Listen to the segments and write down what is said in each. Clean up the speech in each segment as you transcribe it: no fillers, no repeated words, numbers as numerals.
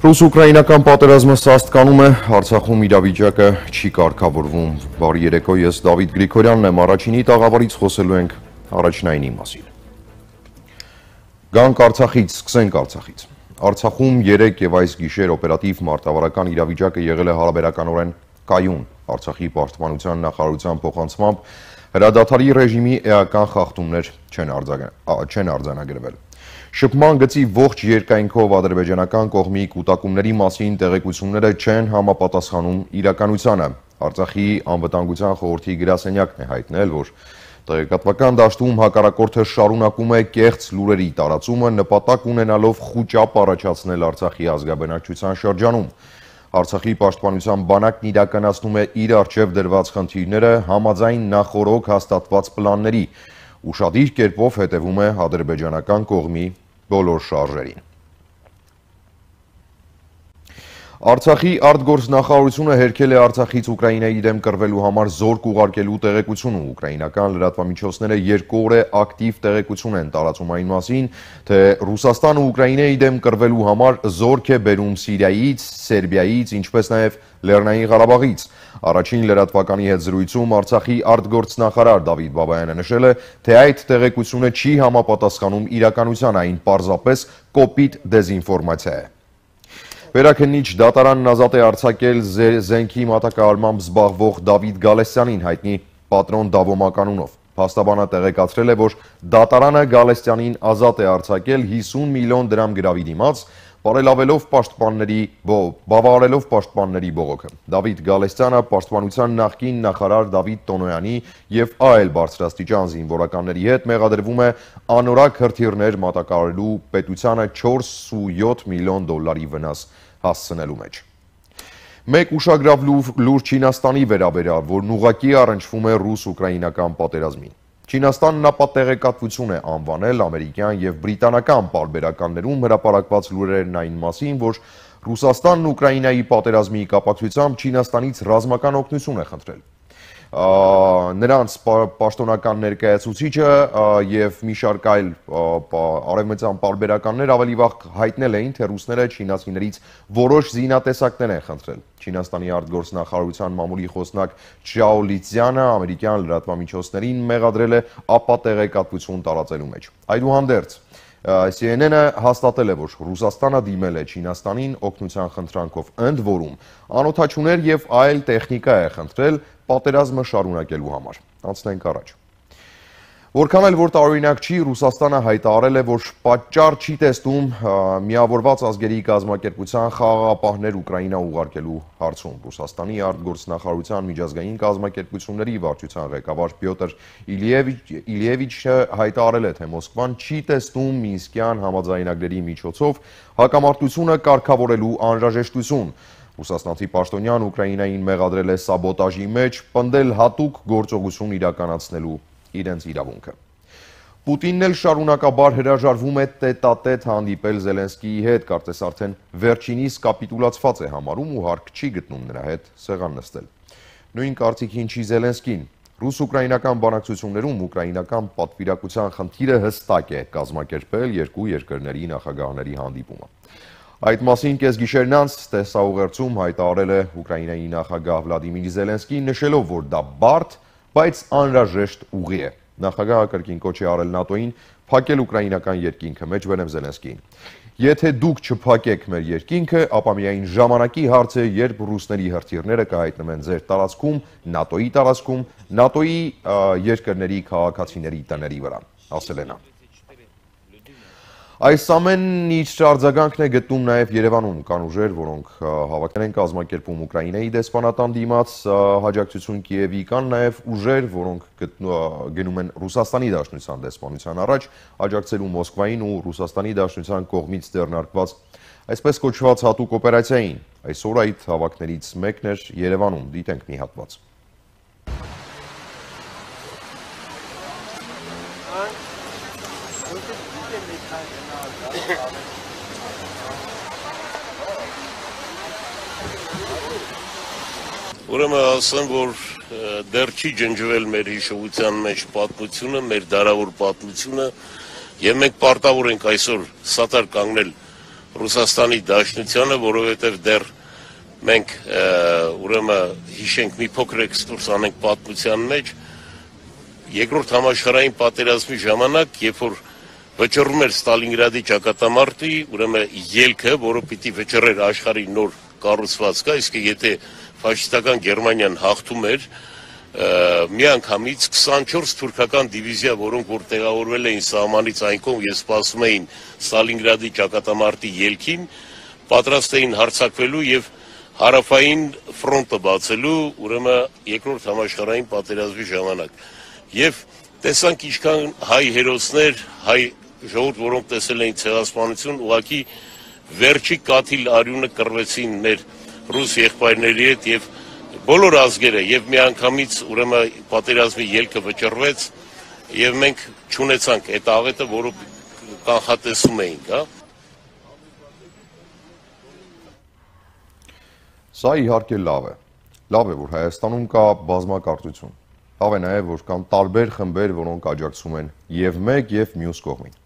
Ռուս-ուկրաինական պատերազմը սաստկանում է, Արցախում իրավիճակը չի կարգավորվում։ Բարի երեկո, ես Դավիթ Գրիգորյանն եմ, առաջինի տաղավարից խոսելու ենք առաջնայինի մասին։ Գանք Արցախից, սկսենք Արցախից։ Արցախում երեկ եւ այս գիշեր օպերատիվ մարտավարական իրավիճակը եղել է հարաբերականորեն կայուն։ Արցախի պաշտպանության նախարարության փոխանցմամբ հրադադարի ռեժիմի էական խախտումներ չեն արձանագրվել։ Շփման գծի ողջ երկայնքով ադրբեջանական կողմի կուտակումների մասին տեղեկությունները չեն համապատասխանում իրականությանը։ Արցախի անվտանգության խորհրդի գրասենյակն է հայտնել, որ տեղեկատվական դաշտում հակառակորդը շարունակում է կեղծ լուրերի տարածումը, նպատակ ունենալով խուճապ առաջացնել Արցախի ազգաբնակչության շրջանում։ Արցախի պաշտպանության բանակն իրականացնում է իր առջև դրված խնդիրները համաձայն նախօրոք հաստատված պլանների, ուշադիր կերպով հետևում է ադրբեջանական կողմի բոլոր շարժերին։ Արցախի արտգործնախարարությունը հերքել է Արցախից Ուկրաինայի դեմ կռվելու համար զորք ուղարկելու տեղեկությունը։ Ուկրաինական լրատվամիջոցները 2 օր է ակտիվ տեղեկություն են տարածում այն մասին, թե Ռուսաստանը Ուկրաինայի դեմ կռվելու համար զորք է բերում Սիրիայից, Սերբիայից, ինչպես նաև Լեռնային Ղարաբաղից։ Առաջին լրատվականի հետ զրույցում Արցախի արտգործնախարար Դավիթ Բաբայանը նշել է, թե այդ տեղեկությունը չի համապատասխանում իրականության, այն պարզապես կոպիտ դեզինֆորմացիա է։ Վերաքննիչ դատարանն ազատ է արձակել զենքի մատակարարմամբ զբաղվող Դավիթ Գալստյանին, հայտնի Պատրոն Դավոմակ անունով։ Փաստաբանը տեղեկացրել է, որ դատարանը Գալստյանին ազատ է արձակել 50 միլիոն դրամ գրավի դիմաց, բավարարելով պաշտպանների բողոքը։ Դավիթ Գալստյանը պաշտպանության նախկին նախարար Դավիթ Տոնոյանի և այլ բարձրաստիճան զինվորականների հետ մեղադրվում է անորակ հրթիռներ մատակարարելու պետությանը 4.7 միլիոն դոլարի վնաս հասցնելու մեջ։ Մեկ ուշագրավ լուր Չինաստանի վերաբերյալ, որն ուղղակի առնչվում է ռուս-ուկրաինական պատերազմին։ Չինաստանն ապա տեղեկատվություն է անվանել ամերիկյան և բրիտանական պարբերականներում հրապարակված լուրերն այն մասին, որ Ռուսաստանն Ուկրաինայի պատերազմի կապակցությամբ Չինաստանից ռազմական օգնություն է խնդրել։ Նրանց պաշտոնական ներկայացուցիչը և մի շարք այլ արևմտյան պարբերականներ ավելի վաղ հայտնել էին, թե ռուսները չինացիներից որոշ զինատեսակներ են խնդրել։ Չինաստանի արտգործնախարարության մամուլի խոսնակ Չյաո Լիցյանը ամերիկյան լրատվամիջոցներին մեղադրել է ապատեղեկատվություն տարածելու մեջ։ Այդուհանդերձ, CNN-ը հաստատել է, որ Ռուսաստանը դիմել է Չինաստանին օգնության խնդրանքով, ընդ որում անօդաչուներ և այլ տեխնիկա է խնդրել պատերազմը շարունակելու համար։ Անցնենք առաջ։ Որքան էլ որ տարօրինակ չի, Ռուսաստանը հայտարարել է, որ պատճառ չի տեսնում Միավորված ազգերի կազմակերպության խաղաղապահներ Ուկրաինա ուղարկելու հարցում։ Ռուսաստանի արտգործնախարարության միջազգային կազմակերպությունների վարչության ղեկավար Պյոտր Իլիևիչը հայտարարել է, թե Մոսկվան չի տեսնում Մինսկյան համաձայնագրերի միջոցով հակամարտությունը կարգավորելու անհրաժեշտություն։ Ռուսաստանցի պաշտոնյան Ուկրաինային մեղադրել է սաբոտաժի մեջ, պնդել հատուկ գործողություն իրականացնելու իրենց իրավունքը։ Պուտինն էլ շարունակաբար հրաժարվում է տետատետ հանդիպել Զելենսկիի հետ, կարծես արդեն վերջինիս կապիտուլացված է համարում ու հարկ չի գտնում նրա հետ սեղան նստել։ Նույն կարծիքին չի Զելենսկին։ Ռուս-ուկրաինական բանակցություններում ուկրաինական պատվիրակության խնդիրը հստակ է կազմակերպել երկու երկրների նախագահների հանդիպումը։ Այդ մասին կեսգիշերն անց տեսաուղերձում հայտարարել է Ուկրաինայի նախագահ Վլադիմիր Զելենսկին, նշելով, որ դա բարդ, բայց անհրաժեշտ ուղի է։ Նախագահը կրկին կոչ է արել ՆԱՏՕ-ին փակել ուկրաինական երկինքը, մեջբերեմ Զելենսկիին։ Եթե դուք չփակեք մեր երկինքը, ապա միայն ժամանակի հարց է, երբ ռուսների հրթիռները կհայտնվեն ձեր տարածքում, ՆԱՏՕ-ի տարածքում, ՆԱՏՕ-ի երկրների քաղաքացիների տների վրա, ասել է նա։ Այս ամենն իր արձագանքն է գտնում նաև Երևանում, կան ուժեր, որոնք հավաքներ են կազմակերպում Ուկրաինայի դեսպանատան դիմաց աջակցություն Կիևի, կան նաև ուժեր, որոնք գնում են Ռուսաստանի Դաշնության դեսպանության առաջ, աջակցելու Մոսկվային ու Ռուսաստանի Դաշնության կողմից ձեռնարկված այսպես կոչված հատուկ օպերացիային։ Այսօր այդ հավաքներից մեկն էր Երևանում, դիտենք մի հատված։ Ուրեմն ասեմ, որ դեռ չի ջնջվել մեր հիշողության մեջ պատմությունը, մեր դարավոր պատմությունը, եւ մենք պարտավոր ենք այսօր սատար կանգնել Ռուսաստանի Դաշնությանը, որովհետև դեռ մենք ուրեմն հիշենք մի փոքր էքսկուրս անենք պատմության մեջ, երկրորդ համաշխարհային պատերազմի ժամանակ, երբ որ վճռում էր Ստալինգրադի ճակատամարտի, ուրեմն ելքը, որը պիտի վճռեր աշխարհի նոր կառուցվածքը, իսկ եթե ֆաշիստական Գերմանիան հաղթում էր, միանգամից 24 թուրքական դիվիզիա, որոնք որ տեղավորվել էին սահմանից այն կողմ եւ սպասում էին Ստալինգրադի ճակատամարտի ելքին, պատրաստ էին հարձակվելու եւ հարավային ֆրոնտը բացելու, ուրեմն երկրորդ համաշխարհային պատերազմի ժամանակ։ Եվ տեսանք ինչքան հայ հերոսներ, հայ ժողովուրդ, որոնք տեսել էին ցեղասպանություն, ուղղակի վերջի կաթիլ արյունը կռվեցին մեր ռուս եղբայրների հետ եւ բոլոր ազգերը եւ միանգամից ուրեմն պատերազմի ելքը վճռվեց եւ մենք չունեցանք այդ աղետը, որը կանխատեսում էինք, հա։ Սա իհարկե լավ է, որ Հայաստանում կա բազմակարծություն, լավ է նաև, որ կան տարբեր խմբեր, որոնք աջակցում են եւ մեկ եւ մյուս կողմին։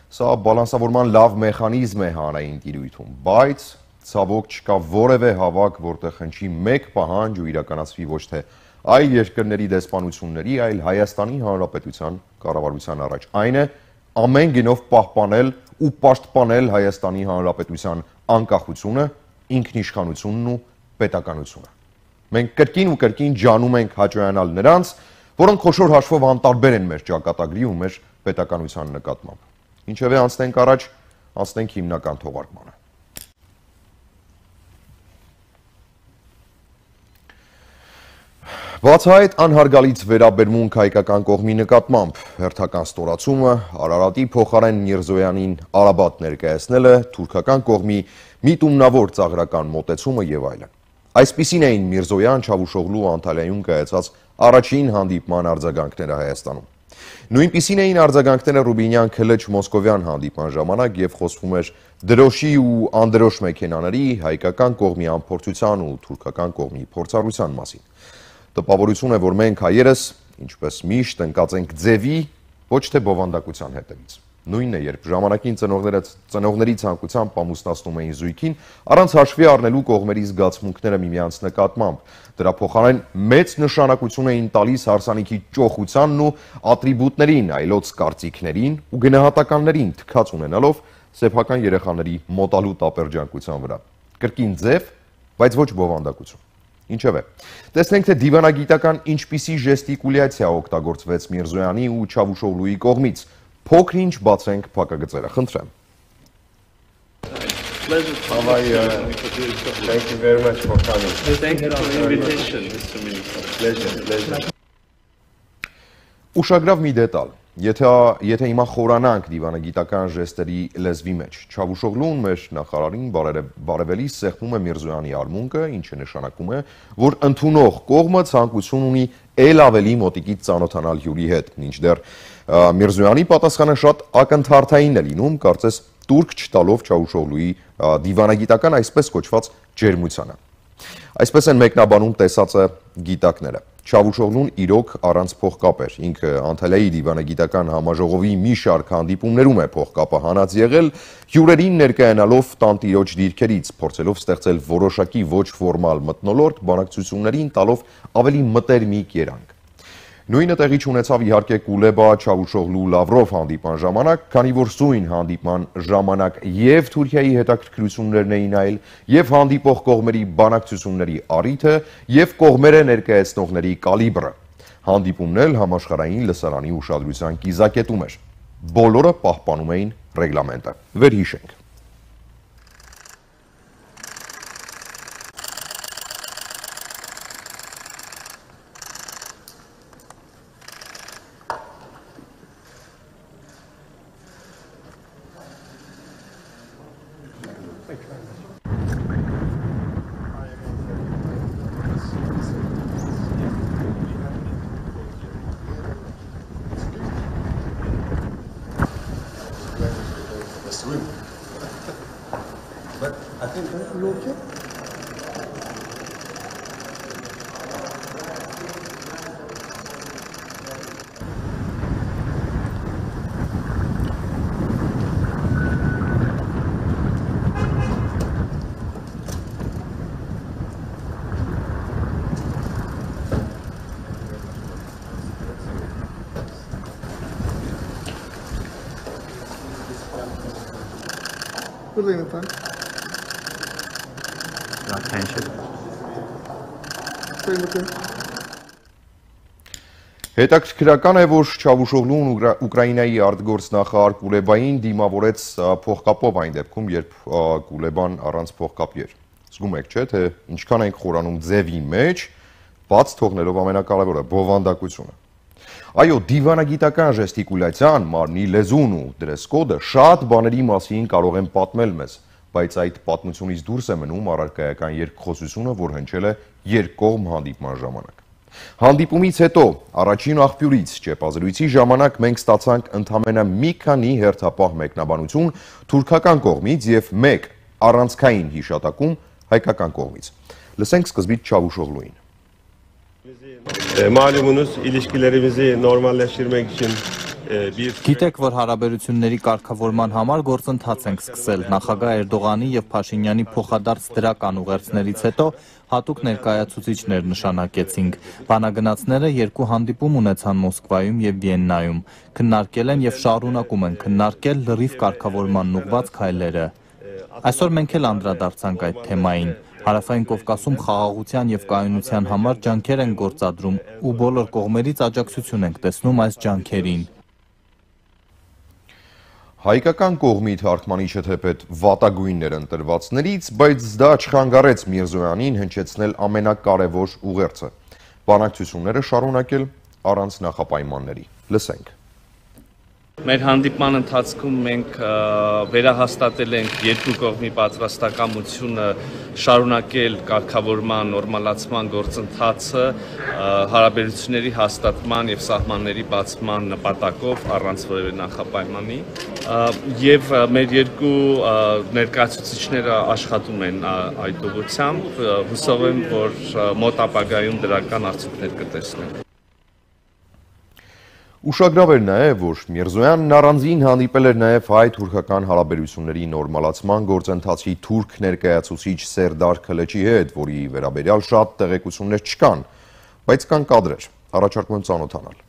Սա բալանսավորման լավ մեխանիզմ է հանրային տիրույթում, բայց ցավոք չկա որևէ հավաք, որտեղ հնչի մեկ պահանջ ու իրականացվի ոչ թե այլ երկրների դեսպանությունների, այլ Հայաստանի Հանրապետության կառավարության առաջ։ Այն է ամեն գնով պահպանել ու պաշտպանել Հայաստանի Հանրապետության անկախությունը, ինքնիշխանությունն ու պետականությունը։ Մենք կրկին ու կրկին ջանում ենք հաճոյանալ նրանց, որոնք խոշոր հաշվով անտարբեր են մեր ճակատագրի ու մեր պետականության նկատմամբ։ Ինչևէ անցնենք առաջ, անցնենք հիմնական թողարկմանը։ Բացահայտ անհարգալից վերաբերմունք հայկական կողմի նկատմամբ, հերթական ստորացումը, Արարատի փոխարեն Միրզոյանին Արաբատ ներկայացնելը, թուրքական կողմի միտումնավոր ծաղրական մոտեցումը եւ այլն։ Այսպիսին էին Միրզոյան, Չավուշօղլու ու Անտալիայում կայացած առաջին հանդիպման արձագանքները Հայաստանում։ Նույնպիսին էին արձագանքները Ռուբինյան Քլեչ Մոսկովյան հանդիպման ժամանակ եւ խոսվում էր դրոշի ու անդրոշ մեքենաների, հայկական կողմի անփորձության ու թուրքական կողմի փորձառության մասին։ Տպավորություն է, որ մենք հայերս, ինչպես միշտ, ընկած ենք ձևի, ոչ թե բովանդակության հետևից։ Նույնն է, երբ ժամանակին ծնողների ցանկությամբ ամուսնացնում էին զույգին, առանց հաշվի առնելու կողմերի զգացմունքները միմյանց նկատմամբ։ Դրա փոխարեն մեծ նշանակություն էին տալիս հարսանիքի ճոխությանն ու ատրիբուտներին, այլոց կարծիքներին ու գնահատականներին թքած ունենալով սեփական երեխաների մոտալու տապերջանկության վրա։ Կրկին ձև, բայց ոչ բովանդակություն։ Ինչևէ, տեսնենք, թե դիվանագիտական ինչպիսի ժեստիկուլյացիա օգտագործվեց Միրզոյանի ու Չավուշօղլուի կողմից։ Փոքր-ինչ բացենք փակագծերը, խնդրեմ։ How are you? Thank you very much for coming. Thank you for the invitation, Mr. Minister. Pleasure. Ուշագրավ մի դետալ, եթե հիմա խորանանք դիվանագիտական ժեստերի լեզվի մեջ, Չավուշօղլուն մեր նախարարին բարևելիս սեղմում է Միրզոյանի արմունկը, ինչը նշանակում է, որ ընդունող կողմը ցանկություն ունի ել ավելի մոտիկից ծանոթանալ հյուրի հետ, մինչդեռ Միրզոյանի պատասխանը շատ ակնթարթային է լինում, կարծես տուրք չտալով Չավուշօղլուի դիվանագիտական այսպես կոչված ջերմությանը։ Այսպես են մեկնաբանում տեսածը գիտակները։ Չավուշօղլուն իրոք առանց փողկապ էր, ինքը Անտալիայի դիվանագիտական համաժողովի մի շարք հանդիպումներում է փողկապը հանած եղել, հյուրերին ներկայանալով տանտիրոջ դիրքերից, փորձելով ստեղծել որոշակի ոչ ֆորմալ մթնոլորտ, բանակցություններին տալով ավելի մտերմիկ երանգ։ Նույնը տեղի չունեցավ իհարկե Կուլեբա, Չավուշօղլու, Լավրով հանդիպման ժամանակ, քանի որ սույն հանդիպման ժամանակ եւ Թուրքիայի հետաքրքրություններն էին այլ, եւ հանդիպող կողմերի բանակցությունների առիթը, եւ կողմերը ներկայացնողների կալիբրը։ Հանդիպումն էլ համաշխարհային լսարանի ուշադրության կիզակետում էր։ Բոլորը պահպանում էին ռեգլամենտը։ Վերհիշենք։ But I think you okay? Put in the tank. Attention. Stay in the tank. Հետաքրքրական է, որ Չավուշօղլուն Ուկրաինայի արտգործնախարար Կուլեբային դիմավորեց փողկապով այն դեպքում, երբ Կուլեբան առանց փողկապի էր։ Զգում եք, չէ՞, թե ինչքան ենք խորանում ձևի մեջ, բաց թողնելով ամենակարևորը՝ բովանդակությունը։ Այո, դիվանագիտական ժեստիկուլյացիան, մարմնի լեզուն ու դրեսկոդը շատ բաների մասին կարող են պատմել մեզ, բայց այդ պատմությունից դուրս է մնում առարկայական երկխոսությունը, որ հնչել է երկկողմ հանդիպման ժամանակ։ Հանդիպումից հետո, առաջին աղբյուրից ճեպազրույցի ժամանակ մենք ստացանք ընդամենը մի քանի հերթապահ մեկնաբանություն թուրքական կողմից եւ մեկ առանցքային հիշատակում հայկական կողմից։ Լսենք սկզբից Չավուշօղլուին։ Malumunuz ilişkilerimizi normalleştirmek için Գիտեք, որ հարաբերությունների կարգավորման համար գործընթաց ենք սկսել։ Նախագահ Էրդողանի եւ Փաշինյանի փոխադարձ դրական ուղերձներից հետո հատուկ ներկայացուցիչներ նշանակեցինք։ Բանագնացները երկու հանդիպում ունեցան Մոսկվայում եւ Վիեննայում։ Քննարկել են եւ շարունակում են քննարկել լրիվ կարգավորման ուղղված քայլերը։ Այսօր մենք էլ անդրադարձանք այդ թեմային։ Հարավային Կովկասում խաղաղության եւ կայունության համար ջանքեր են գործադրում ու բոլոր կողմերից աջակցություն ենք տեսնում այս ջանքերին։ Հայկական կողմի թարգմանիչը թեպետ վատագույններ ընտրվածներից, բայց դա չխանգարեց Միրզոյանին հնչեցնել ամենակարևոր ուղերձը։ Բանակցությունները շարունակել առանց նախապայմանների։ Լսենք։ Մեր հանդիպման ընթացքում մենք վերահաստատել ենք երկու կողմի պատրաստակամությունը շարունակել կարգավորման նորմալացման գործընթացը հարաբերությունների հաստատման եւ սահմանների բացման նպատակով առանց որևէ նախապայմանի եւ մեր երկու ներկայացուցիչները աշխատում են այդ ուղղությամբ հուսով եմ որ մոտ ապագայում դրական արդյունքներ կտեսնենք Ուշագրավ էր նաև, որ Միրզոյանն առանձին հանդիպել էր նաև հայ-թուրքական հարաբերությունների նորմալացման գործընթացի թուրք ներկայացուցիչ Սերդար Քլեչի հետ, որի վերաբերյալ շատ տեղեկություններ չկան, բայց կան կադրեր, առաջարկում եմ ծանոթանալ։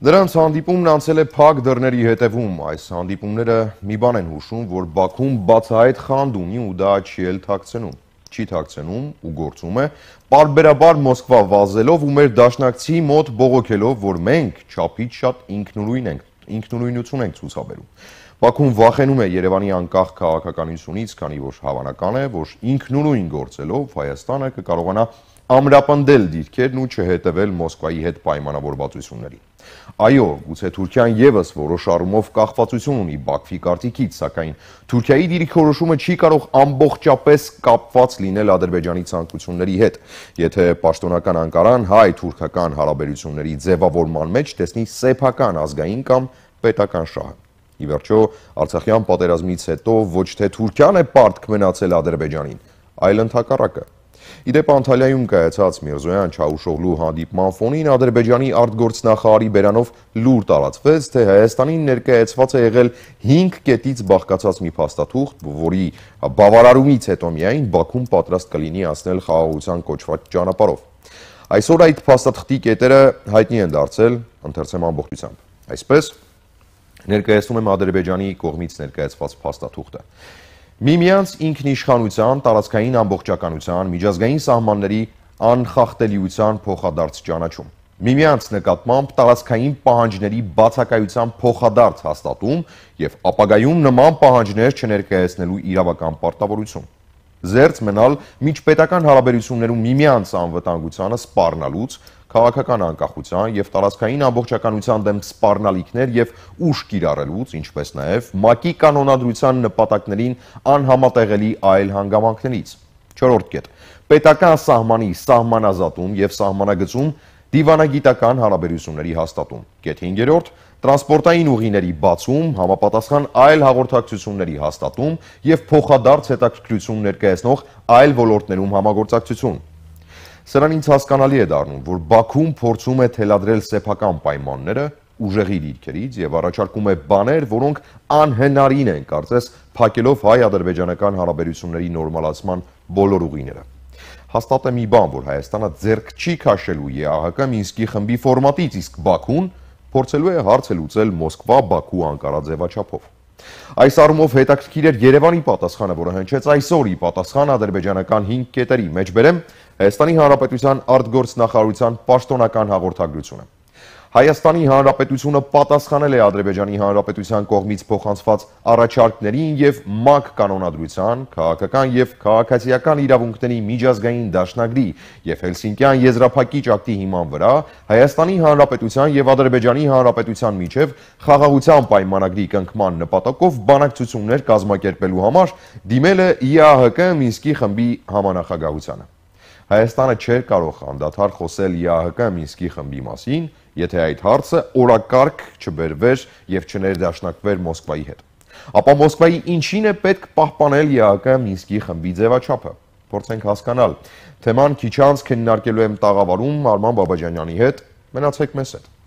Նրանց հանդիպումն անցել է փակ դռների հետևում, այս հանդիպումները մի բան են հուշում, որ Բաքուն բացահայտ խանդ ունի ու դա չի էլ թաքցնում, չի թաքցնում ու գործում է, պարբերաբար Մոսկվա վազելով ու մեր դաշնակցի մոտ բողոքելով, որ մենք չափից շատ ինքնուրույնություն ենք ցուցաբերում։ Բաքուն վախենում է Երևանի անկախ քաղաքականությունից, քանի որ հավանական է, որ ինքնուրույն գործելով Հայաստանը կկարողանա ամրապնդել դիրքերն ու չհետևել Մոսկվայի հետ պայմանավորվածություններին։ Այո, գուցե Թուրքիան եւս որոշ առումով կախվածություն ունի Բաքվի կարծիքից, սակայն Թուրքիայի դիրքորոշումը չի կարող ամբողջապես կապված լինել Ադրբեջանի ցանկությունների հետ, եթե պաշտոնական Անկարան հայ-թուրքական հարաբերությունների ձևավորման մեջ տեսնի սեփական ազգային կամ պետական շահը։ Ի վերջո, Արցախյան պատերազմից հետո ոչ թե Թուրքիան է պարտք մնացել Ադրբեջանին, այլ ընդհակառակը։ Իդեպ Անտալիայում կայացած Միրզոյան-Չավուշօղլու հանդիպման ֆոնին Ադրբեջանի արտգործնախարարի բերանով լուր տարածվեց, թե Հայաստանին ներկայացված է եղել 5 կետից բաղկացած մի փաստաթուղթ, որի բավարարումից հետո միայն Բաքուն պատրաստ կլինի անցնել խաղաղության կոչված ճանապարհով։ Այսօր այդ փաստաթղթի կետերը հայտնի են դարձել, ընթերցեմ ամբողջությամբ։ Այսպես ներկայացնում եմ Ադրբեջանի կողմից ներկայացված փաստաթուղթը։ Միմյանց ինքնիշխանության, տարածքային ամբողջականության, միջազգային սահմանների անխախտելիության փոխադարձ ճանաչում։ Միմյանց նկատմամբ տարածքային պահանջների բացակայության փոխադարձ հաստատում եւ ապագայում նման պահանջներ չներկայացնելու իրավական պարտավորություն։ Զերծ մնալ միջպետական հարաբերություններում միմյանց անվտանգությանը սպառնալուց, քաղաքական անկախության եւ տարածքային ամբողջականության դեմ սպառնալիքներ եւ ուժ կիրառելուց, ինչպես նաեւ ՄԱԿ-ի կանոնադրության նպատակներին անհամատեղելի այլ հանգամանքներից։ 4-րդ կետ. պետական սահմանի սահմանազատում եւ սահմանագծում դիվանագիտական հարաբերությունների հաստատում։ Կետ 5-րդ. տրանսպորտային ուղիների բացում, համապատասխան այլ հաղորդակցությունների հաստատում եւ փոխադարձ հետաքրքրություն ներկայացնող այլ ոլորտներում համագործակցություն։ Սրան ինձ հասկանալի է դառնում, որ Բաքուն փորձում է թելադրել սեփական պայմանները ուժեղի դիրքերից եւ առաջարկում է բաներ, որոնք անհնարին են, կարծես, փակելով հայ-ադրբեջանական հարաբերությունների նորմալացման բոլոր ուղիները։ Հաստատ է մի բան, որ Հայաստանը ձեռք չի քաշելու ԵԱՀԿ Մինսկի խմբի ֆորմատից, իսկ Բաքուն փորձելու է հարցը լուծել Մոսկվա-Բաքու-Անկարա ձևաչափով։ Այս առումով հետաքրքիր էր Երևանի պատասխանը, որը հնչեց այսօր ի պատասխան ադրբեջանական 5 կետերի, մեջբերեմ Հայաստանի Հանրապետության արտգործնախարարության պաշտոնական հաղորդագրությունը։ Հայաստանի Հանրապետությունը պատասխանել է Ադրբեջանի Հանրապետության կողմից փոխանցված առաջարկներին եւ ՄԱԿ կանոնադրության, քաղաքական եւ քաղաքացիական իրավունքների միջազգային դաշնագրի եւ Հելսինկյան եզրափակիչ ակտի հիման վրա Հայաստանի Հանրապետության եւ Ադրբեջանի Հանրապետության միջև խաղաղության պայմանագրի կնքման նպատակով բանակցություններ կազմակերպելու համար դիմել է ԵԱՀԿ Մինսկի խմբի համանախագահությանը։ Հայաստանը չէր կարող անդադար խոսել ԵԱՀԿ Մինսկի խմբի մասին, եթե այդ հարցը օրակարգ չբերվեր եւ չներդաշնակվեր Մոսկվայի հետ։ Ապա Մոսկվայի ինչին է պետք պահպանել ԵԱՀԿ Մինսկի խմբի ձևաչափը։ Փորձենք հասկանալ։ Թեման քիչ անց քննարկելու եմ տաղավարում Արման Բաբաջանյանի հետ։ Մնացեք մեզ հետ։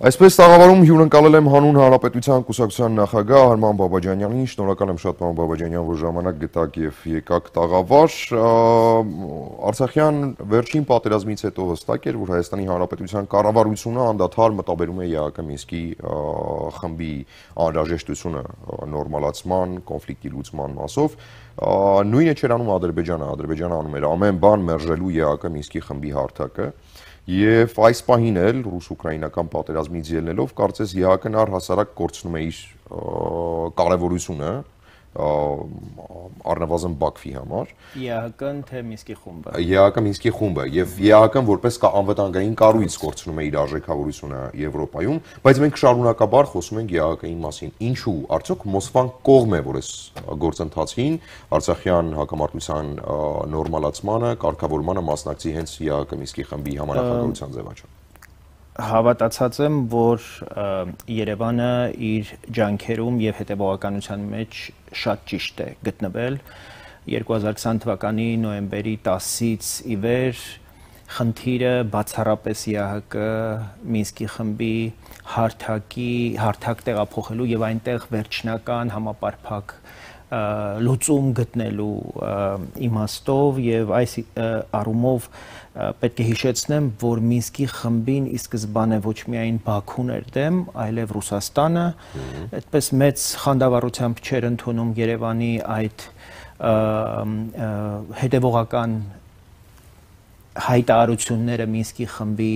Այսպես տաղավարում հյուրընկալել եմ Հանուն Հանրապետության կուսակցության նախագահ Արման Բաբաջանյանին, շնորհակալ եմ շատ պարոն Բաբաջանյան, որ ժամանակ գտաք եւ եկաք տաղավար։ Արցախյան վերջին պատերազմից հետո հստակ էր, որ Հայաստանի Հանրապետության կառավարությունը անդադար մտաբերում է ԵԱՀԿ Մինսկի խմբի անհրաժեշտությունը նորմալացման, կոնֆլիկտի լուծման մասով։ Նույնը չէր անում Ադրբեջանը, Ադրբեջանը անում էր ամեն բան մերժելու ԵԱՀԿ Մինսկի խմբի հարթակը։ Եվ այս պահին էլ ռուս-ուկրաինական պատերազմից ելնելով կարծես ԵԱՀԿ-ն առհասարակ կորցնում է իր կարևորությունը առնվազն Բաքվի համար։ ԵԱՀԿ-ն թե Մինսկի խումբը։ ԵԱՀԿ Մինսկի խումբը եւ ԵԱՀԿ-ն որպես անվտանգային կառույց կորցնում է իր արժեքավորությունը Եվրոպայում, բայց մենք շարունակաբար խոսում ենք ԵԱՀԿ-ի մասին։ Ինչու՞, արդյոք Մոսկվան կողմ է, որ այս գործընթացին Արցախյան հակամարտության նորմալացմանը, կարգավորմանը մասնակցի հենց ԵԱՀԿ Մինսկի խմբի համանախագահության ձևաչափ։ Հավատացած եմ, որ Երևանը իր ջանքերում եւ հետեւողականության մեջ շատ ճիշտ է գտնվել 2020 թվականի նոյեմբերի 10-ից ի վեր խնդիրը բացառապես ԵԱՀԿ Մինսկի խմբի հարթակ տեղափոխելու եւ այնտեղ վերջնական համապարփակ լուծում գտնելու իմաստով եւ այս առումով պետք է հիշեցնեմ, որ Մինսկի խմբին ի սկզբանե ոչ միայն Բաքուն էր դեմ, այլև Ռուսաստանը, այդպես մեծ խանդավառությամբ չէր ընդունում Երևանի այդ հետևողական հայտարարությունները Մինսկի խմբի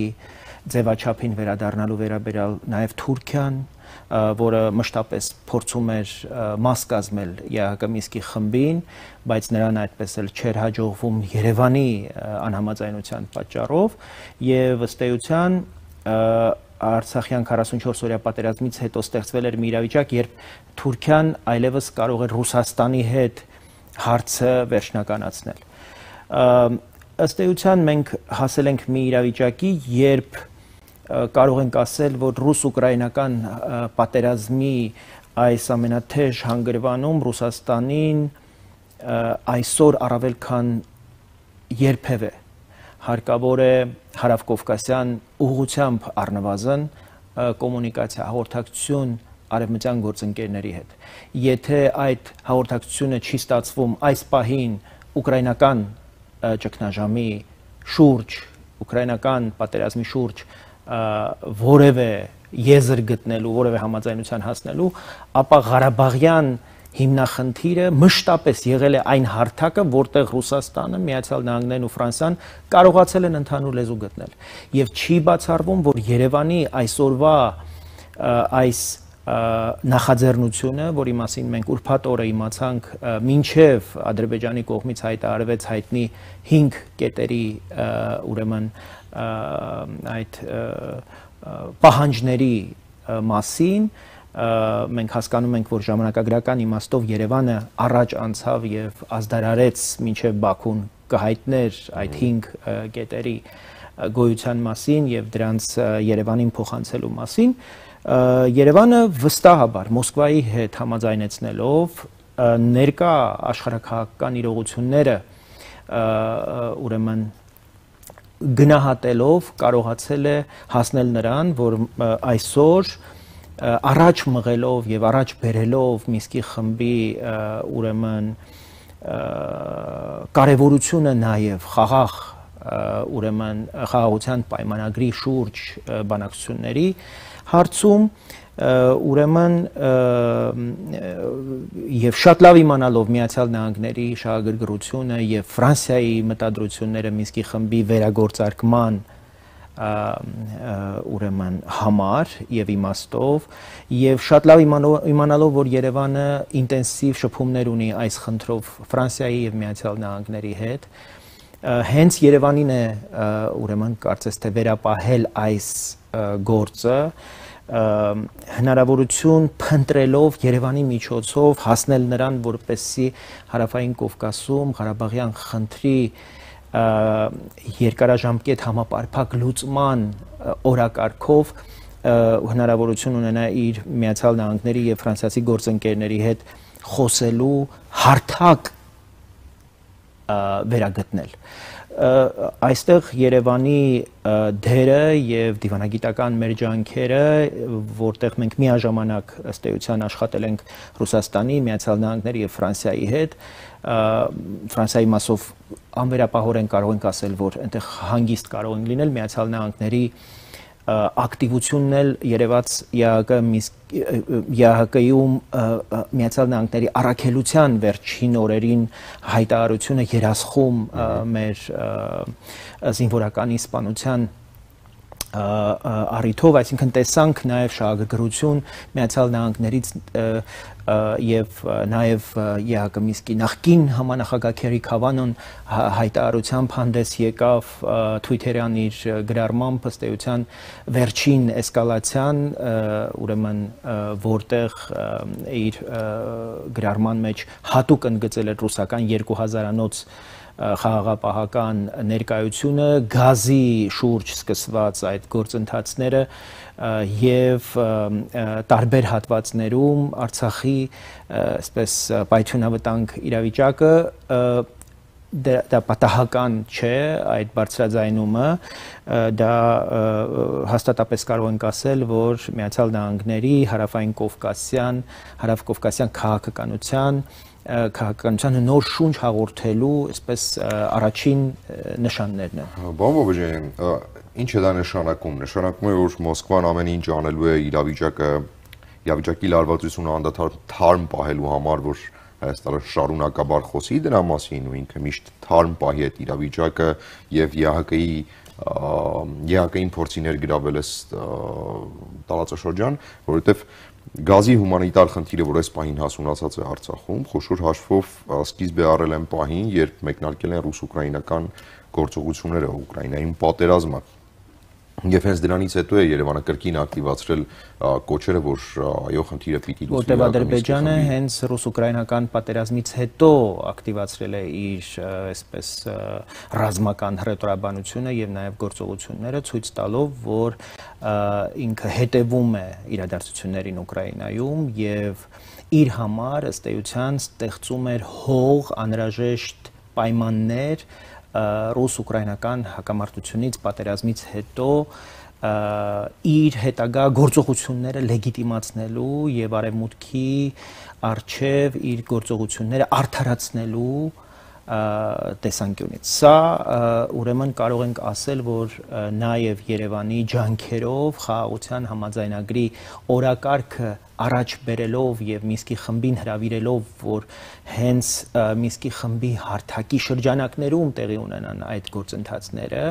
ձևաչափին վերադառնալու վերաբերյալ նաև Թուրքիան, որը մշտապես փորձում էր մաս կազմել ԵԱՀԿ Մինսկի խմբին, բայց նրան այդպես էլ չէր հաջողվում Երևանի անհամաձայնության պատճառով եւ ըստ էության Արցախյան 44-օրյա պատերազմից հետո ստեղծվել էր մի իրավիճակ, երբ Թուրքիան այլևս կարող էր Ռուսաստանի հետ հարցը վերջնականացնել։ Ըստ էության մենք հասել ենք մի իրավիճակի, երբ կարող ենք ասել, որ ռուս-ուկրաինական պատերազմի այս ամենաթեժ հանգրվանում Ռուսաստանին այսօր առավել քան երբևէ հարկավոր է հարավկովկասյան ուղղությամբ առնվազն կոմունիկացիա, հաղորդակցություն արևմտյան գործընկերների հետ։ Եթե այդ հաղորդակցությունը չի ստացվում այս պահին ուկրաինական ճգնաժամի շուրջ, ուկրաինական պատերազմի շուրջ որևէ եզր գտնելու, որևէ համաձայնության հասնելու, ապա Ղարաբաղյան հիմնախնդիրը մշտապես եղել է այն հարթակը, որտեղ Ռուսաստանը, Միացյալ Նահանգներն ու Ֆրանսիան կարողացել են ընդհանուր լեզու գտնել։ Եվ չի բացառվում, որ Երևանի այսօրվա այս նախաձեռնությունը, որի մասին մենք ուրբաթ օրը իմացանք, մինչև Ադրբեջանի կողմից հայտարարվեց հայտնի 5 կետերի ուրեմն այդ պահանջների մասին, մենք հասկանում ենք, որ ժամանակագրական իմաստով Երևանը առաջ անցավ եւ ազդարարեց մինչև Բաքուն կհայտներ այդ 5 կետերի գոյության մասին եւ դրանց Երևանին փոխանցելու մասին, Երևանը վստահաբար Մոսկվայի հետ համաձայնեցնելով ներկա աշխարհաքաղաքական իրողությունները ուրեմն գնահատելով կարողացել է հասնել նրան, որ այսօր առաջ մղելով եւ առաջ բերելով Մինսկի խմբի ուրեմն կարևորությունը նաեւ խաղաղ ուրեմն խաղաղության պայմանագրի շուրջ բանակցությունների հարցում ուրեմն եւ շատ լավ իմանալով Միացյալ Նահանգների շահագրգռությունը եւ Ֆրանսիայի մտադրությունները Մինսկի խմբի վերագործարկման ուրեմն համար եւ իմաստով եւ շատ լավ իմանալով, որ Երևանը ինտենսիվ շփումներ ունի այս խնդրով Ֆրանսիայի եւ Միացյալ Նահանգների հետ, հենց Երևանին է ուրեմն կարծես թե վերապահել այս գործը հնարավորություն փնտրելով Երևանի միջոցով հասնել նրան, որպեսզի Հարավային Կովկասում Ղարաբաղյան խնդրի երկարաժամկետ համապարփակ լուծման օրակարգով հնարավորություն ունենա իր Միացյալ Նահանգների եւ ֆրանսիացի գործընկերների հետ խոսելու հարթակ վերագտնել այստեղ Երևանի դերը եւ դիվանագիտական մեր ջանքերը, որտեղ մենք միաժամանակ ըստ էության աշխատել ենք Ռուսաստանի, Միացյալ Նահանգների եւ Ֆրանսիայի հետ, Ֆրանսիայի մասով անվերապահորեն կարող ենք ասել, որ այնտեղ հանգիստ կարող են լինել Միացյալ Նահանգների ակտիվությունն էլ երևաց ԵԱՀԿ-ում Միացյալ Նահանգների առաքելության վերջին օրերին հայտարարությունը երասխում մեր զինվորականի սպանության առիթով, այսինքն տեսանք նաև շահագրգռություն Միացյալ Նահանգներից եւ նաև ԵԱՀԿ Մինսկի նախկին համանախագահ Քերի Քավանոն հայտարարությամբ հանդես եկավ Twitter-յան իր գրառմամբ ըստ էության վերջին էսկալացիան, ուրեմն որտեղ իր գրառման մեջ հատուկ ընդգծել էր ռուսական 2000-անոց խաղաղապահական ներկայությունը, գազի շուրջ սկսված այդ գործընթացները եւ տարբեր հատվածներում Արցախի այսպես պայթյունավտանգ իրավիճակը դա պատահական չէ այդ բարձրաձայնումը, դա հաստատապես կարող ենք ասել, որ Միացյալ Նահանգների հարավային կովկասյան քաղաքականությանը նոր շունչ հաղորդելու այսպես առաջին նշաններն են։ Պարոն Բոբոջյան, ինչ է դա նշանակում։ Նշանակում է, որ Մոսկվան ամեն ինչ անելու է իրավիճակի լարվածությունը անդադար թարմ պահելու համար, որ Հայաստանը շարունակաբար խոսի դրա մասին ու ինքը միշտ թարմ պահի այդ իրավիճակը եւ ԵԱՀԿ-ին փորձի ներգրավել այս տարածաշրջան, որովհետեւ գազի հումանիտար խնդիրը, որ այս պահին հասունացած է Արցախում, խոշոր հաշվով սկիզբ է առել այն պահին, երբ մեկնարկել են ռուս-ուկրաինական գործողությունները, Ուկրաինայում պատերազմը։ Եվ հենց դրանից հետո է Երևանը կրկին ակտիվացրել կոչերը, որ այո, խնդիրը պիտի լուծվի։ Որտեղ Ադրբեջանը հենց ռուս-ուկրաինական պատերազմից հետո ակտիվացրել է իր այսպես ռազմական հռետորաբանությունը եւ նաեւ գործողությունները, ցույց տալով, որ ինքը հետևում է իրադարձություններին Ուկրաինայում եւ իր համար ըստ էության ստեղծում էր հող անհրաժեշտ պայմաններ ռուս-ուկրաինական հակամարտությունից պատերազմից հետո իր հետագա գործողությունները լեգիտիմացնելու եւ արևմուտքի արչեւ իր գործողությունները արդարացնելու տեսանկյունից։ Սա ուրեմն կարող ենք ասել, որ նաև Երևանի ջանքերով խաղաղության համաձայնագրի օրակարգը առաջ բերելով եւ Մինսկի խմբին հրավիրելով, որ հենց Մինսկի խմբի հարթակի շրջանակներում տեղի ունենան այդ գործընթացները,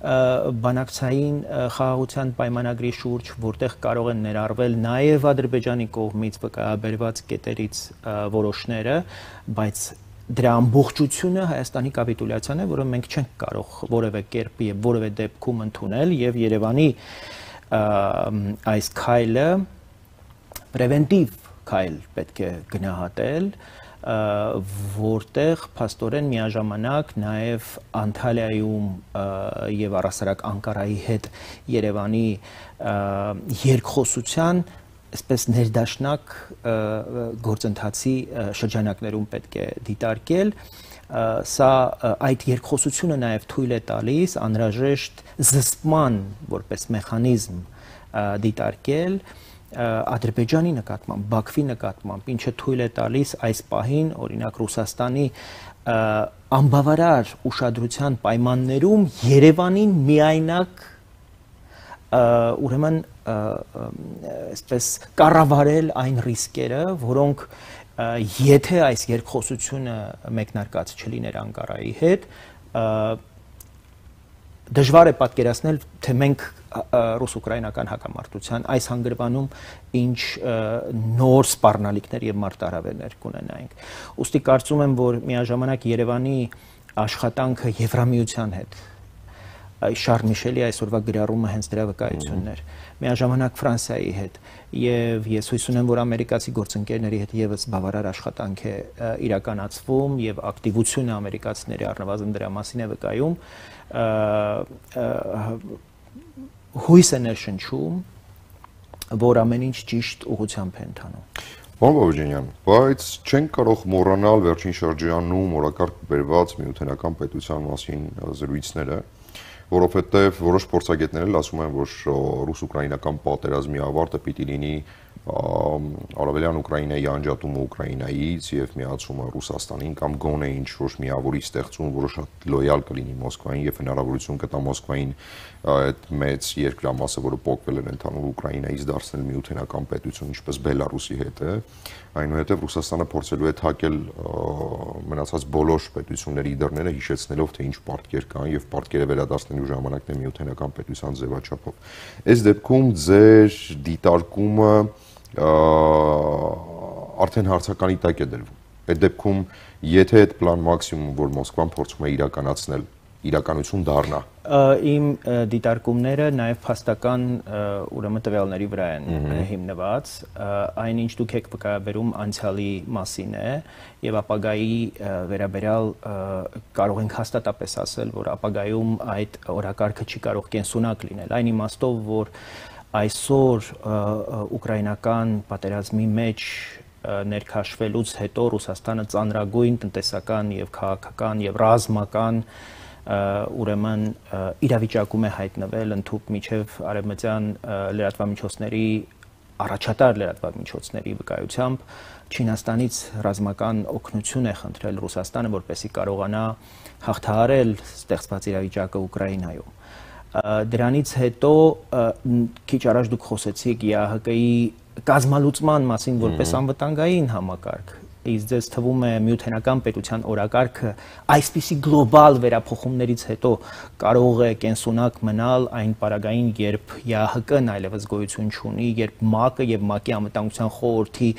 բանակցային խաղաղության պայմանագրի շուրջ, որտեղ կարող են ներառվել նաև Ադրբեջանի կողմից վկայաբերված կետերից որոշները, բայց դրա ամբողջությունը Հայաստանի կապիտուլյացիան է, որը մենք չենք կարող որևէ կերպ եւ որևէ դեպքում ընդունել եւ Երևանի այս քայլը պրևենտիվ քայլ պետք է գնահատել, որտեղ փաստորեն միաժամանակ նաև Անտալիայում եւ առասարակ Անկարայի հետ Երևանի երկխոսության այսպես ներդաշնակ գործընթացի շրջանակներում պետք է դիտարկել, սա այդ երկխոսությունը նաև թույլ է տալիս անհրաժեշտ զսպման որպես մեխանիզմ դիտարկել Ադրբեջանի նկատմամբ, Բաքվի նկատմամբ, ինչը թույլ է տալիս այս պահին, օրինակ Ռուսաստանի անբավարար ուշադրության պայմաններում Երևանին միայնակ ուրեմն այսպես կառավարել այն ռիսկերը, որոնք եթե այս երկխոսությունը մեկնարկած չլիներ Անկարայի հետ, դժվար է պատկերացնել, թե մենք ռուս-ուկրաինական հակամարտության այս հանգրվանում ինչ նոր սպառնալիքներ եւ մարտահրավերներ կունենայինք։ Ուստի կարծում եմ, որ միաժամանակ Երևանի աշխատանքը Եվրամիության հետ Շարլ Միշելի այսօրվա գրառումը հենց դրա վկայությունն էր։ Միաժամանակ Ֆրանսիայի հետ եւ ես հույս ունեմ, որ ամերիկացի գործընկերների հետ եւս բավարար աշխատանք է իրականացվում եւ ակտիվությունը ամերիկացիների առնվազն դրա մասին է վկայում, հույս է ներշնչում, որ ամեն ինչ ճիշտ ուղղությամբ է ընթանում։ Պարոն Բաբաջանյան, բայց չենք կարող մոռանալ վերջին շրջանում օրակարգ բերված միութենական պետության մասին զրույցները, որովհետև որոշ փորձագետներ էլ ասում են, որ ռուս-ուկրաինական պատերազմի ավարտը պիտի լինի Արևելյան Ուկրաինայի անջատումը Ուկրաինայից եւ միացումը Ռուսաստանին կամ գոնե ինչ-որ միավորի ստեղծում, որը շատ լոյալ կլինի Մոսկվային եւ հնարավորություն կտա Մոսկվային այդ մեծ երկրամասը, որը փոխվել է ընդհանուր Ուկրաինայից դարձնել միութենական պետություն, ինչպես Բելարուսի հետ է, այնուհետև Ռուսաստանը փորձելու է թակել մնացած բոլոր պետությունների դռները, հիշեցնելով թե ինչ պարտքեր կան եւ պարտքերը վերադարձնելու ժամանակն է միութենական պետության ձևաչափով։ Այս դեպքում ձեր դիտարկումը արդեն հարցականի տակ է դրվում։ Այդ դեպքում, եթե այդ պլան մաքսիմում, որ Մոսկվան փորձում է իրականացնել, իրականություն դառնա։ Իմ դիտարկումները նաև փաստական ուրեմն տվյալների վրա են հիմնված, այնինչ դուք եք վկայաբերում անցյալի մասին է եւ ապագայի վերաբերյալ կարող ենք հաստատապես ասել, որ ապագայում այդ օրակարգը չի կարող կենսունակ լինել, այն իմաստով, որ այսօր ուկրաինական պատերազմի մեջ ներքաշվելուց հետո Ռուսաստանը ծանրագույն տնտեսական եւ քաղաքական եւ ռազմական ուրեմն իրավիճակում է հայտնվել ընդհուպ միջև արևմտյան լրատվամիջոցների առաջատար լրատվամիջոցների վկայությամբ Չինաստանից ռազմական օգնություն է խնդրել Ռուսաստանը, որպեսզի կարողանա հաղթահարել ստեղծված իրավիճակը Ուկրաինայում։ Դրանից հետո քիչ առաջ դուք խոսեցիք ԵԱՀԿ-ի կազմալուծման մասին որպես անվտանգային համակարգ, իսկ ձեզ թվում է միութենական պետության օրակարգը այսպիսի գլոբալ վերափոխումներից հետո կարող է կենսունակ մնալ այն պարագային, երբ ԵԱՀԿ-ն այլևս գոյություն չունի, երբ ՄԱԿ-ը եւ ՄԱԿ-ի անվտանգության խորհրդի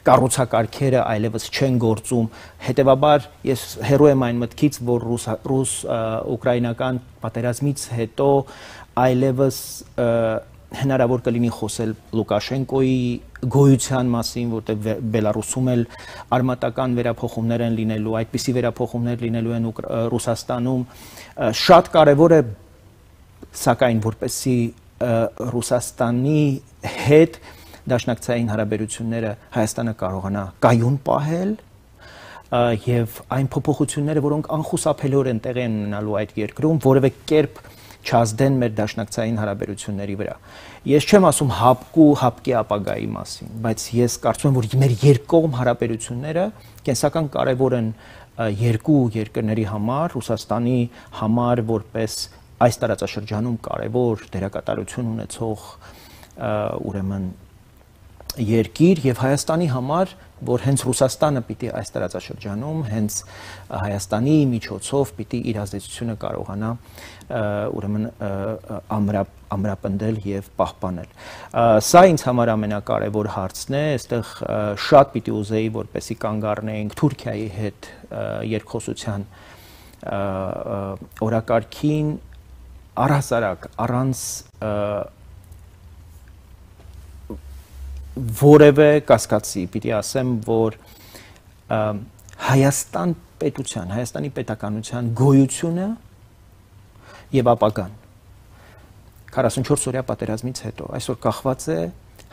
կառուցակարգերը այլևս չեն գործում։ Հետևաբար ես հեռու եմ այն մտքից, որ ռուս-ուկրաինական պատերազմից հետո այլևս հնարավոր կլինի խոսել Լուկաշենկոյի գոյության մասին, որտեղ Բելարուսում էլ արմատական վերափոխումներ են լինելու, այդպիսի վերափոխումներ լինելու են Ռուսաստանում։ Շատ կարևոր է, սակայն, որպեսզի Ռուսաստանի հետ դաշնակցային հարաբերությունները Հայաստանը կարողանա կայուն պահել եւ այն փոփոխությունները, որոնք անխուսափելիորեն տեղի են ունենալու այդ երկրում, որևէ կերպ չազդեն մեր դաշնակցային հարաբերությունների վրա։ Ես չեմ ասում հապկի ապագայի մասին, բայց ես կարծում եմ, որ մեր երկկողմ հարաբերությունները կենսական կարևոր են երկու երկրների համար, Ռուսաստանի համար որպես այս տարածաշրջանում կարևոր դերակատարություն ունեցող ուրեմն երկիր եւ Հայաստանի համար, որ հենց Ռուսաստանը պիտի այս տարածաշրջանում հենց Հայաստանի միջոցով պիտի իր ազդեցությունը կարողանա ուրեմն ամրապնդել եւ պահպանել։ Սա ինձ համար ամենակարևոր հարցն է, այստեղ շատ պիտի ուզեի, որպեսի կանգ առնեինք Թուրքիայի հետ երկխոսության օրակարգին առհասարակ առանց որևէ կասկածի, պիտի ասեմ, որ Հայաստան պետության, Հայաստանի պետականության գոյությունը եւ ապագան 44 օրյա պատերազմից հետո այսօր կախված է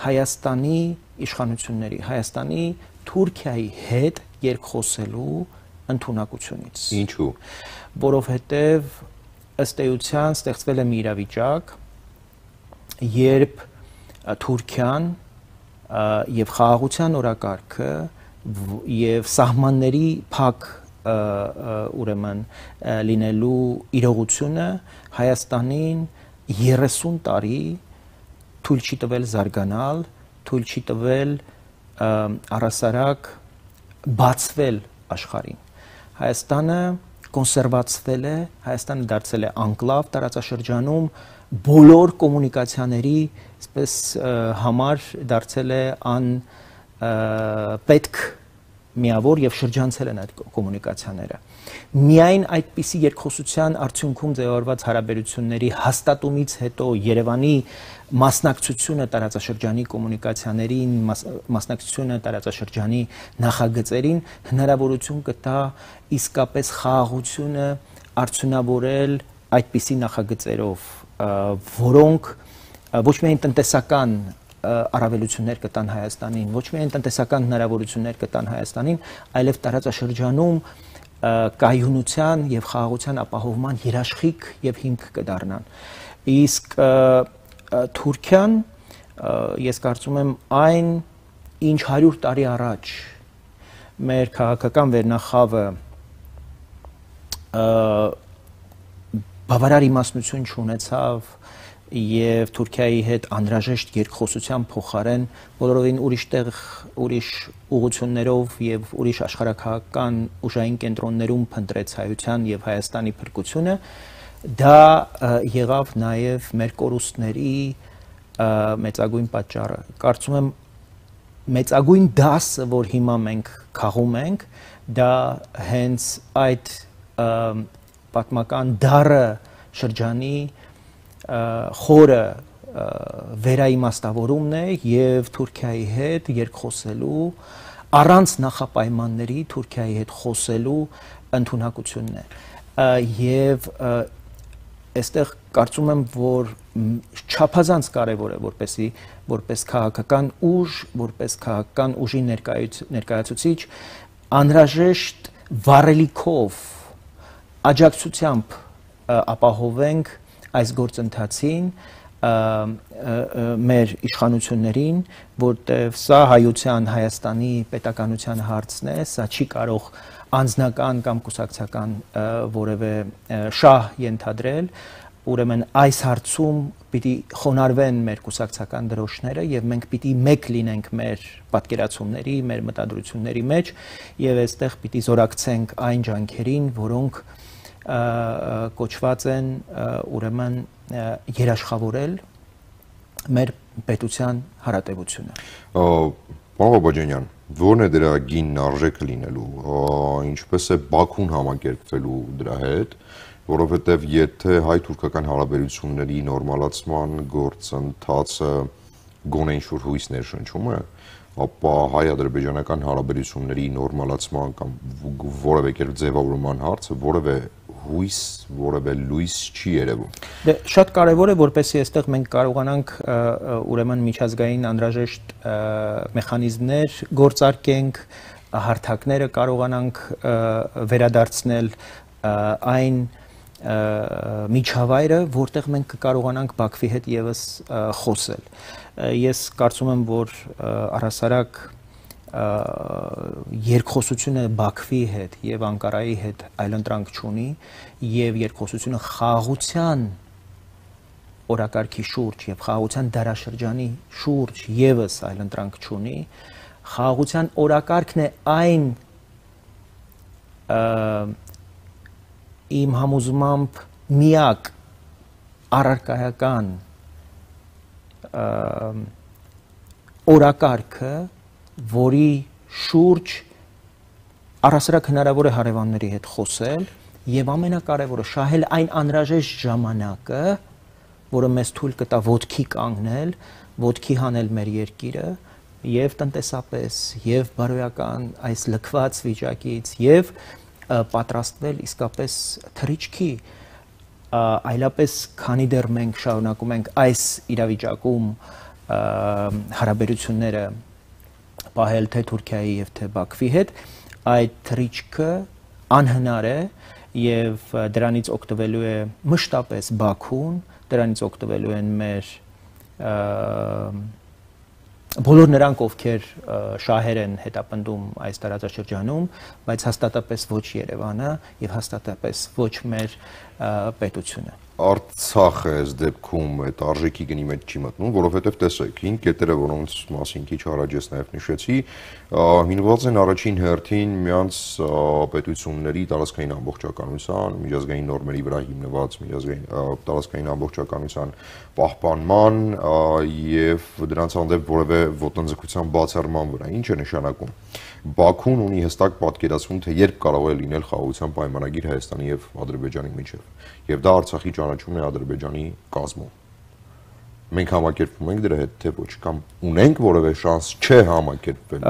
Հայաստանի իշխանությունների, Հայաստանի Թուրքիայի հետ երկխոսելու ընդունակությունից։ Ինչու՞։ Որովհետեւ ըստ էության ստեղծվել է մի իրավիճակ, երբ Թուրքիան եւ խաղաղության օրակարգը եւ սահմանների փակ ուրեմն լինելու իրողությունը Հայաստանին 30 տարի թույլ չի տվել զարգանալ, թույլ չի տվել առասարակ բացվել աշխարհին։ Հայաստանը կոնսերվացվել է, Հայաստանը դարձել է անկլավ տարածաշրջանում, բոլոր կոմունիկացիաների այսպես համար դարձել է պետք միավոր եւ շրջանցել են այդ կոմունիկացիաները։ Միայն այդպիսի երկխոսության արդյունքում ձևավորված հարաբերությունների հաստատումից հետո Երևանի մասնակցությունը տարածաշրջանի կոմունիկացիաներին, մասնակցությունը տարածաշրջանի նախագծերին հնարավորություն կտա իսկապես խաղաղությունը արդյունավորել այդպիսի նախագծերով, որոնք ոչ միայն տնտեսական առավելություններ կտան Հայաստանին, ոչ միայն տնտեսական հնարավորություններ կտան Հայաստանին, այլև տարածաշրջանում կայունության եւ խաղաղության ապահովման երաշխիք եւ հիմք կդառնան։ Իսկ Թուրքիան, ես կարծում եմ, այն ինչ 100 տարի առաջ մեր քաղաքական վերնախավը բավարար իմաստնություն չունեցավ եւ Թուրքիայի հետ անհրաժեշտ երկխոսության փոխարեն բոլորովին ուրիշ ուղղություններով եւ ուրիշ աշխարհակահաղական ուժային կենտրոններում փնտրեց հայության եւ Հայաստանի փրկությունը, դա եղավ նաեւ մեր կորուստների մեծագույն պատճառը։ Կարծում եմ մեծագույն դասը, որ հիմա մենք քաղում ենք, դա հենց այդ պատմական դառը շրջանի խորը վերաիմաստավորումն է եւ Թուրքիայի հետ երկխոսելու առանց նախապայմանների Թուրքիայի հետ խոսելու ընդունակությունն է եւ այստեղ կարծում եմ, որ չափազանց կարևոր է որպես քաղաքական ուժ, որպես քաղաքական ուժի ներկայացուցիչ անհրաժեշտ վառելիքով աջակցությամբ ապահովենք այս գործընթացին մեր իշխանություններին, որտեղ սա հայության, Հայաստանի պետականության հարցն է, սա չի կարող անձնական կամ կուսակցական որևէ շահ ենթադրել, ուրեմն այս հարցում պիտի խոնարհվեն մեր կուսակցական դրոշները եւ մենք պիտի մեկ լինենք մեր պատկերացումների, մեր մտադրությունների մեջ եւ այստեղ պիտի զորակցենք այն ջանքերին, որոնք կոչված են ուրեմն երաշխավորել մեր պետության հարատևությունը։ Պարոն Բաբաջանյան, ո՞րն է դրա գինն արժեքը լինելու, ինչպես է Բաքուն համակերպվելու դրա հետ, որովհետև եթե հայ-թուրքական հարաբերությունների նորմալացման գործընթացը գոնե ինչ-որ հույս ներշնչում է, ապա հայ-ադրբեջանական հարաբերությունների նորմալացման կամ որևէ կերպ ձևավորման հարցը որևէ հույս, որևէ լույս չի երևում։ Դե շատ կարևոր է, որպեսզի այստեղ մենք կարողանանք ուրեմն միջազգային անհրաժեշտ մեխանիզմներ գործարկենք, հարթակները կարողանանք վերադարձնել այն միջավայրը, որտեղ մենք կկարողանանք Բաքվի հետ եւս խոսել։ Ես կարծում եմ, որ առհասարակ երկխոսությունը Բաքվի հետ եւ Անկարայի հետ այլընտրանք չունի եւ երկխոսությունը խաղաղության օրակարգի շուրջ եւ խաղաղության դարաշրջանի շուրջ եւս այլընտրանք չունի, խաղաղության օրակարգն է այն իմ համոզմամբ միակ առարկայական օրակարգը, որի շուրջ առհասարակ հնարավոր է հարևանների հետ խոսել եւ ամենակարևորը շահել այն անհրաժեշտ ժամանակը, որը մեզ թույլ կտա ոտքի կանգնել, ոտքի հանել մեր երկիրը եւ տնտեսապես եւ բարոյական այս լքված վիճակից եւ պատրաստվել իսկապես թռիչքի, այլապես քանի դեռ մենք շարունակում ենք այս իրավիճակում հարաբերությունները պահել թե Թուրքիայի եւ թե Բաքվի հետ, այդ թռիչքը անհնար է եւ դրանից օգտվելու է մշտապես Բաքուն, դրանից օգտվելու են մեր բոլոր նրանք, ովքեր շահեր են հետապնդում այս տարածաշրջանում, բայց հաստատապես ոչ Երևանը եւ հաստատապես ոչ մեր պետությունը։ Արցախը այս դեպքում այդ արժեքի գնի մեջ չի մտնում, որովհետև տեսեք, 5 կետերը, որոնց մասին քիչ առաջ ես նաև նշեցի, հիմնված են առաջին հերթին մյանց պետությունների տարածքային ամբողջականության, միջազգային նորմերի վրա հիմնված տարածքային ամբողջականության պահպանման եւ դրանց հանդեպ որևէ ոտնձգության բացառման վրա։ Ինչ է նշանակում։ Բաքուն ունի հստակ պատկերացում, թե երբ կարող է լինել խաղաղության պայմանագիր Հայաստանի եւ Ադրբեջանի միջեւ, եւ դա Արցախի ճանաչումն է Ադրբեջանի կազմում։ Մենք համակերպվում ենք դրա հետ, թե ոչ, կամ ունենք որևէ շանս չէ համակերպվել։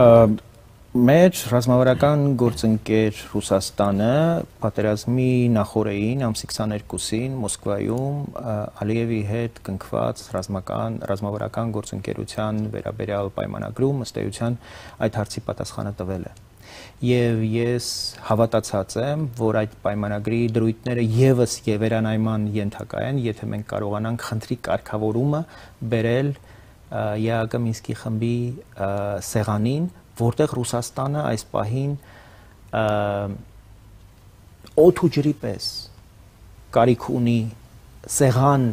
Մեր ռազմավարական գործընկեր Ռուսաստանը պատերազմի նախօրեին ամսի 22-ին Մոսկվայում Ալիևի հետ կնքված ռազմավարական գործընկերության վերաբերյալ պայմանագրում ըստ էության այդ հարցի պատասխանը տվել է։ Եվ ես հավատացած եմ, որ այդ պայմանագրի դրույթները եւս վերանայման ենթակա են, եթե մենք կարողանանք խնդրի կարգավորումը բերել ԵԱՀԿ Մինսկի խմբի սեղանին, որտեղ Ռուսաստանը այս պահին օդ ու ջրի պես կարիք ունի սեղան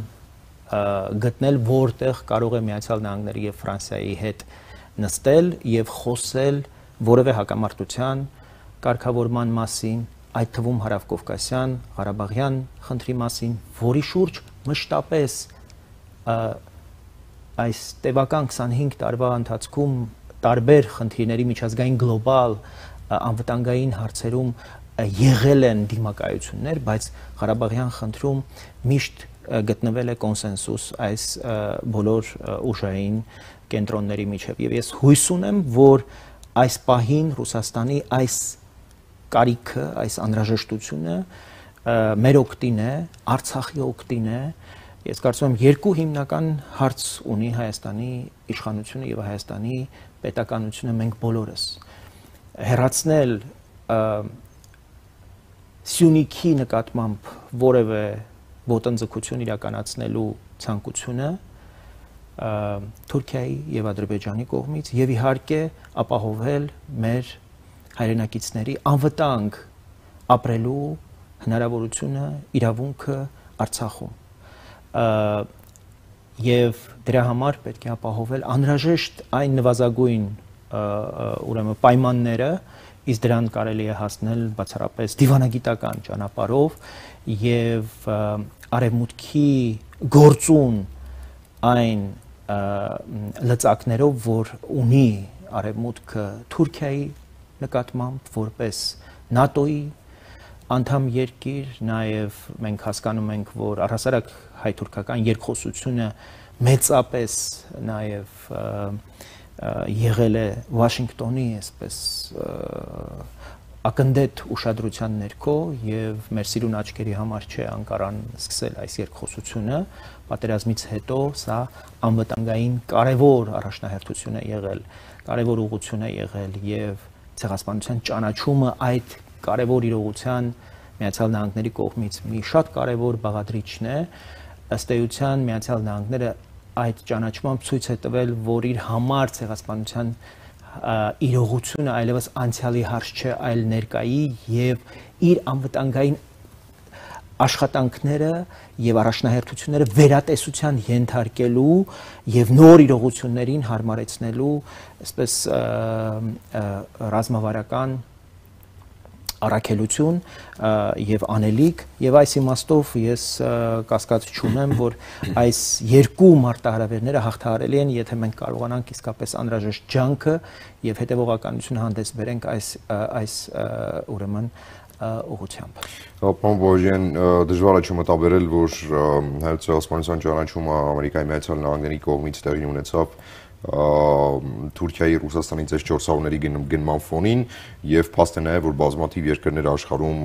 գտնել, որտեղ կարող է Միացյալ Նահանգների եւ Ֆրանսիայի հետ նստել եւ խոսել որևէ հակամարտության կարգավորման մասին, այդ թվում հարավկովկասյան, Ղարաբաղյան խնդրի մասին, որի շուրջ մշտապես այս տևական 25 տարվա ընթացքում տարբեր խնդիրների միջազգային գլոբալ անվտանգային հարցերում եղել են դիմակայություններ, բայց Ղարաբաղյան խնդրում միշտ գտնվել է կոնսենսուս այս բոլոր ուժային կենտրոնների միջև։ Եվ ես հույս ունեմ, որ այս պահին Ռուսաստանի այս կարիքը, այս անհրաժեշտությունը մեր օգտին է, Արցախի օգտին է։ Ես կարծում եմ երկու հիմնական հարց ունի Հայաստանի իշխանությունը եւ Հայաստանի պետականությունը, մենք բոլորս հեռացնել Սյունիքի նկատմամբ որևէ ոտնձգություն իրականացնելու ցանկությունը Թուրքիայի եւ Ադրբեջանի կողմից եւ իհարկե ապահովել մեր հայրենակիցների անվտանգ ապրելու հնարավորությունը, իրավունքը Արցախում։ Եվ դրա համար պետք է ապահովել անհրաժեշտ այն նվազագույն ուրեմն պայմանները, իսկ դրան կարելի է հասնել բացառապես դիվանագիտական ճանապարհով եւ արևմուտքի գործուն այն լծակներով, որ ունի արևմուտքը Թուրքիայի նկատմամբ որպես ՆԱՏՕ-ի անդամ երկիր, նաև մենք հասկանում ենք, որ առհասարակ հայ-թուրքական երկխոսությունը մեծապես նաև եղել է Վաշինգտոնի այսպես ակնդետ ուշադրության ներքո եւ մեր սիրուն աչքերի համար չէ Անկարան սկսել այս երկխոսությունը, պատերազմից հետո սա անվտանգային կարևոր առաջնահերթություն է եղել, կարևոր ուղղություն է եղել եւ ցեղասպանության ճանաչումը այդ կարևոր իրողության Միացյալ Նահանգների կողմից մի շատ կարևոր բաղադրիչն է, ըստ էության Միացյալ Նահանգները այդ ճանաչմամբ ցույց է տվել, որ իր համար ցեղասպանության իրողությունը այլևս անցյալի հարց չէ, այլ ներկայի եւ իր անվտանգային աշխատանքները եւ առաջնահերթությունները վերատեսության ենթարկելու եւ նոր իրողություններին հարմարեցնելու, այսպես ռազմավարական առաքելություն եւ անելիք եւ այս իմաստով ես կասկած չունեմ, որ այս երկու մարտահրավերները հաղթահարելի են, եթե մենք կարողանանք իսկապես անհրաժեշտ ջանքը եւ հետեւողականություն հանդես բերենք այս ուրեմն ուղղությամբ։ Պարոն Բոժյան, դժվար է չմտաբերել, որ հայոց ցեղասպանության ճանաչումը Ամերիկայի Միացյալ Նահանգների կողմից տեղի ունեցավ Թուրքիայի Ռուսաստանից այս 4 սահուների գնման ֆոնին եւ փաստ է նաեւ որ բազմաթիվ երկրներ աշխարհում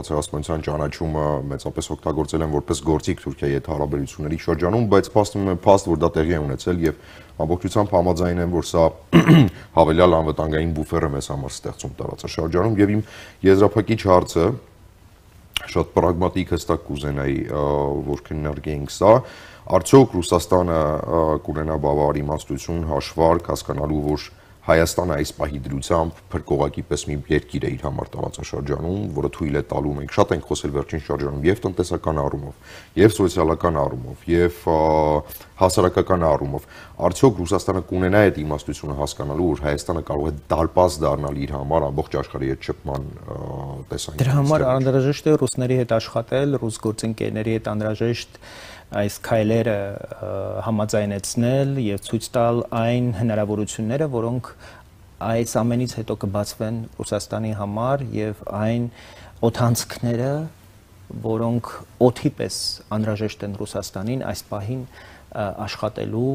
ցեղասպանության ճանաչումը մեծապես օգտագործել են որպես գործիք Թուրքիայի հետ հարաբերությունների շրջանում, բայց փաստ որ դա տեղի է ունեցել եւ ամբողջությամբ համաձայն են, որ սա հավելյալ անվտանգային բուֆեր է մեզ համար ստեղծում տարածաշրջանում եւ իմ եզրափակիչ հարցը շատ պրագմատիկ հստակ կուզենայի որ քննարկենք սա Արդյոք Ռուսաստանը կունենա բավարար իմաստություն, հաշվարկ հասկանալու, որ Հայաստանը այս պահի դրությամբ փրկողակի պես մի երկիր է իր համար տարածաշրջանում, որը թույլ է տալու մենք շատ ենք խոսել վերջին շրջանում եւ տնտեսական առումով, եւ սոցիալական առումով, եւ հասարակական առումով։ Արդյոք Ռուսաստանը կունենա այդ իմաստությունը հասկանալու, որ Հայաստանը կարող է դարպաս դառնալ իր համար ամբողջ աշխարհի հետ շփման տեսանկյունից։ Դրա համար անհրաժեշտ է ռուսների հետ աշխատել, ռուս գործընկերների հետ անհրաժեշտ այս քայլերը համաձայնեցնել եւ ցույց տալ այն հնարավորությունները, որոնք այս ամենից հետո կբացվեն Ռուսաստանի համար եւ այն օդանցքները, որոնք օդի պես անհրաժեշտ են Ռուսաստանին այս պահին աշխատելու,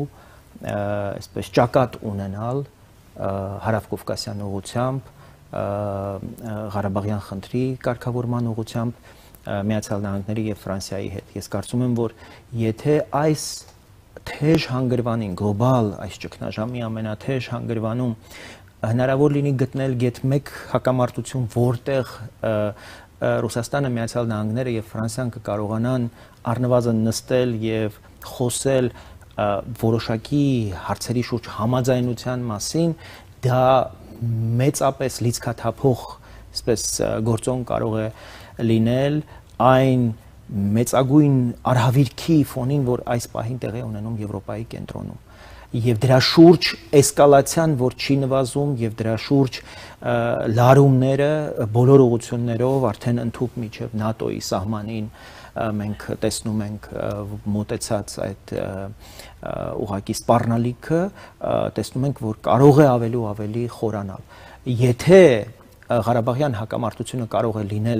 այսպես ճակատ ունենալ հարավկովկասյան ուղղությամբ, Ղարաբաղյան խնդրի կարգավորման ուղղությամբ Միացյալ Նահանգների եւ Ֆրանսիայի հետ։ Ես կարծում եմ, որ եթե այս թեժ հանգրվանին, գլոբալ այս ճգնաժամի ամենաթեժ հանգրվանում հնարավոր լինի գտնել գեթ մեկ հակամարտություն, որտեղ Ռուսաստանը, Միացյալ Նահանգները եւ Ֆրանսիան կկարողանան առնվազն նստել եւ խոսել որոշակի հարցերի շուրջ համաձայնության մասին, դա մեծապես լիցքաթափող, այսպես գործոն կարող է լինել այն մեծագույն արհավիրքի ֆոնին, որ այս պահին տեղի ունենում Եվրոպայի կենտրոնում եւ դրա շուրջ էսկալացիան, որ չի նվազում եւ դրա շուրջ լարումները բոլոր ուղղություններով արդեն ընդհուպ միջև ՆԱՏՕ-ի սահմանին մենք տեսնում ենք մոտեցած այդ ուղղակի սպառնալիքը, տեսնում ենք, որ կարող է ավելի ու ավելի խորանալ։ Եթե Ղարաբաղյան հակամարտությունը կարող է լինել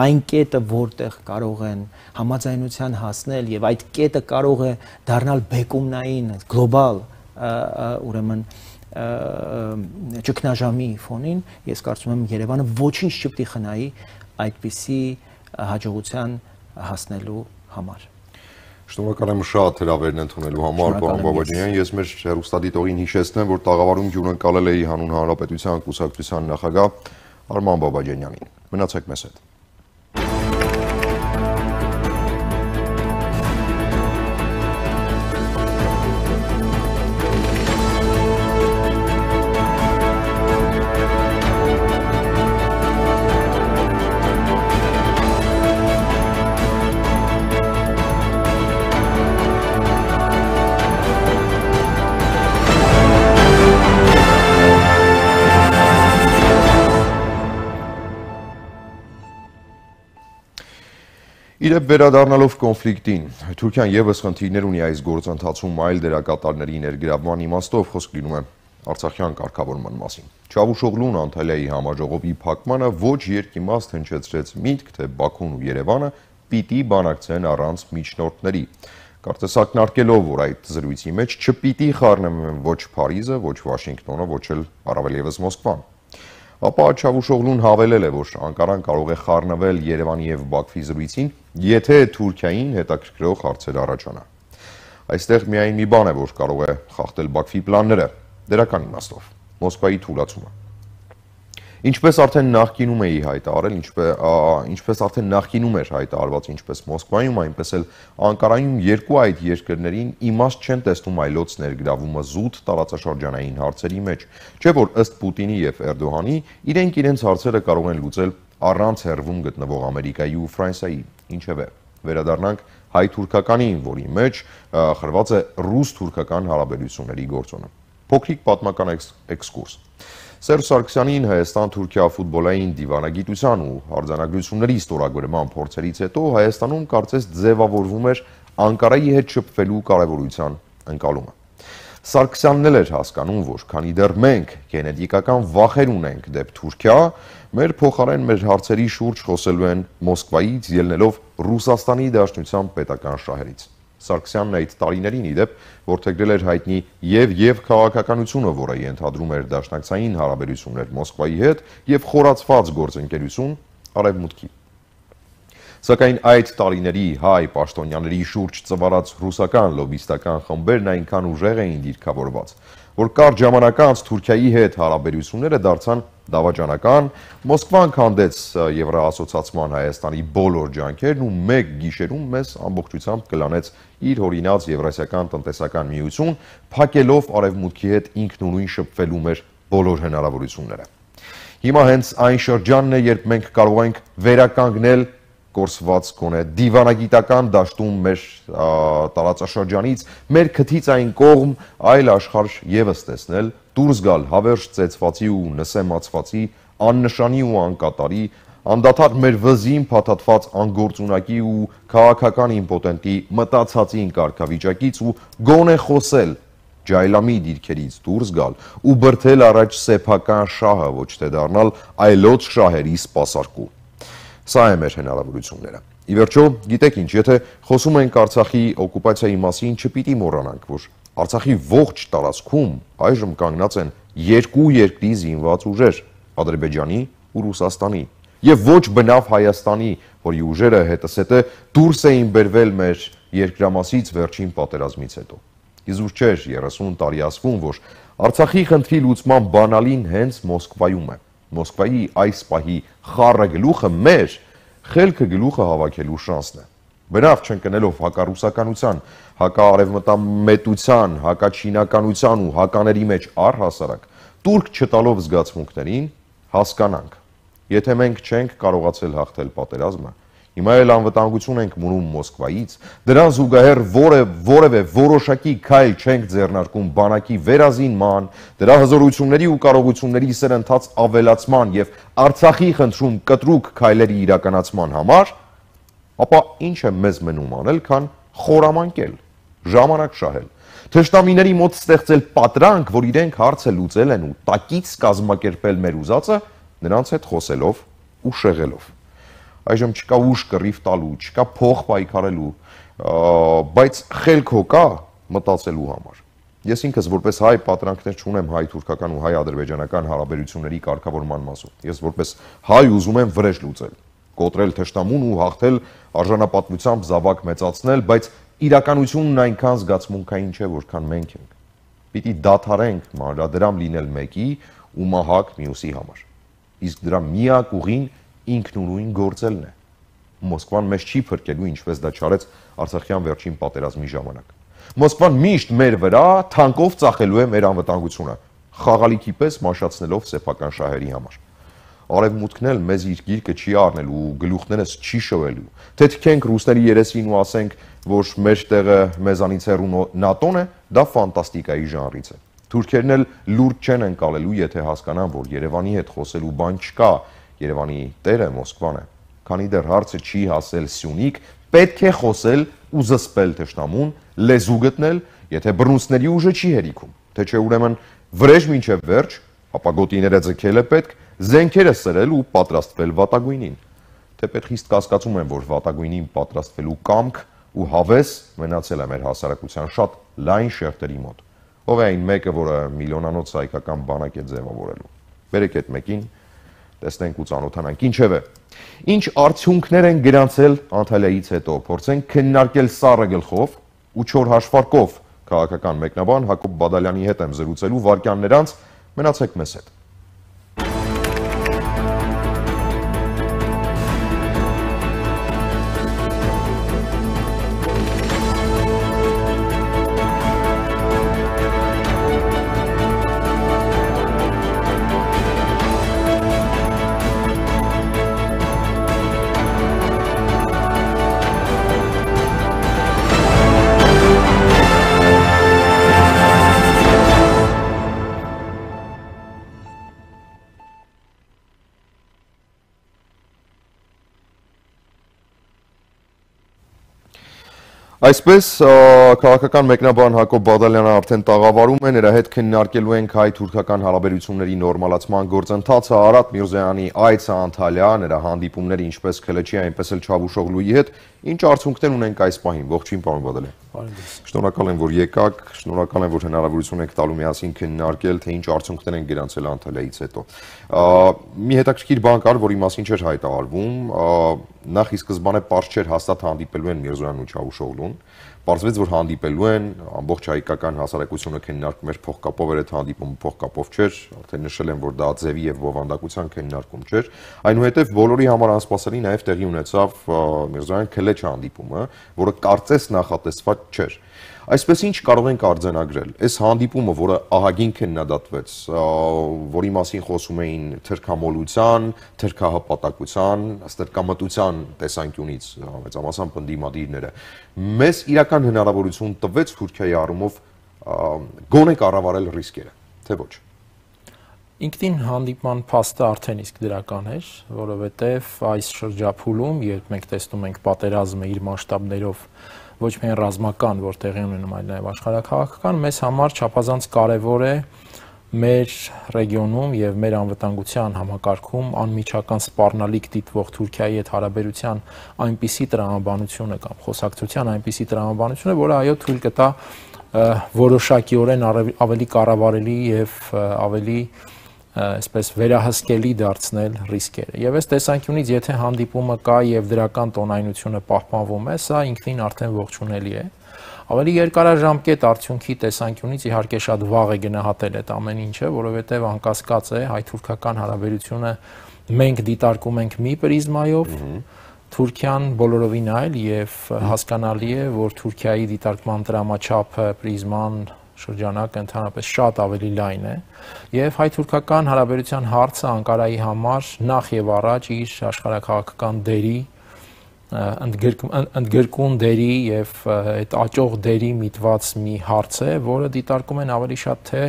այն կետը, որտեղ կարող են համաձայնության հասնել եւ այդ կետը կարող է դառնալ բեկումնային գլոբալ ուրեմն ճգնաժամի ֆոնին, ես կարծում եմ Երևանը ոչինչ չպետք է խնայի այդպիսի հաջողության հասնելու համար։ Շնորհակալ եմ շատ հրավերն ընդունելու համար, պարոն Բաբաջանյան։ Ես մեր հեռուստադիտողին հիշեցնեմ, որ տաղավարում ջունակալել էի Հանուն Հանրապետության կուսակցության նախագահ Արման Բաբաջանյանին։ Մնացեք մեզ հետ։ Իրեւ վերադառնալով կոնֆլիկտին, Թուրքիան եւս խնդիրներ ունի այս գործընթացում այլ դերակատարների ներգրավման իմաստով խոսք լինում է Արցախյան կարգավորման մասին։ Չավուշօղլուն Անտալիայի համաժողովի փակմանը ոչ երկիմաստ հնչեցրեց միտք, թե Բաքուն ու Երևանը պիտի բանակցեն առանց միջնորդների։ Կարծես ակնարկելով, որ այդ զրույցի մեջ չպիտի խառնվեն ոչ Փարիզը, ոչ Վաշինգտոնը, ոչ էլ առավել եւս Մոսկվան։ Ապա Չավուշօղլուն հավելել է, որ Անկարան կարող է խառնվել Երևանի եւ Բաքվի զրույցին, եթե Թուրքիային հետաքրքրող հարցեր առաջանա։ Այստեղ միայն մի բան է, որ կարող է խախտել Բաքվի պլանները, դերական իմաստով, Մոսկվայի թուլացումը։ Ինչպես արդեն նախկինում էի հայտարարել, ինչպես արդեն նախկինում էր հայտարարված ինչպես Մոսկվայում, այնպես էլ Անկարայում երկու այդ երկրներին իմաստ չեն տեսնում այլոց ներգրավումը զուտ տարածաշրջանային հարցերի մեջ, չէ՞ որ ըստ Պուտինի եւ Էրդողանի իրենք իրենց հարցերը կարող են լուծել առանց հեռվում գտնվող Ամերիկայի ու Ֆրանսիայի։ Ինչևէ, վերադառնանք հայ-թուրքականին, որի մեջ խրված է ռուս-թուրքական հարաբերությունների գործոնը։ Փոքրիկ պատմական էքսկուրս։ Սերժ Սարգսյանին Հայաստան-Թուրքիա ֆուտբոլային դիվանագիտության ու արձանագրությունների ստորագրման փորձերից հետո Հայաստանում կարծես ձևավորվում էր Անկարայի հետ շփվելու կարևորության ընկալումը։ Սարգսյանն էլ էր հասկանում, որ քանի դեռ մենք գենետիկական վախեր ունենք դեպ Թուրքիա, մեր փոխարեն մեր հարցերի շուրջ խոսելու են Մոսկվայից, ելնելով Ռուսաստանի Դաշնության պետական շահերից։ Սարգսյանն այդ տարիներին իդեպ որդեգրել էր հայտնի եւ քաղաքականությունը, որը ենթադրում էր դաշնակցային հարաբերություններ Մոսկվայի հետ եւ խորացված գործընկերություն Արևմուտքի։ Սակայն այդ տարիների հայ պաշտոնյաների շուրջ ծվարած ռուսական լոբիստական խմբերն այնքան ուժեղ էին դիրքավորված, որ կարճ ժամանակ անց Թուրքիայի հետ հարաբերությունները դարձան դավաճանական, Մոսկվան քանդեց Եվրոասոցիացման Հայաստանի բոլոր ջանքերն ու մեկ գիշերում մեզ ամբողջությամբ կլանեց իր հորինած Եվրասիական տնտեսական միություն, փակելով Արևմուտքի հետ ինքնուրույն շփվելու մեր բոլոր հնարավորությունները։ Հիմա հենց այն շրջանն է, երբ մենք կարող ենք վերականգնել կորսված գոնե դիվանագիտական դաշտում մեր տարածաշրջանից, մեր քթից այն կողմ այլ աշխարհ եւս տեսնել, դուրս գալ հավերժ ծեծվածի ու նսեմացվածի, աննշանի ու անկատարի, անդադար մեր վզին փաթաթված անգործունակի ու քաղաքական իմպոտենտի մտածածին կարգավիճակից ու գոնե խոսել ջայլամի դիրքերից դուրս գալ ու բրթել առաջ սեփական շահը, ոչ թե դառնալ այլոց շահերի սպասարկու։ Սա է մեր հնարավորությունները։ Ի վերջո, գիտեք ինչ, եթե խոսում ենք Արցախի օկուպացիայի մասին, չպիտի մոռանանք, որ Արցախի ողջ տարածքում այժմ կանգնած են երկու երկրի զինված ուժեր՝ Ադրբեջանի ու Ռուսաստանի, եւ ոչ բնավ Հայաստանի, որի ուժերը հետսետե դուրս էին բերվել մեր երկրամասից վերջին պատերազմից հետո։ Իզուր չէր 30 տարի ասվում, որ Արցախի խնդրի լուծման բանալին հենց Մոսկվայում է։ Մոսկվայի այս պահի խառը գլուխը մեր խելքը գլուխը հավաքելու շանսն է։ Բնավ չընկնելով հակառուսականության, հակաարևմտամետության, հակաչինականության ու հակաների մեջ առհասարակ տուրք չտալով զգացմունքներին հասկանանք։ Եթե մենք չենք կարողացել հաղթել պատերազմը, հիմա էլ անվտանգություն ենք մնում Մոսկվայից, դրան զուգահեռ որևէ որոշակի քայլ չենք ձեռնարկում բանակի վերազինման, դրա հզորությունների ու կարողությունների սրընթաց ավելացման եւ Արցախի խնդրում կտրուկ քայլերի իրականացման համար, ապա ինչ է մեզ մնում անել, քան խորամանկել, ժամանակ շահել, թշնամիների մոտ ստեղծել պատրանք, որ իրենք հարցը լուծել են ու տակից կազմակերպել մեր ուզածը, նրանց հետ խոսելով ու շեղելով։ Այժմ չկա ուժ կռիվ տալու, չկա փող պայքարելու, բայց խելք հո կա մտածելու համար։ Ես ինքս որպես հայ պատրանքներ չունեմ հայ-թուրքական ու հայ-ադրբեջանական հարաբերությունների կարգավորման մասով։ Ես որպես հայ ուզում եմ վրեժ լուծել, կոտրել թշնամուն ու հաղթել արժանապատվությամբ զավակ մեծացնել, բայց իրականությունն այնքան զգացմունքային չէ, որքան մենք ենք։ Պիտի դադարենք մանրադրամ լինել մեկի ու մահակ մյուսի համար։ Իսկ դրա միակ ուղին ինքնուրույն գործելն է։ Մոսկվան մեզ չի փրկելու, ինչպես դա չարեց Արցախյան վերջին պատերազմի ժամանակ։ Մոսկվան միշտ մեր վրա թանկով ծախելու է մեր անվտանգությունը, խաղալիքի պես մաշացնելով սեփական շահերի համար։ Արևմուտքն էլ մեզ իր գիրկը չի առնելու ու գլուխներս չի շոյելու։ Թե թքենք ռուսների երեսին ու ասենք, որ մեր տեղը մեզանից հեռու ՆԱՏՕ-ն է, դա ֆանտաստիկայի ժանրից է։ Թուրքերն էլ լուրջ չեն ընկալելու, եթե հասկանան, որ Երևանի հետ խոսելու բան չկա, Երևանի տերը Մոսկվան է։ Քանի դեռ հարցը չի հասել Սյունիք, պետք է խոսել ու զսպել թշնամուն, լեզու գտնել, եթե բռունցքների ուժը չի հերիքում, թե չէ ուրեմն վրեժ մինչև վերջ, ապա գոտիները ձգել է պետք, զենքերը սրել ու պատրաստվել վատագույնին։ Թեպետ խիստ կասկածում եմ, որ վատագույնին պատրաստվելու կամք ու հավես մնացել է մեր հասարակության շատ լայն շերտերի մոտ։ Ով է այն մեկը, որը միլիոնանոց հայկական բանակ է ձևավորելու։ Բերեք այդ մեկին, տեսնենք ու ծանոթանանք։ Ինչևէ, ինչ արդյունքներ են գրանցել Անտալիայից հետո, փորձենք քննարկել սառը գլխով ու չոր հաշվարկով քաղաքական մեկնաբան Հակոբ Բադալյանի հետ եմ զրուցելու վարքյաններ անց, մնացեք մեզ հետ։ Այսպես քաղաքական մեկնաբան Հակոբ Բադալյանը արդեն տաղավարում է, նրա հետ քննարկելու ենք հայ-թուրքական հարաբերությունների նորմալացման գործընթացը, Արադ Միրզոյանի այցը Անտալիա, նրա հանդիպումները ինչպես Քելեչի, այնպես էլ Չավուշօղլուի հետ, ինչ արդյունքներ ունենք այս պահին։ Ողջույն, պարոն Բադալյան։ Շնորհակալ եմ, որ եկաք, շնորհակալ եմ, որ հնարավորություն եք տալու միասին քննարկել, թե ինչ արդյունքներ են գրանցել Անտալիայից հետո։ Մի հետաքրքիր բան կար, որի մասին չէր հայտարարվում, նախ ի սկզբանե պարզ չէր հաստատ հանդիպելու են Միրզոյանն ու Չավուշօղլուն, պարզվեց, որ հանդիպելու են, ամբողջ հայկական հասարակությունը քննարկում էր փողկապով, էր այդ հանդիպումը փողկապով չէր, արդեն նշել եմ, որ դա ձևի եւ բովանդակության քննարկում չէր, այնուհետեւ բոլորի համար անսպասելի նաեւ տեղի ունեցավ Միրզոյան Քելեչ հանդիպումը, որը կարծես նախատեսված չէր։ Այսպես ինչ կարող ենք արձանագրել։ Այս հանդիպումը, որը ահագին քննադատվեց, որի մասին խոսում էին թրքամոլության, թրքահպատակության, ստրկամտության տեսանկյունից մեծամասամբ ընդդիմադիրները, մեզ իրական հնարավորություն տվեց Թուրքիայի առումով գոնե կառավարել ռիսկերը, թե ոչ։ Ինքնին հանդիպման փաստը արդեն իսկ դրական էր, որովհետև այս շրջափուլում, երբ մենք տեսնում ենք պատերազմը իր մասշտաբներով ոչ միայն ռազմական, որ տեղի ունենում, այլ նաև աշխարհաքաղաքական, մեզ համար չափազանց կարևոր է մեր ռեգիոնում եւ մեր անվտանգության համակարգում անմիջական սպառնալիք դիտվող Թուրքիայի հետ հարաբերության այնպիսի տրամաբանությունը կամ խոսակցության այնպիսի տրամաբանությունը, որը այո թույլ կտա որոշակիորեն ավելի կառավարելի եւ ավելի այսպես վերահսկելի դարձնել ռիսկերը։ Եվ այս տեսանկյունից, եթե հանդիպումը կա եւ դրական տոնայնությունը պահպանվում է, սա ինքնին արդեն ողջունելի է։ Ավելի երկարաժամկետ արդյունքի տեսանկյունից իհարկե շատ վաղ է գնահատել այդ ամեն ինչը, որովհետեւ անկասկած է հայ-թուրքական հարաբերությունը մենք դիտարկում ենք մի պրիզմայով, Թուրքիան բոլորովին այլ եւ հասկանալի է, որ Թուրքիայի դիտարկման դրամաչափը պրիզման շրջանակը ընդհանրապես շատ ավելի լայն է եւ հայ-թուրքական հարաբերության հարցը Անկարայի համար նախ եւ առաջ իր աշխարհաքաղաքական դերի ընդգրկուն դերի եւ այդ աճող դերի միտված մի հարց է, որը դիտարկում են ավելի շատ թե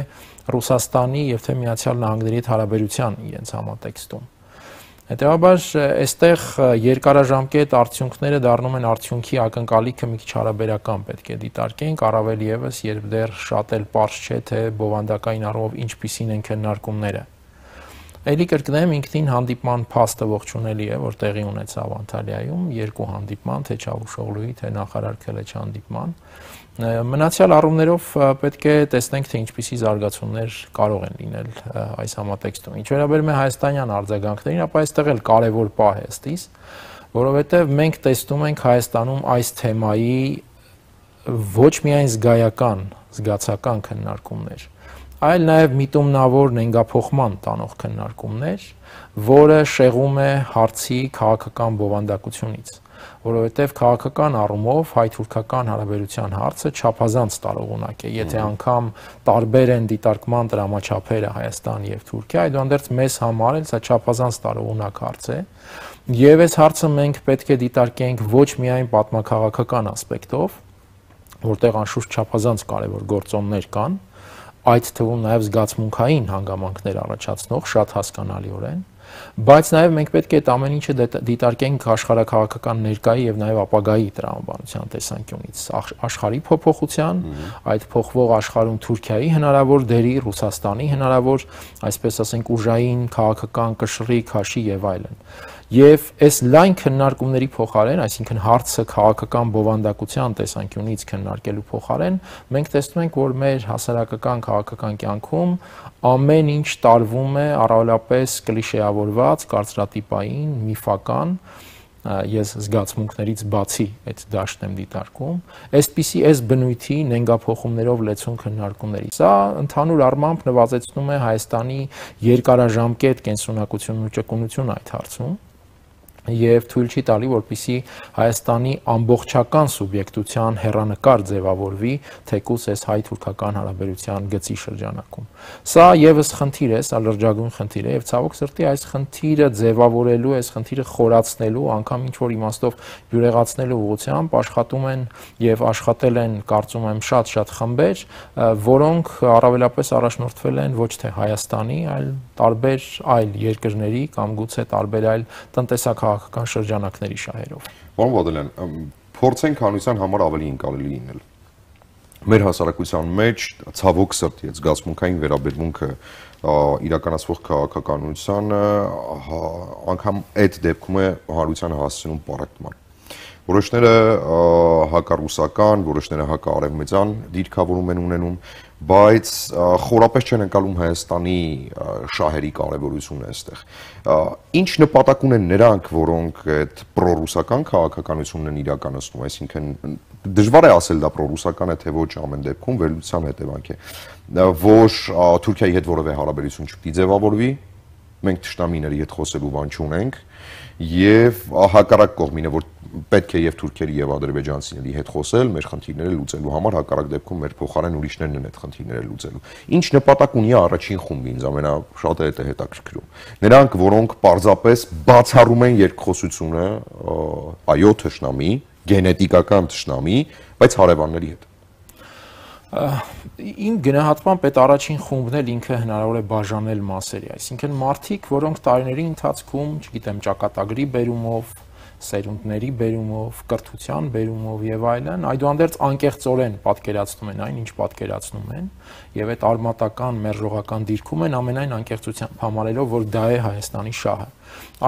Ռուսաստանի եւ թե Միացյալ Նահանգների հետ հարաբերության իրենց համատեքստում։ Հետևաբար այստեղ երկարաժամկետ արդյունքները դառնում են արդյունքի ակնկալիքը մի քիչ հարաբերական պետք է դիտարկենք, առավել եւս երբ դեռ շատ էլ պարզ չէ թե բովանդակային առումով ինչպիսին են քննարկումները։ Էլի կրկնեմ, ինքնին հանդիպման փաստը ողջունելի է, որ տեղի ունեցավ Անտալիայում, երկու հանդիպման, թե Չավուշօղլուի, թե նախարար Քելեչ հանդիպման։ Մնացյալ առումներով պետք է տեսնենք, թե ինչպիսի զարգացումներ կարող են լինել այս համատեքստում։ Ինչ վերաբերում է հայաստանյան արձագանքներին, ապա այստեղ էլ կարևոր պահ է ըստիս, որովհետև մենք տեսնում ենք Հայաստանում այս թեմայի ոչ միայն զգայական, զգացական քննարկումներ, այլ նաև միտումնավոր նենգափոխման տանող քննարկումներ, որը շեղում է հարցի քաղաքական բովանդակությունից, որովհետև քաղաքական առումով հայ-թուրքական հարաբերության հարցը չափազանց տարողունակ է, եթե անգամ տարբեր են դիտարկման տրամաչափերը Հայաստան եւ Թուրքիա, այդուհանդերձ մեզ համար էլ սա չափազանց տարողունակ հարց է, եւ այս հարցը մենք պետք է դիտարկենք ոչ միայն պատմաքաղաքական ասպեկտով, որտեղ անշուշտ չափազանց կարևոր գործոններ կան, այդ թվում նաև զգացմունքային հանգամանքներ առաջացնող շատ հասկանալիորեն, բայց նաև մենք պետք է այդ ամեն ինչը դիտարկենք աշխարհաքաղաքական ներկայի եւ նաև ապագայի տրամաբանության տեսանկյունից, աշխարհի փոփոխության, այդ փոխվող աշխարհում Թուրքիայի հնարավոր դերի, Ռուսաստանի հնարավոր, այսպես ասենք, ուժային քաղաքական կշռի, քաշի եւ այլն։ Եվ այս լայն քննարկումների փոխարեն, այսինքն հարցը քաղաքական բովանդակության տեսանկյունից քննարկելու փոխարեն, մենք տեսնում ենք, որ մեր հասարակական քաղաքական կյանքում ամեն ինչ տարվում է առավելապես կլիշեավորված, կարծրատիպային, միֆական, ես զգացմունքներից բացի այդ դաշտն եմ դիտարկում, այս բնույթի նենգափոխումներով լեցուն քննարկումների։ Սա ընդհանուր առմամբ նվազեցնում է Հայաստանի երկարաժամկետ կենսունակությունն ու ճկունությունը այդ հարցում եւ թույլ չի տալի, որպեսզի Հայաստանի ամբողջական սուբյեկտության հեռանկար ձևավորվի թեկուզ այս հայ-թուրքական հարաբերության գծի շրջանակում։ Սա եւս խնդիր է, սա լրջագույն խնդիր է եւ ցավոք սրտի այս խնդիրը ձևավորելու, այս խնդիրը խորացնելու, անգամ ինչ որ իմաստով բյուրեղացնելու ուղղությամբ աշխատում են եւ աշխատել են, կարծում եմ, շատ խմբեր, որոնք առավելապես առաջնորդվել են ոչ թե Հայաստանի, այլ տարբեր այլ երկրների կամ գուցե տարբեր այլ տնտեսական շրջանակների շահերով։ Պարոն Բադալյան, փորձենք հանրության համար ավելի ընկալելի լինել։ Մեր հասարակության մեջ ցավոք սրտի զգացմունքային վերաբերմունքը իրականացվող քաղաքականությանը անգամ այդ դեպքում է հանրությանը հասցնում պարեկտման։ Որոշները հակառուսական, որոշները հակաարևմտյան դիրքավորում են ունենում, բայց խորապես չեն ընկալում Հայաստանի շահերի կարևորությունը այստեղ։ Ինչ նպատակ ունեն նրանք, որոնք այդ պրոռուսական քաղաքականությունն են իրականացնում, այսինքն դժվար է ասել դա պրոռուսական է թե ոչ, ամեն դեպքում վերլուծության հետևանք է, որ Թուրքիայի հետ որևէ հարաբերություն չպիտի ձևավորվի, մենք թշնամիների հետ խոսելու բան չունենք, եւ հակառակ կողմինը, որ պետք է եւ թուրքերի եւ ադրբեջանցիների հետ խոսել, մեր խնդիրները լուծելու համար, հակառակ դեպքում մեր փոխարեն ուրիշներն են այդ խնդիրները լուծելու։ Ինչ նպատակ ունի առաջին խումբը, ինձ ամենաշատը դա է հետաքրքրում։ Նրանք, որոնք պարզապես բացառում են երկխոսությունը, այո, թշնամի, գենետիկական թշնամի, բայց հարևանների հետ։ Իմ գնահատմամբ այդ առաջին խումբն էլ ինքը հնարավոր է բաժանել մասերի, այսինքն մարդիկ, որոնք տարիների ընթացքում, չգիտեմ, ճակատագրի բերումով, սերունդների բերումով, կրթության բերումով եւ այլն, այդուհանդերձ անկեղծորեն պատկերացնում են այն, ինչ պատկերացնում են, եւ այդ արմատական մերժողական դիրքում են ամենայն անկեղծությամբ համարելով, որ դա է Հայաստանի շահը։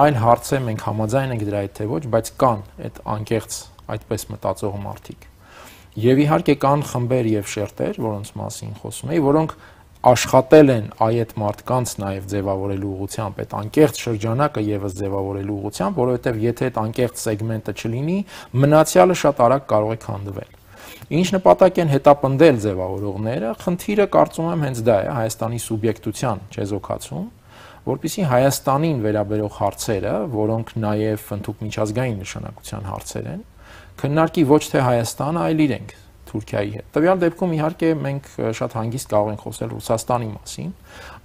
Այլ հարց է, մենք համաձայն ենք դրա հետ թե ոչ, բայց կան այդ անկեղծ այդպես մտածող մարդիկ։ Եվ իհարկե կան խմբեր եւ շերտեր, որոնց մասին խոսում էի, որոնք աշխատել են այդ մարդկանց նաեւ ձևավորելու ուղղությամբ, այդ անկեղծ շրջանակը եւս ձևավորելու ուղղությամբ, որովհետեւ եթե այդ անկեղծ սեգմենտը չլինի, մնացյալը շատ արագ կարող է քանդվել։ Ինչ նպատակ են հետապնդել ձևավորողները, խնդիրը կարծում եմ հենց դա է, Հայաստանի սուբյեկտության չեզոքացում, որպեսզի Հայաստանին վերաբերող հարցերը, որոնք նաեւ ընդհանուր միջազգային նշանակության հարցեր են, քննարկի ոչ թե Հայաստանը, այլ իրենք Թուրքիայի հետ։ Տվյալ դեպքում իհարկե մենք շատ հանգիստ կարող ենք խոսել Ռուսաստանի մասին,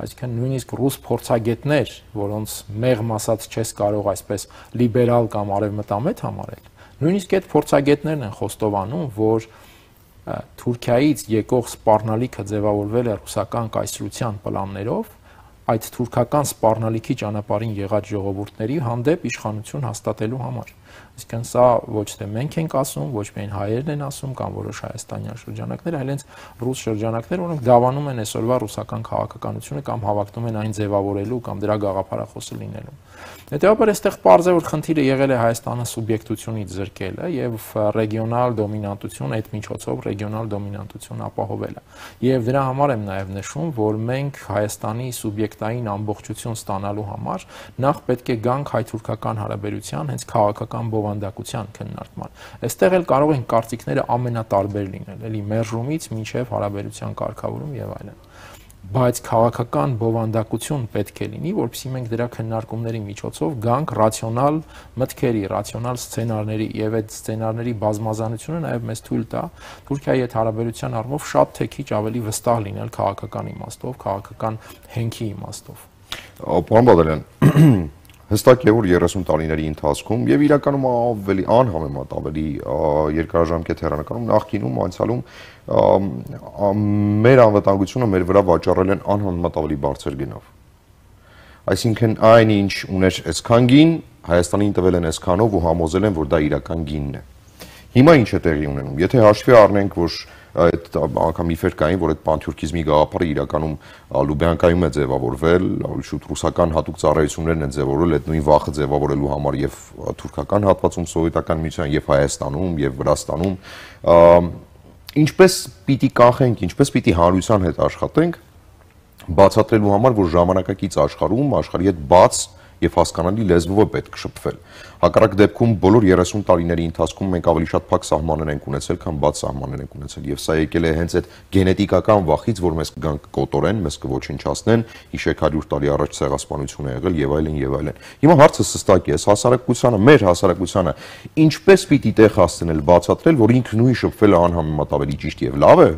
այսինքն նույնիսկ ռուս փորձագետներ, որոնց մեղմ ասած չես կարող այսպես լիբերալ կամ արևմտամետ համարել, նույնիսկ այդ փորձագետներն են խոստովանում, որ Թուրքիայից եկող սպառնալիքը ձևավորվել է ռուսական կայսրության պլաններով, այդ թուրքական սպառնալիքի ճանապարհին եղած ժողովուրդների հանդեպ իշխանություն հաստատելու համար։ Այսինքն սա ոչ թե մենք ենք ասում, ոչ միայն հայերն են ասում կամ որոշ հայաստանյան շրջանակներ, այլ հենց ռուս շրջանակներ, որոնք դավանում են այսօրվա ռուսական քաղաքականությունը կամ հավակնում են այն ձևավորելու կամ դրա գաղափարախոսը լինելու։ Հետևաբար այստեղ պարզ է, որ խնդիրը եղել է Հայաստանը սուբյեկտությունից զրկելը եւ ռեգիոնալ դոմինանտություն այդ միջոցով ռեգիոնալ դոմինանտություն ապահովելը։ Եվ դրա համար եմ նաեւ նշում, որ մենք Հայաստանի սուբյեկտային ամբողջություն ստանալու համար նախ պետք է գանք հայ-թուրքական հարաբերության հենց քաղաքական բովանդակության քննարկման։ Այստեղ էլ կարող են կարծիքները ամենատարբեր լինել, էլի մերժումից մինչև հարաբերության կարգավորում եւ այլն։ Բայց քաղաքական բովանդակություն պետք է լինի, որպեսզի մենք դրա քննարկումների միջոցով գանք ռացիոնալ մտքերի, ռացիոնալ սցենարների եւ այդ սցենարների բազմազանությունը նաեւ մեզ թույլ տա Թուրքիայի հետ հարաբերության առումով շատ թե քիչ ավելի վստահ լինել քաղաքական իմաստով, քաղաքական հենքի իմաստով։ Պարոն Բադալյան, հստակ է, որ 30 տարիների ընթացքում եւ իրականում ավելի անհամեմատ ավելի երկարաժամկետ հեռանկարում նախկինում անցյալում մեր անվտանգությունը մեր վրա վաճառել են անհամեմատ ավելի բարձր գնով։ Այսինքն այն ինչ ուներ այսքան գին, Հայաստանին տվել են այսքանով ու համոզել են, որ դա իրական գինն է։ Հիմա ինչ է տեղի ունենում։ Եթե հաշվի առնենք, որ այդ անգամ իֆեր կային, որ այդ պանթյուրքիզմի գաղափարը իրականում Լուբյանկայում է ձևավորվել, շուտ ռուսական հատուկ ծառայություններն են ձևավորել այդ նույն վախը ձևավորելու համար եւ թուրքական հատվածում սովետական միության եւ Հայաստանում եւ Վրաստանում, ինչպես պիտի կանխենք, ինչպես պիտի հանրության հետ աշխատենք բացատրելու համար, որ ժամանակակից աշխարհում աշխարհի հետ բաց եւ հասկանալի լեզվով է պետք շփվել։ Հակառակ դեպքում բոլոր 30 տարիների ընթացքում մենք ավելի շատ փակ սահմաններ ենք ունեցել, քան բաց սահմաններ ենք ունեցել եւ սա եկել է հենց այդ գենետիկական վախից, որ մեզ կգանք կոտորեն, մեզ կոչնչացնեն, հիշեք 100 տարի առաջ ցեղասպանություն է եղել եւ այլն եւ այլն։ Հիմա հարցը հստակ է, հասարակությանը, մեր հասարակությանը ինչպես պիտի տեղ հասցնել բացատրել, որ ինքը նույն շփվելը անհամեմատ ավելի ճիշտ եւ լավ է,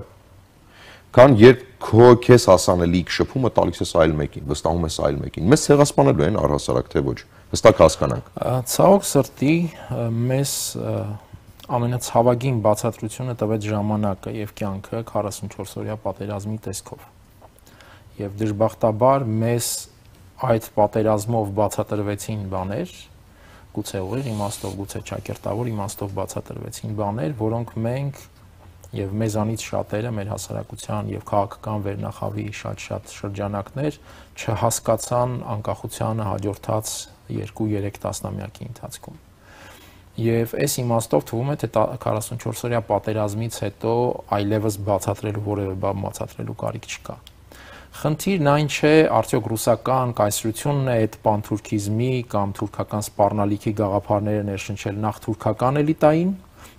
քան երբ քեզ հասանելիք շփումը տալիս ես այլ մեկին, վստահում ես այլ մեկին։ Մեզ ցեղասպանելու են առհասարակ թե ոչ։ Հստակ հասկանանք։ Ցավոք սրտի մեզ ամենացավագին բացատրությունը տվեց ժամանակը եւ կյանքը 44-օրյա պատերազմի տեսքով։ Եվ դժբախտաբար մեզ այդ պատերազմով բացատրվեցին բաներ, գուցե ուղիղ իմաստով, գուցե ճակերտավոր իմաստով բացատրվեցին բաներ, որոնք մենք եւ մեզանից շատերը մեր հասարակության եւ քաղաքական վերնախավի շատ շրջանակներ չհասկացան անկախությանը հաջորդած 2-3 տասնամյակի ընթացքում։ Եվ այս իմաստով թվում է, թե 44-օրյա պատերազմից հետո այլևս բացատրելու որևէ բան բացատրելու կարիք չկա։ Խնդիրն այն չէ, արդյոք ռուսական կայսրությունն է այդ պանթուրքիզմի կամ թուրքական սպառնալիքի գաղափարները ներշնչել նախ թուրքական էլիտային,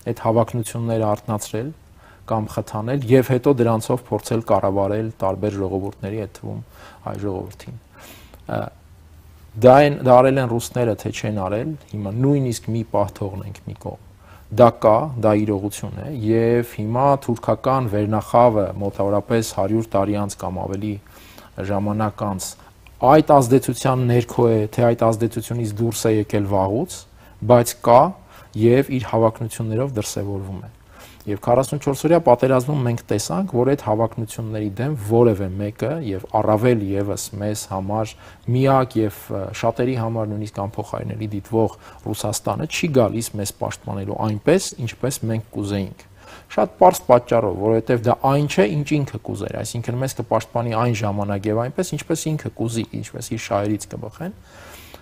այդ հավակնությունները արտնացրել կամ խթանել եւ հետո դրանցով փորձել կառավարել տարբեր ժողովուրդների, այդ թվում հայ ժողովրդին։ Դա արել են ռուսները, թե չեն արել, հիմա նույնիսկ մի պահ թողնենք մի կողմ։ Դա կա, դա իրողություն է եւ հիմա թուրքական վերնախավը մոտավորապես 100 տարի անց կամ ավելի ժամանակ անց այդ ազդեցության ներքո է, թե այդ ազդեցությունից դուրս է եկել վաղուց, բայց կա եւ իր հավակնություններով դրսեւորվում է։ Եվ 44-օրյա պատերազմում մենք տեսանք, որ այդ հավակնությունների դեմ որևէ մեկը եւ առավել եւս մեզ համար միակ եւ շատերի համար նույնիսկ անփոխարինելի դիտվող Ռուսաստանը չի գալիս մեզ պաշտպանելու այնպես, ինչպես մենք կուզեինք։ Շատ պարզ պատճառով, որովհետեւ դա այն չէ, ինչ ինքը կուզեր, այսինքն մեզ կպաշտպանի այն ժամանակ եւ այնպես, ինչպես ինքը կուզի, ինչպես իր շահերից կբխեն։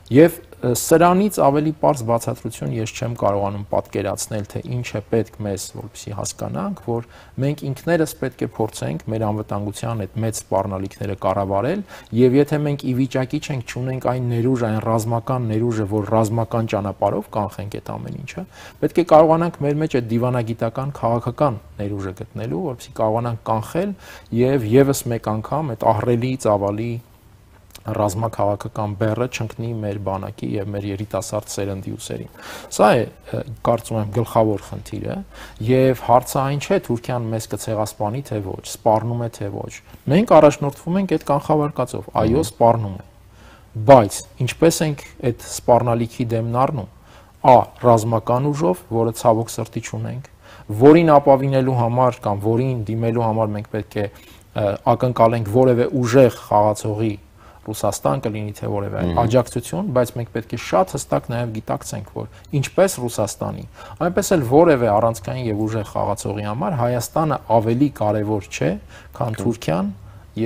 Եվ սրանից ավելի պարզ բացատրություն ես չեմ կարողանում պատկերացնել, թե ինչ է պետք մեզ, որպեսզի հասկանանք, որ մենք ինքներս պետք է փորձենք մեր անվտանգության այդ մեծ սպառնալիքները կառավարել, եւ եթե մենք ի վիճակի չենք, չունենք այն ներուժը, այն ռազմական ներուժը, որ ռազմական ճանապարհով կանխենք այդ ամեն ինչը, պետք է կարողանանք մեր մեջ այդ դիվանագիտական քաղաքական ներուժը գտնելու, որպեսզի կարողանանք կանխել եւ եւս մեկ անգամ այդ ահռելի ծավալի ռազմաքաղաքական բեռը չընկնի մեր բանակի եւ մեր երիտասարդ սերնդի ուսերին։ Սա է, կարծում եմ, գլխավոր խնդիրը եւ հարցը այն չէ Թուրքիան մեզ կցեղասպանի թե ոչ, սպառնում է թե ոչ։ Մենք առաջնորդվում ենք այդ կանխավարկածով, այո, սպառնում է։ Բայց ինչպես ենք այդ սպառնալիքի դեմն առնում։ Ա. ռազմական ուժով, որը ցավոք սրտի չունենք, որին ապավինելու համար կամ որին դիմելու համար մենք պետք է ակնկալենք որևէ ուժեղ խաղացողի Ռուսաստան կլինի թե որևէ աջակցություն, բայց մենք պետք է շատ հստակ նաև գիտակցենք, որ ինչպես Ռուսաստանի, այնպես էլ որևէ առանցքային եւ ուժեղ խաղացողի համար Հայաստանը ավելի կարևոր չէ, քան Թուրքիան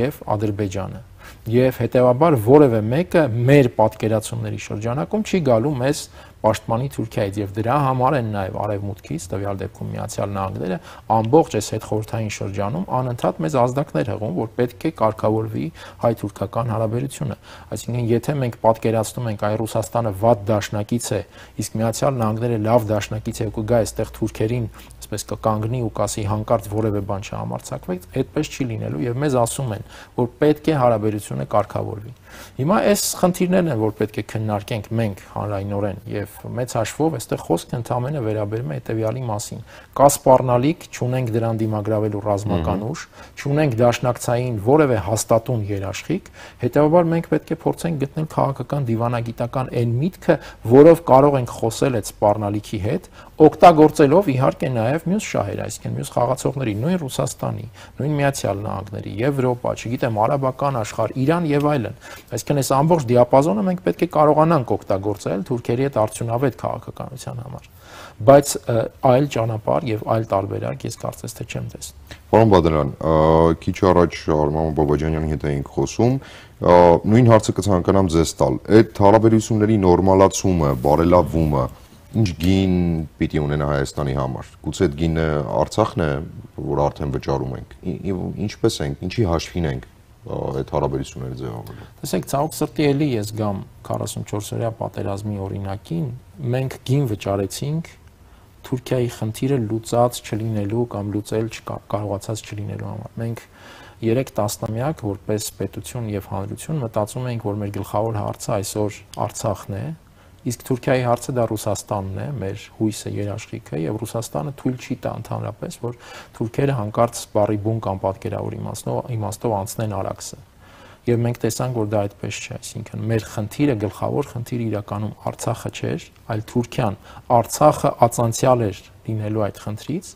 եւ Ադրբեջանը։ Եվ հետեւաբար որևէ մեկը մեր պատկերացումների շրջանակում չի գալու մեզ պաշտպանի Թուրքիայից եւ դրա համար են նաեւ արևմուտքից, տվյալ դեպքում Միացյալ Նահանգները, ամբողջ այս հետխորհրդային շրջանում անընդհատ մեզ ազդակներ հղում, որ պետք է կարգավորվի հայ-թուրքական հարաբերությունը։ Այսինքն, եթե մենք պատկերացնում ենք այ Ռուսաստանը վատ դաշնակից է, իսկ Միացյալ Նահանգները լավ դաշնակից է, ու կգա այստեղ թուրքերին, այսպես կկանգնի ու կասի հանկարծ որևէ բան չհամարցակվեք, այդպես չի լինելու եւ մեզ ասում են, որ պետք է հարաբերությունը կարգավորվի։ Հիմա այս խնդիրներն են, որ պետք է քննարկենք մենք հանրայնորեն եւ մեծ հաշվով այստեղ խոսքը ընդհանրապես վերաբերում է հետեւյալի մասին։ Կա սպառնալիք, չունենք դրան դիմագրավելու ռազմական ուժ, չունենք դաշնակցային որևէ հաստատուն երաշխիք, հետեւաբար մենք պետք է փորձենք գտնել քաղաքական դիվանագիտական այն միտքը, որով կարող ենք խոսել այդ սպառնալիքի հետ, օգտագործելով իհարկե նաեւ մյուս շահեր, այսինքն մյուս խաղացողների, նույն Ռուսաստանի, նույն Միացյալ Նահանգների, Եվրոպա, չգիտեմ, արաբական աշխարհ, Իրան եւ այլն։ Այսինքն այս ամբողջ դիապազոնը մենք պետք է կարողանանք օգտագործել թուրքերի հետ արդյունավետ քաղաքականության համար, բայց այլ ճանապարհ եւ այլ տարբերակ ես կարծես թե չեմ տեսնում։ Պարոն Բադրյան, քիչ առաջ Արման Բաբաջանյանի հետ էինք խոսում, նույն հարցը կցանկանամ ձեզ տալ։ Այդ հարաբերությունների նորմալացումը, բարելավումը ինչ գին պիտի ունենա Հայաստանի համար։ Գուցե այդ գինը Արցախն է, որ արդեն վճարում ենք։ Ինչպես ենք, ինչի հաշվին ենք այդ հարաբերությունները ձևավորել։ Տեսեք, ցավոք սրտի էլի ես գամ 44-օրյա պատերազմի օրինակին, մենք գին վճարեցինք Թուրքիայի խնդիրը լուծած չլինելու կամ լուծել կարողացած չլինելու համար։ Մենք 3 տասնամյակ որպես պետություն եւ հանրություն մտածում ենք, որ մեր գլխավոր հարցը այսօր Արցախն է, իսկ Թուրքիայի հարցը դա Ռուսաստանն է, մեր հույսը, երաշխիքը, եւ Ռուսաստանը թույլ չի տա ընդհանրապես, որ թուրքերը հանկարծ բարի բուն կամ պատկերավոր իմաստով անցնեն Արաքսը։ Եվ մենք տեսանք, որ դա այդպես չէ, այսինքն մեր խնդիրը, գլխավոր խնդիրը իրականում Արցախը չէր, այլ Թուրքիան։ Արցախը ածանցյալ էր լինելու այդ խնդրից,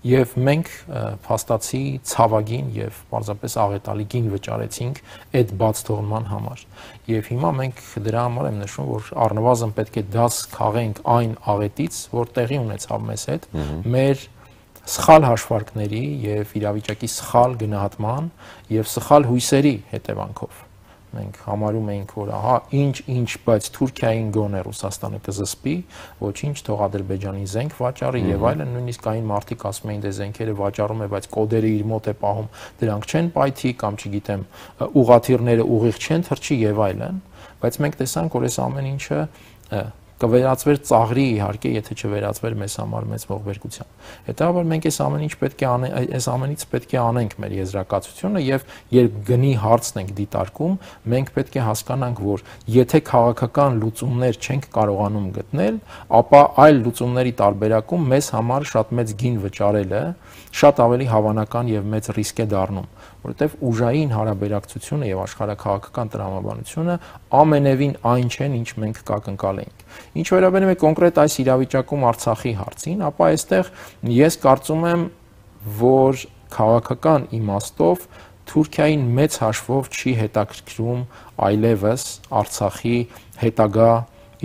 Եվ մենք փաստացի ցավագին եւ պարզապես աղետալի գին վճարեցինք այդ բաց թողնման համար։ Եվ հիմա մենք դրա համար եմ նշում, որ առնվազն պետք է դաս քաղենք այն աղետից, որ տեղի ունեցավ մեզ հետ, մեր սխալ հաշվարկների եւ իրավիճակի սխալ գնահատման եւ սխալ հույսերի հետևանքով։ Մենք համարում էինք, որ ահա ինչ, բայց Թուրքիային գոնե Ռուսաստանը կզսպի, ոչինչ, թող Ադրբեջանի զենք վաճառի եւ այլն, նույնիսկ այն մարդիկ ասում էին, դե զենքերը վաճառում է, բայց կոդերը իր մոտ է պահում, դրանք չեն պայթի կամ չգիտեմ, ուղաթիռները ուղիղ չեն թռչի եւ այլն, բայց մենք տեսանք, որ այս ամեն ինչը կվերածվեր ծաղրի իհարկե, եթե չվերածվեր մեզ համար մեծ ողբերգության։ Հետևաբար մենք այս ամենից պետք է անենք մեր եզրակացությունը եւ երբ գնի հարցն ենք դիտարկում, մենք պետք է հասկանանք, որ եթե քաղաքական լուծումներ չենք կարողանում գտնել, ապա այլ լուծումների տարբերակում մեզ համար շատ մեծ գին վճարելը շատ ավելի հավանական եւ մեծ ռիսկ է դառնում, որովհետեւ ուժային հարաբերակցությունը եւ աշխարհաքաղաքական տրամաբանությունը ամենևին այն չեն, ինչ մենք կակնկալեինք։ Ինչ վերաբերում է կոնկրետ այս իրավիճակում Արցախի հարցին, ապա այստեղ ես կարծում եմ, որ քաղաքական իմաստով Թուրքիային մեծ հաշվով չի հետաքրքրում այլևս Արցախի հետագա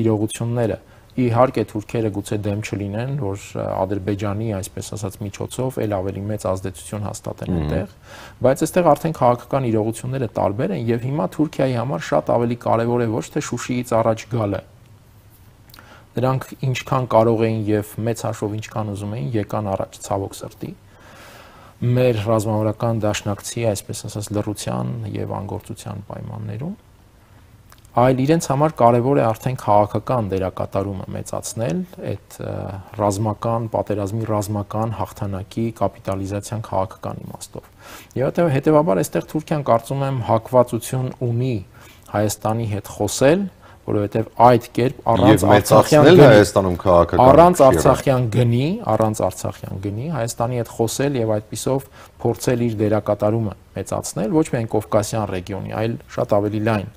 իրողությունները։ Իհարկե թուրքերը գուցե դեմ չլինեն, որ Ադրբեջանի, այսպես ասած, միջոցով էլ ավելի մեծ ազդեցություն հաստատեն այնտեղ, բայց այստեղ արդեն քաղաքական իրողությունները տարբեր են եւ հիմա Թուրքիայի համար շատ ավելի կարեւոր է ոչ թե Շուշիից առաջ գալը։ Դրանք ինչքան կարող էին եւ մեծ հաշվով ինչքան ուզում էին, եկան առաջ ցավոք սրտի։ Մեր ռազմավարական դաշնակցի, այսպես ասած, լռության եւ անգործության պայմաններում, այլ իրենց համար կարևոր է արդեն քաղաքական դերակատարումը մեծացնել այդ ռազմական պատերազմի ռազմական հաղթանակի կապիտալիզացիան քաղաքական իմաստով։ Եվ հետեւաբար այստեղ Թուրքիան կարծում եմ հակվածություն ունի Հայաստանի հետ խոսել, որովհետև այդ կերպ առանց Արցախյան գնի Հայաստանի հետ խոսել եւ այդպիսով փորձել իր դերակատարումը մեծացնել ոչ միայն Կովկասյան ռեգիոնի, այլ շատ ավելի լայն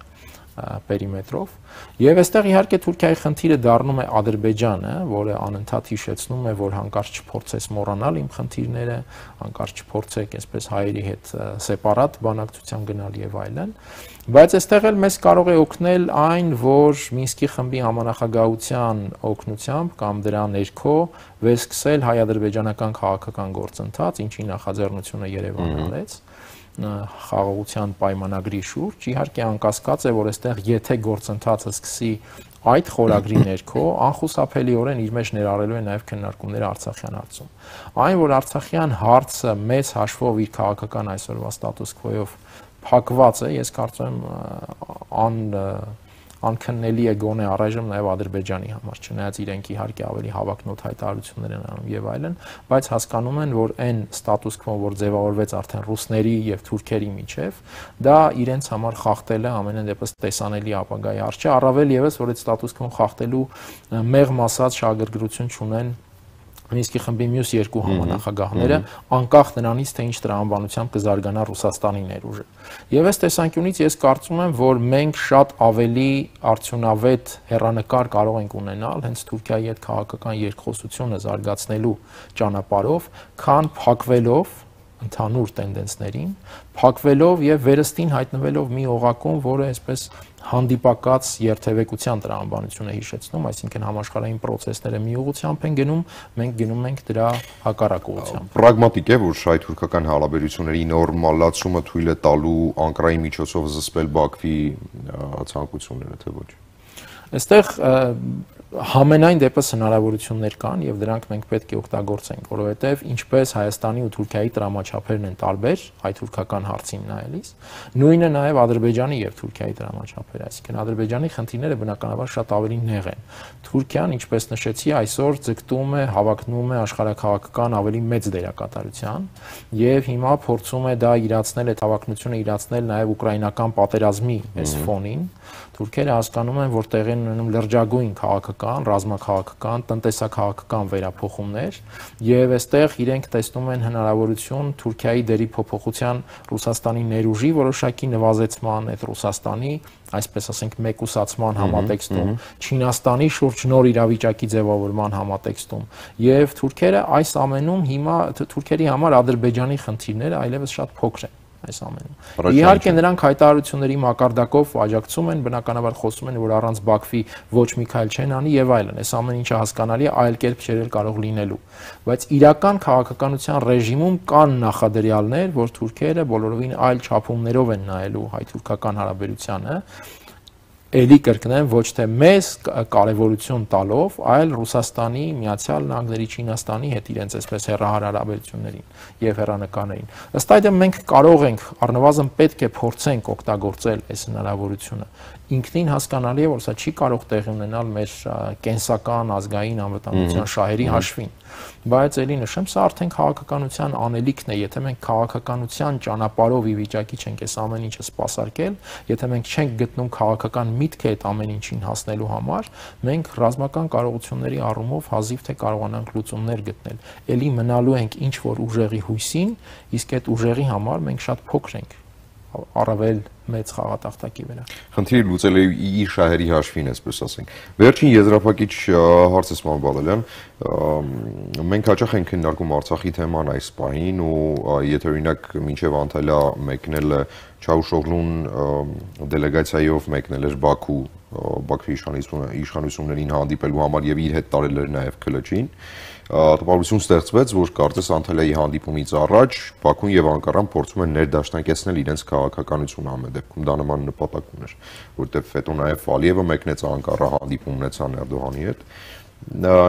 պերիմետրով եւ այստեղ իհարկե Թուրքիայի խնդիրը դառնում է Ադրբեջանը, որը անընդհատ հիշեցնում է, որ հանկարծ չփորձես մոռանալ իմ խնդիրները, հանկարծ չփորձեք այսպես հայերի հետ սեպարատ բանակցության գնալ եւ այլն, բայց այստեղ էլ մեզ կարող է օգնել այն, որ Մինսկի խմբի համանախագահության օգնությամբ կամ դրա ներքո վերսկսել հայ-ադրբեջանական քաղաքական գործընթաց, ինչի նախաձեռնությունը Երևանը արեց խաղաղության պայմանագրի շուրջ, իհարկե անկասկած է, որ այստեղ եթե գործընթացը սկսի այդ խորագրի ներքո, անխուսափելիորեն իր մեջ ներառելու է նաև քննարկումները Արցախյան հարցում։ Այն, որ Արցախյան հարցը մեծ հաշվով իր քաղաքական այսօրվա ստատուս քվոյով փակված է, ես կարծում եմ անքննելի է գոնե առայժմ նաև Ադրբեջանի համար, չնայած իրենք իհարկե ավելի հավակնոտ հայտարարություններ են անում եւ այլն, բայց հասկանում են, որ այն ստատուս քվոն, որ ձևավորվեց արդեն ռուսների եւ թուրքերի միջև, դա իրենց համար խախտելը ամենայն դեպս տեսանելի ապագայի հարց չէ, առավել եւս, որ այդ ստատուս քվոն խախտելու մեղմ ասած շահագրգռություն չունեն Մինսկի խմբի մյուս երկու համանախագահները, անկախ նրանից, թե ինչ տրամաբանությամբ կզարգանա Ռուսաստանի ներուժը։ Եվ այս տեսանկյունից ես կարծում եմ, որ մենք շատ ավելի արդյունավետ հեռանկար կարող ենք ունենալ հենց Թուրքիայի հետ քաղաքական երկխոսությունը զարգացնելու ճանապարհով, քան փակվելով ընդհանուր տենդենսներին, փակվելով եւ վերստին հայտնվելով մի օղակում, որը այսպես հանդիպակաց երթևեկության տրամաբանություն է հիշեցնում, այսինքն համաշխարհային process-ները մի ուղղությամբ են գնում, մենք գնում ենք դրա հակառակ ուղղությամբ։ Պրագմատիկ է, որ հայ-թուրքական հարաբերությունների նորմալացումը թույլ է տալու Անկարայի միջոցով զսպել Բաքվի ցանկությունները, թե ոչ։ Այստեղ համենայն դեպս հնարավորություններ կան եւ դրանք մենք պետք է օգտագործենք, որովհետեւ ինչպես Հայաստանի ու Թուրքիայի տրամաչափերն են տարբեր հայ-թուրքական հարցին նայելիս, նույնը նաեւ Ադրբեջանի եւ Թուրքիայի տրամաչափերը, այսինքն Ադրբեջանի խնդիրները բնականաբար շատ ավելի նեղ են։ Թուրքիան, ինչպես նշեցի, այսօր ձգտում է, հավակնում է աշխարհաքաղաքական ավելի մեծ դերակատարության եւ հիմա փորձում է դա իրացնել, այդ հավակնությունը իրացնել նաեւ ուկրաինական պատերազմի այս ֆոնին։ Թուրքերը հասկանում են, որ տեղի ունենում լրջագույն քաղաքական քաղաքական, ռազմաքաղաքական, տնտեսաքաղաքական վերափոխումներ եւ այստեղ իրենք տեսնում են հնարավորություն Թուրքիայի դերի փոփոխության Ռուսաստանի ներուժի որոշակի նվազեցման, այդ Ռուսաստանի, այսպես ասենք, մեկուսացման համատեքստում, Չինաստանի շուրջ նոր իրավիճակի ձևավորման համատեքստում եւ թուրքերը այս ամենում հիմա թուրքերի համար Ադրբեջանի խնդիրները այլևս շատ փոքր են այս ամենում։ Իհարկե նրանք հայտարարությունների մակարդակով աջակցում են, բնականաբար խոսում են, որ առանց Բաքվի ոչ մի քայլ չեն անի եւ այլն։ Այս ամեն ինչը հասկանալի է, այլ կերպ չէր կարող լինելու։ Բայց իրական քաղաքականության ռեժիմում կան նախադրյալներ, որ թուրքերը բոլորովին այլ չափումներով են նայելու հայ-թուրքական հարաբերությանը, էլի կրկնեմ, ոչ թե մեզ կարևորություն տալով, այլ Ռուսաստանի, Միացյալ Նահանգների, Չինաստանի հետ իրենց այսպես հեռահար հարաբերություններին եւ հեռանկարներին։ Ըստ այդմ մենք կարող ենք, առնվազն պետք է փորձենք օգտագործել այս հնարավորությունը։ Ինքնին հասկանալի է, որ սա չի կարող տեղի ունենալ մեր կենսական ազգային անվտանգության շահերի հաշվին, բայց ելի նշեմ, սա արդեն քաղաքականության անելիքն է, եթե մենք քաղաքականության ճանապարհով ի վիճակի չենք այս ամեն ինչը սպասարկել, եթե մենք չենք գտնում քաղաքական միտքը այդ ամեն ինչին հասնելու համար, մենք ռազմական կարողությունների առումով հազիվ թե կարողանանք լուծումներ գտնել։ Էլի մնալու ենք ինչ որ ուժեղի հույսին, իսկ այդ ուժեղի համար մենք շատ փոքր ենք առավել մեծ խաղատախտակի վրա։ Խնդիրը լուծել է իր շահերի հաշվին, այսպես ասենք։ Վերջին եզրափակիչ հարց է Սման Բադալյան, մենք հաճախ ենք քննարկում Արցախի թեման այս պահին ու եթե օրինակ մինչև Անտալիա մեկնել Չաուշօղլուն դելեգացիայով մեկնել էր Բաքու, Բաքվի իշխանություններին հանդիպելու համար եւ իր հետ տարել էր նաեւ Քլչին, տպավորություն ստեղծվեց, որ կարծես Անտալիայի հանդիպումից առաջ Բաքուն եւ Անկարան փորձում են ներդաշնակեցնել իրենց քաղաքականությունը ամեն դեպքում դա նման նպատակ ուներ, որտեղ հետո նաեւ Ալիևը մեկնեց Անկարա հանդիպում ունեցան Էրդողանի հետ։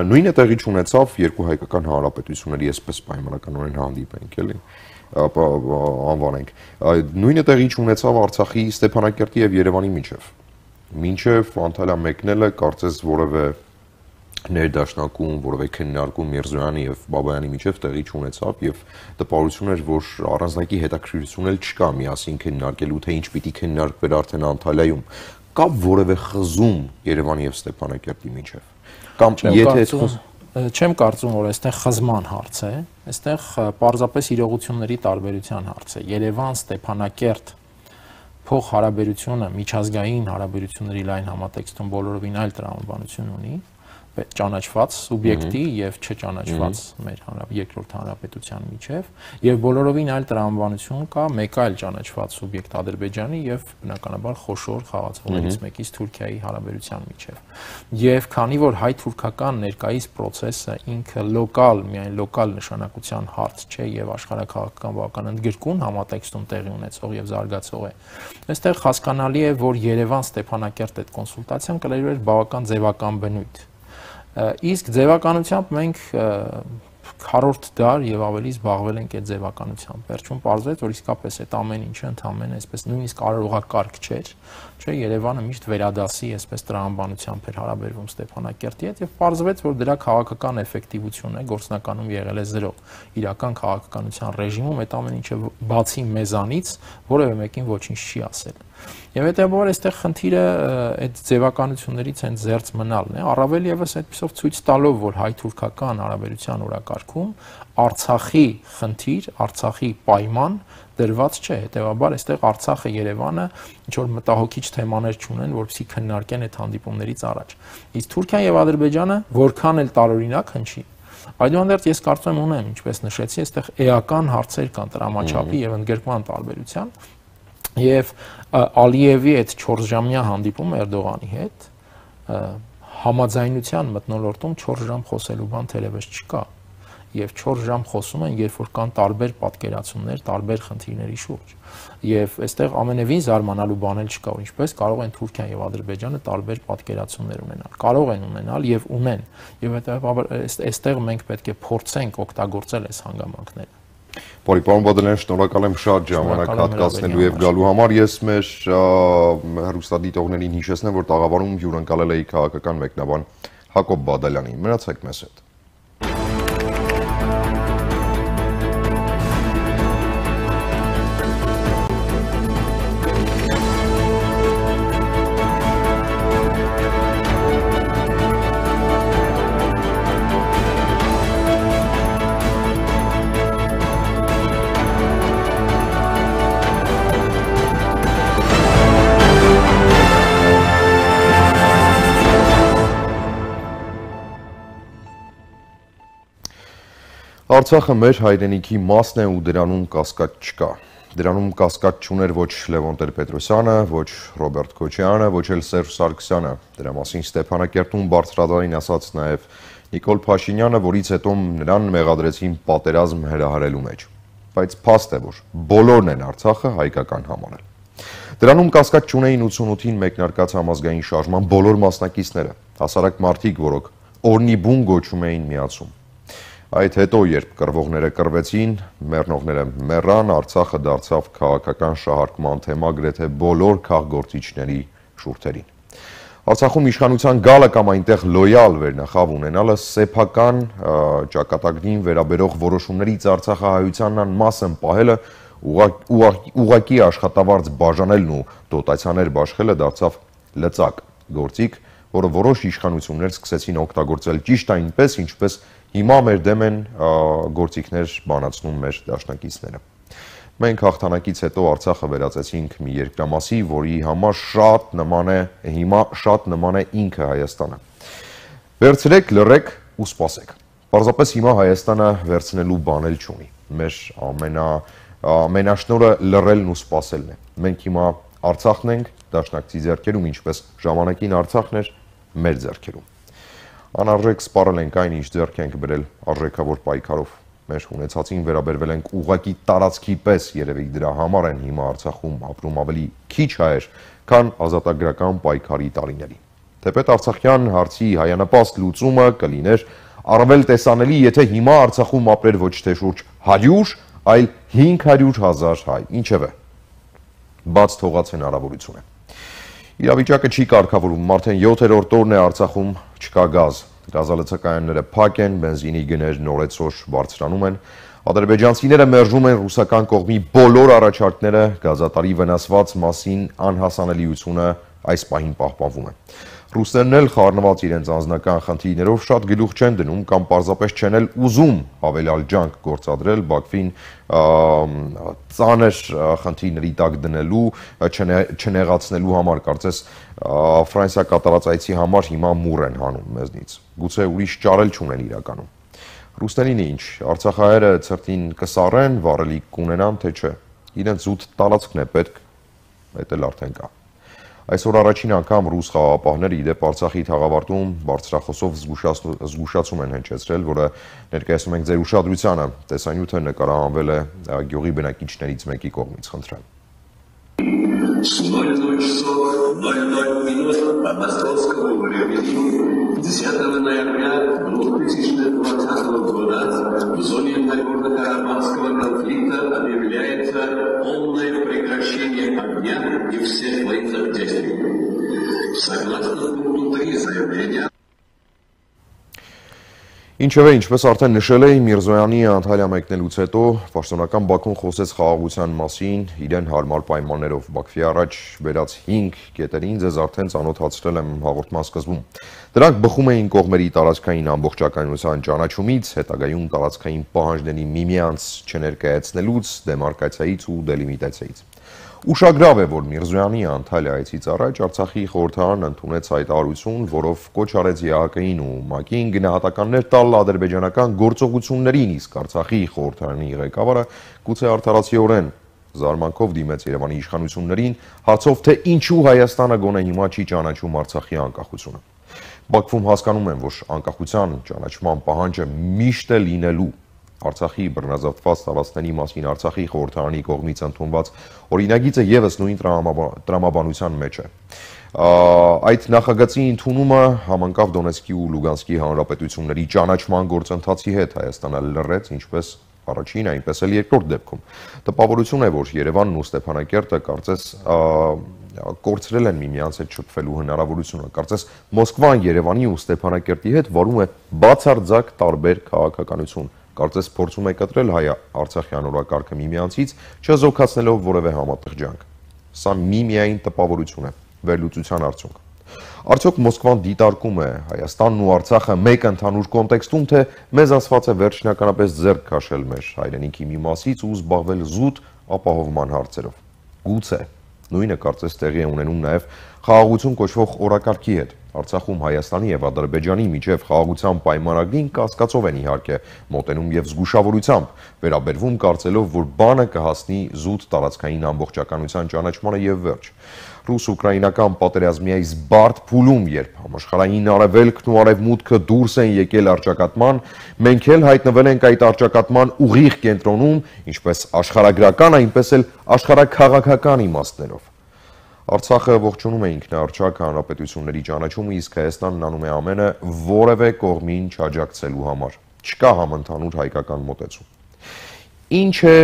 Նույնը տեղի ունեցավ երկու հայկական հանրապետությունների այսպես պայմանականորեն հանդիպենք, էլի, անվանենք։ Նույնը տեղի ունեցավ Արցախի, Ստեփանակերտի եւ Երևանի միջև Անտալիա մեկնելը կարծես որևէ ներդաշնակում, որևէ քննարկում Միրզոյանի եւ Բաբայանի միջև տեղի չունեցավ եւ տպավորություն էր, որ առանձնակի հետաքրքրություն էլ չկա միասին քննարկելու, թե ինչ պիտի քննարկվեր արդեն Անտալիայում։ Կա որևէ խզում Երևանի եւ Ստեփանակերտի միջև։ Կամ եթե չեմ կարծում, որ այստեղ խզման հարց է, այստեղ պարզապես իրողությունների տարբերության հարց է։ Երևան, Ստեփանակերտ փող հարաբերությունը միջազգային հարաբերությունների լայն համատեքստում բոլորովին այլ տրամաբանություն ունի, ճանաչված սուբյեկտի եւ չճանաչված մեր երկրորդ հանրապետության միջև եւ բոլորովին այլ տրամաբանություն կա մեկ այլ ճանաչված սուբյեկտ Ադրբեջանի եւ բնականաբար խոշոր խաղացողներից մեկից Թուրքիայի հարաբերության միջև եւ քանի որ հայ-թուրքական ներկայիս process-ը ինքը միայն լոկալ նշանակության հարց չէ եւ աշխարհակաղակական բավական ընդգրկուն համատեքստում տեղի ունեցող եւ զարգացող է այստեղ հասկանալի է որ Երևան-Ստեփանակերտ այդ կոնսուլտացիան կլիներ բավական ձևական բնույթ իսկ ձևականությամբ մենք քառորդ դար եւ ավելի զբաղվել ենք այդ ձևականությամբ։ Վերջում պարզվեց, որ իսկապես այդ ամեն ինչը ընդհանրապես այսպես նույնիսկ արարողակարգ չէր, չէ, Երևանը միշտ վերադասի այսպես տրամաբանությամբ էր հարաբերվում Ստեփանակերտի հետ եւ պարզվեց, որ դրա քաղաքական էֆեկտիվությունը գործնականում եղել է 0։ Իրական քաղաքականության ռեժիմում այդ ամեն ինչը բացի մեզանից որևէ մեկին ոչինչ չի ասել։ Եվ հետեւաբար այստեղ խնդիրը այդ ձևականություններից հենց զերծ մնալն է, առավել եւս այդպիսով ցույց տալով, որ հայ-թուրքական հարաբերության օրակարգում Արցախի խնդիր, Արցախի պայման դրված չէ, հետեւաբար այստեղ Արցախը, Երևանը ինչ որ մտահոգիչ թեմաներ չունեն, որպեսզի քննարկեն այդ հանդիպումներից առաջ։ Իսկ Թուրքիան եւ Ադրբեջանը որքան էլ տարօրինակ հնչի, այդուհանդերձ ես կարծում եմ ունեմ, ինչպես նշեցի, այստեղ էական հարցեր կան տրամաչափի եւ ընդգրկման տարբերության եւ Ալիևի այդ 4-ժամյա հանդիպում Էրդողանի հետ համաձայնության մթնոլորտում 4 ժամ խոսելու բան թերևս չկա եւ 4 ժամ խոսում են, երբ որ կան տարբեր պատկերացումներ, տարբեր խնդիրների շուրջ։ Եւ այստեղ ամենևին զարմանալու բան էլ չկա, ինչպես կարող են Թուրքիան եւ Ադրբեջանը տարբեր պատկերացումներ ունենալ։ Կարող են ունենալ եւ ունեն։ Եվ հետեւաբար այստեղ մենք պետք է փորձենք օգտագործել այս հանգամանքները։ Բարի պարոն Բադալյան, շնորհակալ եմ շատ ժամանակ հատկացնելու եւ գալու համար։ Ես մեր հեռուստադիտողներին հիշեցնեմ, որ տաղավարում հյուրընկալել էի քաղաքական մեկնաբան Հակոբ Բադալյանին։ Մնացեք մեզ հետ։ Արցախը մեր հայրենիքի մասն է ու դրանում կասկած չկա։ Դրանում կասկած չուներ ոչ Լևոն Տեր-Պետրոսյանը, ոչ Ռոբերտ Քոչարյանը, ոչ էլ Սերժ Սարգսյանը։ Դրա մասին Ստեփանակերտում բարձրաձայն ասաց նաև Նիկոլ Փաշինյանը, որից հետո նրան մեղադրեցին պատերազմ հրահրելու մեջ։ Բայց փաստ է, որ բոլորն են Արցախը հայկական համարել։ Դրանում կասկած չունեին 88-ին մեկնարկած համազգային շարժման բոլոր մասնակիցները, հասարակ մարդիկ, որոնք օրնի բուն գոչում էին միացում։ Այդ հետո, երբ կռվողները կռվեցին, մեռնողները մեռան, Արցախը դարձավ քաղաքական շահարկման թեմա գրեթե բոլոր քաղգործիչների շուրթերին։ Արցախում իշխանության գալը կամ այնտեղ լոյալ վերնախավ ունենալը սեփական ճակատագրին վերաբերող որոշումներից արցախահայությանն մասն պահելը ուղղակի աշխատավարձ բաժանելն ու դոտացիաներ բաշխելը դարձավ լծակ գործիք, որը որոշ իշխանություններ սկսեցին օգտագործել ճիշտ այնպես, ինչպես հիմա մեր դեմ են գործիքներ բանացնում մեր դաշնակիցները։ Մենք հաղթանակից հետո Արցախը վերածեցինք մի երկրամասի, որի համար հիմա շատ նման է ինքը Հայաստանը։ Վերցրեք, լռեք ու սպասեք։ Պարզապես հիմա Հայաստանը վերցնելու բան էլ չունի։ Մեր ամենաշնորհը լռելն ու սպասելն է։ Մենք հիմա Արցախն ենք դաշնակցի ձեռքերում, ինչպես ժամանակին Արցախն էր մեր ձեռքերում։ Անարժեք սպառել ենք այն, ինչ ձեռք ենք բերել արժեքավոր պայքարով։ Մեր ունեցածին վերաբերվել ենք ուղղակի տարածքի պես, երևի դրա համար են հիմա Արցախում ապրում ավելի քիչ հայեր, քան ազատագրական պայքարի տարիներին։ Թեպետ արցախյան հարցի հայանպաստ լուծումը կլիներ առավել տեսանելի, եթե հիմա Արցախում ապրեր ոչ թե շուրջ 100, այլ 500,000 հայ, ինչևէ, բաց թողած հնարավորություն է։ Իրավիճակը չի կարգավորվում, արդեն 7-րդ օրն է Արցախում չկա գազ։ Գազալցակայանները փակ են, բենզինի գներն օրեցօր բարձրանում են, ադրբեջանցիները մերժում են ռուսական կողմի բոլոր առաջարկները, գազատարի վնասված մասին անհասանելիությունը այս պահին պահպանվում է։ Ռուսներն էլ խառնված իրենց անձնական խնդիրներով շատ գլուխ չեն դնում կամ պարզապես չեն էլ ուզում հավելյալ ջանք գործադրել Բաքվին ծանր խնդիրների տակ դնելու, չնեղացնելու համար, կարծես Ֆրանսիա կատարած այցի համար հիմա մուռ են հանում մեզնից։ Գուցե ուրիշ ճարել չունեն իրականում։ Ռուսներին ինչ, արցախահայերը ցրտին կսառեն, վառելիք կունենան, թե չէ։ Իրենց զուտ տարածքն է պետք, այդ էլ արդեն կա։ Այսօր առաջին անգամ ռուս խաղաղապահները իդեպ Արցախի թաղավարտում բարձրախոսով զգուշացում են հնչեցրել, որը ներկայացնում ենք ձեր ուշադրությանը։ Տեսանյութը նկարահանվել է գյուղի բնակիչներից մեկի կողմից, խնդրեմ։ С 00 часов 00 минут по московскому времени 10 ноября 2020 года в зоне Нагорно-Карабахского конфликта объявляется полное прекращение огня и всех военных действий. Согласно пункту 3 заявления Ինչևէ, ինչպես արդեն նշել էի, Միրզոյանի Անտալիա մեկնելուց հետո պաշտոնական Բաքուն խոսեց խաղաղության մասին իրեն հարմար պայմաններով։ Բաքվի առաջ բերած 5 կետերին ձեզ արդեն ծանոթացրել եմ հաղորդման սկզբում։ Դրանք բխում էին կողմերի տարածքային ամբողջականության ճանաչումից, հետագայում տարածքային պահանջների միմյանց չներկայացնելուց, դեմարկացիայից ու դելիմիտացիայից։ Ուշագրավ է, որ Միրզոյանի Անտալիա այցից առաջ Արցախի խորհրդարանն ընդունեց հայտարարություն, որով կոչ արեց ԵԱՀԿ-ին ու ՄԱԿ-ին գնահատականներ տալ ադրբեջանական գործողություններին, իսկ Արցախի խորհրդարանի ղեկավարը գուցե արդարացիորեն զարմանքով դիմեց Երևանի իշխանություններին հարցով, թե ինչու Հայաստանը գոնե հիմա չի ճանաչում Արցախի անկախությունը։ Բաքվում հասկանում են, որ անկախության ճանաչման պահանջը միշտ է լինելու։ Արցախի բռնազավթված տարածքների մասին Արցախի խորհրդարանի կողմից ընդունված օրինագիծը եւս նույն տրամաբանության մեջ է։ Այդ նախագծի ընդունումը համընկավ Դոնեցկի ու Լուգանսկի հանրապետությունների ճանաչման գործընթացի հետ, Հայաստանը լռեց ինչպես առաջին, այնպես էլ երկրորդ դեպքում։ Տպավորություն է, որ Երևանն ու Ստեփանակերտը կարծես կորցրել են միմյանց հետ շփվելու հնարավորությունը։ Կարծես Մոսկվան Երևանի ու Ստեփանակերտի հետ վարում է բացարձակ տարբեր քաղաքականություն։ Կարծես փորձում է կտրել հայ-արցախյան օրակարգը միմյանցից, չզոքացնելով որևէ համատեղ ջանք։ Սա միայն տպավորություն է, վերլուծության արդյունք։ Արդյոք Մոսկվան դիտարկում է Հայաստանն ու Արցախը մեկ ընդհանուր կոնտեքստում, թե մեզ ասված է վերջնականապես ձեռք քաշել մեր հայրենիքի մի մասից ու զբաղվել զուտ ապահովման հարցերով։ Գուցե նույնը կարծես տեղի է ունենում նաև խաղաղություն կոչվող օրակարգի հետ։ Արցախում Հայաստանի եւ Ադրբեջանի միջև խաղաղության պայմանագրին կասկածով են իհարկե մոտենում եւ զգուշավորությամբ վերաբերվում, կարծելով, որ բանը կհասնի զուտ տարածքային ամբողջականության ճանաչմանը եւ վերջ։ Ռուս-ուկրաինական պատերազմի այս բարդ փուլում, երբ համաշխարհային արևելքն ու արևմուտքը դուրս են եկել առճակատման, մենք էլ հայտնվել ենք այդ առճակատման ուղիղ կենտրոնում, ինչպես աշխարհագրական, այնպես էլ աշխարհաքաղաքական իմաստներով։ Արցախը ողջունում է ինքնաառչակ հանրապետությունների ճանաչումը, իսկ Հայաստանն անում է ամենը որևէ կողմին չաջակցելու համար։ Չկա համընդհանուր հայկական մոտեցում։ Ինչ է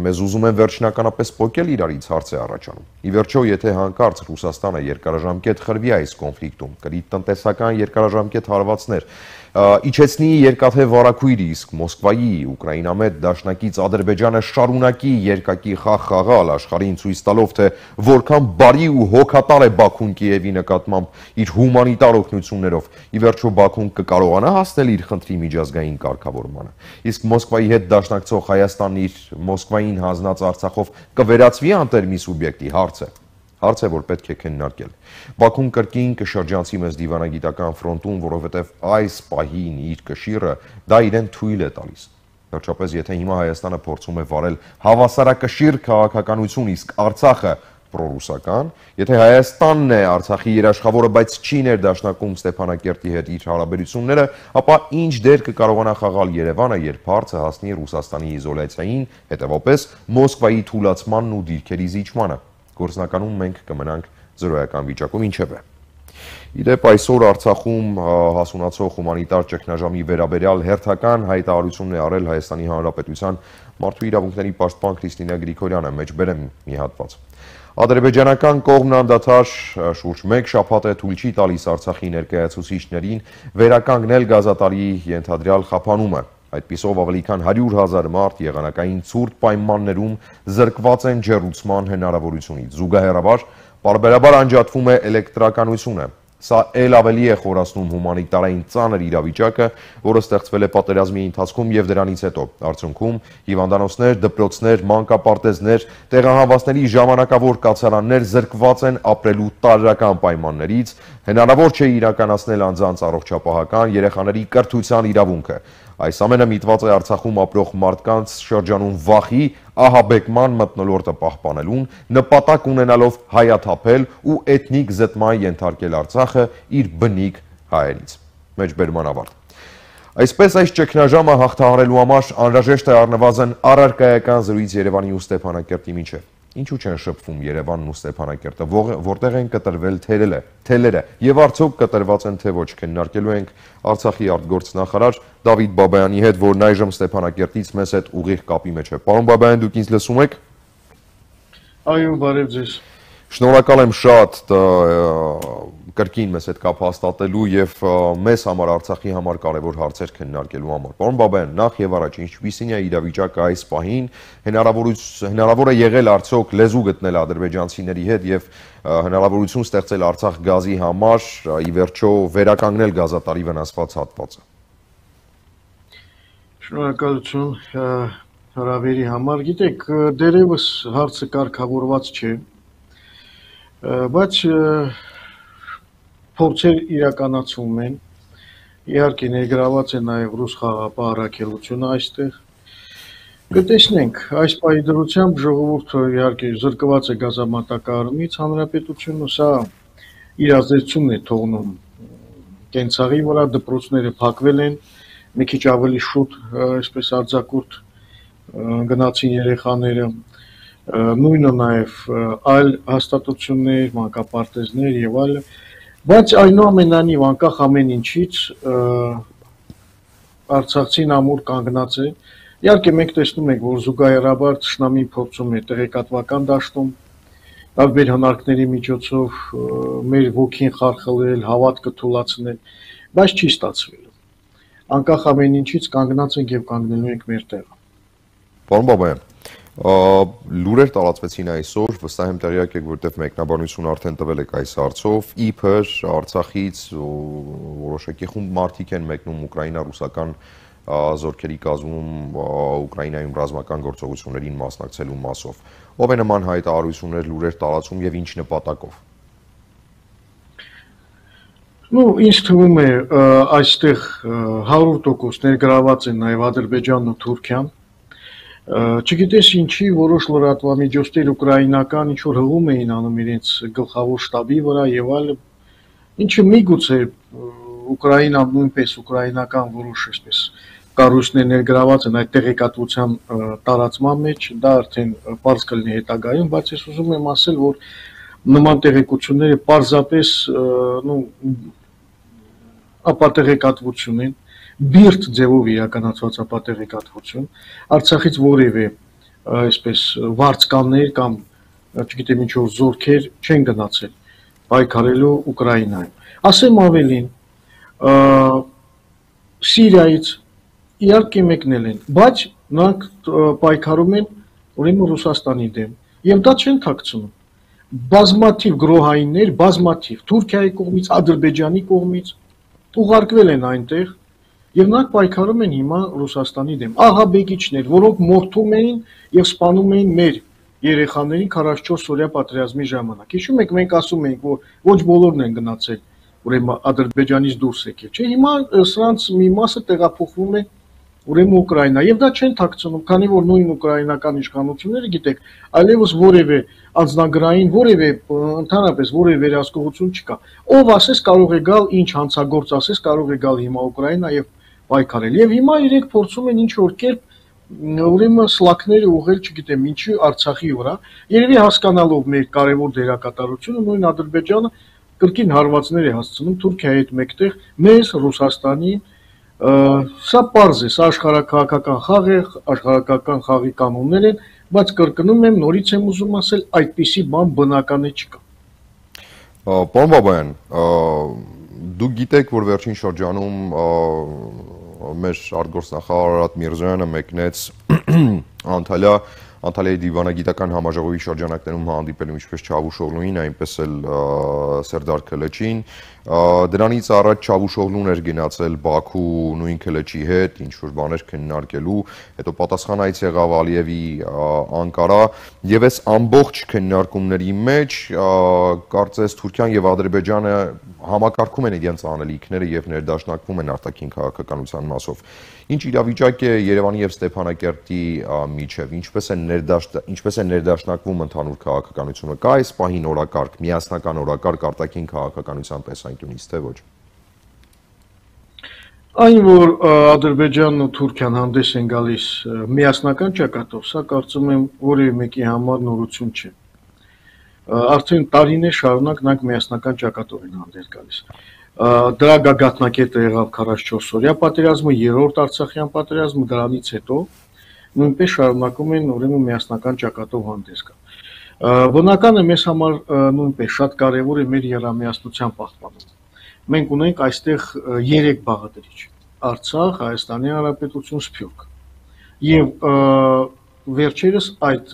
մեզ ուզում են վերջնականապես պոկել իրարից, հարց է առաջանում։ Ի վերջո, եթե հանկարծ Ռուսաստանը երկարաժամկետ խրվի այս կոնֆլիկտում, կրի տնտեսական երկարաժամկետ հարվածներ, իջեցնի երկաթե վարակույրը, իսկ Մոսկվայի Ուկրաինամետ դաշնակից Ադրբեջանը շարունակի երկակի խաղ խաղալ, աշխարհին ցույց տալով, թե որքան բարի ու հոգատար է Բաքուն Կիևի նկատմամբ իր հումանիտար օգնություններով, ի վերջո Բաքուն կկարողանա հասնել իր խնդրի միջազգային կարգավորմանը։ Իսկ Մոսկվայի հետ դաշնակցող Հայաստանն իր Մոսկվային հանձնած Արցախով կվերածվի անտերմի սուբյեկտի, հարց է, որ պետք է քննարկել։ Բաքուն կրկին կշրջանցի մեզ դիվանագիտական ֆրոնտում, որովհետև այս պահին իր կշիռը դա իրեն թույլ է տալիս։ Վերջապես, եթե հիմա Հայաստանը փորձում է վարել հավասարակշիռ քաղաքականություն, իսկ Արցախը պրոռուսական, եթե Հայաստանն է Արցախի երաշխավորը, բայց չի ներդաշնակում Ստեփանակերտի հետ իր հարաբերությունները, ապա ինչ դեր կկարողանա խաղալ Երևանը, երբ հարցը հասնի Ռուսաստանի իզոլյացիային, հետևապես Մոսկվայի թուլացմանն ու դիրքերի զիջմանը։ Գործնականում մենք կմնանք զրոյական վիճակում, ինչևէ։ Իդեպ այսօր Արցախում հասունացող հումանիտար ճգնաժամի վերաբերյալ հերթական հայտարարությունն է արել Հայաստանի Հանրապետության մարդու իրավունքների պաշտպան Քրիստինա Գրիգորյանը, մեջբերեմ մի հատված։ Ադրբեջանական կողմն անդադար շուրջ 1 շաբաթ է թույլ չի տալիս Արցախի ներկայացուցիչներին վերականգնել գազատարի ենթադրյալ խափանումը։ Այդպիսով ավելի քան 100,000 մարդ եղանակային ցուրտ պայմաններում զրկված են ջեռուցման հնարավորությունից։ Զուգահեռաբար պարբերաբար անջատվում է էլեկտրականությունը։ Սա էլ ավելի է խորացնում հումանիտարային ծանր իրավիճակը, որը ստեղծվել է պատերազմի ընթացքում եւ դրանից հետո։ Արդյունքում հիվանդանոցներ, դպրոցներ, մանկապարտեզներ, տեղահանվածների ժամանակավոր կացարաններ զրկված են ապրելու տարրական պայմաններից, հնարավոր չէ իրականացնել անձանց առողջապահական, երեխաների կրթության իրավունքը։ Այս ամենը միտված է Արցախում ապրող մարդկանց շրջանում վախի, ահաբեկման մթնոլորտը պահպանելուն, նպատակ ունենալով հայաթափել ու էթնիկ զտման ենթարկել Արցախը իր բնիկ հայերից։ Մեջբերման ավարտ։ Այսպես այս ճգնաժամը հաղթահարելու համար անհրաժեշտ է առնվազն առարկայական զրույց Երևանի ու Ստեփանակերտի միջև։ Ինչու չեն շփվում Երևանն ու Ստեփանակերտը, որտեղ են կտրվել թելերը եւ արդյոք կտրված են թե ոչ, քննարկելու ենք Արցախի արտգործնախարար Դավիթ Բաբայանի հետ, որն այժմ Ստեփանակերտից մեզ հետ ուղիղ կապի մեջ է։ Պարոն Բաբայան, դուք ինձ լսում եք։ Այո, բարև ձեզ։ Շնորհակալ եմ շատ կրկին մեզ հետ կապ հաստատելու եւ մեզ համար Արցախի համար կարևոր հարցեր քննարկելու համար։ Պարոն Բաբայան, նախ եւ առաջ ինչպիսին է իրավիճակը այս պահին, հնարավոր է եղել արդյոք լեզու գտնել ադրբեջանցիների հետ եւ հնարավորություն ստեղծել Արցախ գազի համար, ի վերջո վերականգնել գազատարի վնասված հատվածը։ Շնորհակալություն հրավերի համար։ Գիտեք, դերևս հարցը կարգավորված չէ, բայց փորձեր իրականացվում են, իհարկե ներգրաված է նաև ռուս խաղաղապահ առաքելությունը այստեղ։ Կտեսնենք, այս պահի դրությամբ ժողովուրդը իհարկե զրկված է գազամատակարարումից, հանրապետությունը սա իր ազդեցությունն է թողնում կենցաղի վրա, դպրոցները փակվել են, մի քիչ ավելի շուտ, այսպես արձակուրդ գնացին երեխաները, նույնը նաև այլ հաստատություններ, մանկապարտեզներ եւ այլը, բայց այնուամենայնիվ անկախ ամեն ինչից արցախցին ամուր կանգնած է։ Իհարկե մենք տեսնում ենք, որ զուգահեռաբար թշնամին փորձում է տեղեկատվական դաշտում տարբեր հնարքների միջոցով մեր ոգին խարխլել, հավատքը թուլացնել, բայց չի ստացվել։ Անկախ ամեն ինչից կանգնած ենք եւ կանգնելու ենք մեր տեղը։ Պարոն Բաբայան, լուրեր տարածվեցին այսօր, վստահ եմ տեղյակ եք, որտեղ մեկնաբանություն արդեն տվել եք այս հարցով, իբր Արցախից որոշակի խումբ մարդիկ են մեկնում ուկրաինա-ռուսական զորքերի կազմում Ուկրաինայում ռազմական գործողություններին մասնակցելու մասով։ Ով է նման հայտարարություններ, լուրեր տարածում եւ ինչ նպատակով։ Ինձ թվում է այստեղ 100% ներգրաված են նաև Ադրբեջանն ու Թուրքիան։ Չգիտես ինչի որոշ լրատվամիջոցներ ուկրաինական ինչ որ հղում էին անում իրենց գլխավոր շտաբի վրա եւ այլն, ինչը միգուցե Ուկրաինան նույնպես ուկրաինական որոշ այսպես կառույցներ ներգրաված են այդ տեղեկատվության տարածման մեջ, դա արդեն պարզ կլինի հետագայում, բայց ես ուզում եմ ասել, որ նման տեղեկությունները պարզապես ապատեղեկատվություն են, բիրտ ձևով իրականացված ապատեղեկատվություն, Արցախից որևէ այսպես վարձկաններ կամ չգիտեմ ինչ որ զորքեր չեն գնացել պայքարելու Ուկրաինայում։ Ասեմ ավելին, Սիրիայից իհարկե մեկնել են, բայց նրանք պայքարում են ուրեմն Ռուսաստանի դեմ, եւ դա չեն թաքցնում։ Բազմաթիվ գրոհայիններ, բազմաթիվ Թուրքիայի կողմից, Ադրբեջանի կողմից ուղարկվել են այնտեղ եւ նրանք պայքարում են հիմա Ռուսաստանի դեմ։ Ահաբեկիչներ, որոնք մորթում էին եւ սպանում էին մեր երեխաներին 44 օրյա պատերազմի ժամանակ։ Հիշում եք, մենք ասում էինք, որ ոչ բոլորն են գնացել, ուրեմն Ադրբեջանից դուրս եկել, չէ՞։ Հիմա սրանց մի մասը տեղափոխվում է ուրեմն Ուկրաինա եւ դա չեն թաքցնում, քանի որ նույն ուկրաինական իշխանությունները, գիտեք, այլևս որևէ անձնագրային, որևէ ընդհանրապես որևէ վերահսկողություն չկա։ Ով ասես կարող է գալ, ինչ հանցագործ ասես կարող է գալ հիմա Ուկրաինա եւ պայքարել։ Եվ հիմա իրենք փորձում են ինչ որ կերպ ուրեմն սլակները ուղղել, չգիտեմ ինչի, Արցախի վրա, երևի հասկանալով մեր կարևոր դերակատարությունը, նույն Ադրբեջանը կրկին հարվածներ է հասցնում Թուրքիայի հետ մեկտեղ մեզ, Ռուսաստանին։ Սա պարզ է, սա աշխարհակահաղական խաղ է, աշխարհակահաղական խաղի կանոններ են, բայց կրկնում եմ, նորից եմ ուզում ասել, այդպիսի բան բնական է չկա։ Պարոն Բաբայան, դուք գիտեք, որ վերջին շրջանում մեր արտգործնախարար Արարատ Միրզոյանը մեկնեց Անտալիայի դիվանագիտական համաժողովի շրջանակներում հանդիպելու ինչպես Չավուշօղլուին, այնպես էլ Սերդար Քլեչին։ Դրանից առաջ Չավուշօղլուն էր գնացել Բաքու նույն Քլեչի հետ, ինչ որ բաներ քննարկելու, հետո պատասխանայից եղավ Ալիևի Անկարա, եւ այս ամբողջ քննարկումների մեջ կարծես Թուրքիան եւ Ադրբեջանը համակարգում են իրենց անելիքները եւ ներդաշնակվում են արտաքին քաղաքականության մասով։ Ինչ իրավիճակ է Երևանի եւ Ստեփանակերտի միջև, ինչպես է ներդաշնակվում ընդհանուր քաղաքականությունը, կա այս պահին օրակարգ, միասնական օրակարգ արտաքին քաղաքականության տեսանկյունից, թե ոչ։ Այն որ Ադրբեջանն ու Թուրքիան հանդես են գալիս միասնական ճակատով, սա կարծում եմ որևէ մեկի համար նորություն չէ։ Արդեն տարիներ շարունակ նրանք միասնական ճակատով են հանդես գալիս։ Դրա գագաթնակետը եղավ 44 օրյա պատերազմը, երրորդ Արցախյան պատերազմը, դրանից հետո նույնպես շարունակում են ուրեմն միասնական ճակատով հանդես գալ։ Բնական է մեզ համար նույնպես շատ կարևոր է մեր եռամիասնության պահպանումը։ Մենք ունենք այստեղ 3 բաղադրիչ՝ Արցախ, Հայաստանի Հանրապետություն, Սփյուռք։ Եվ վերջերս այդ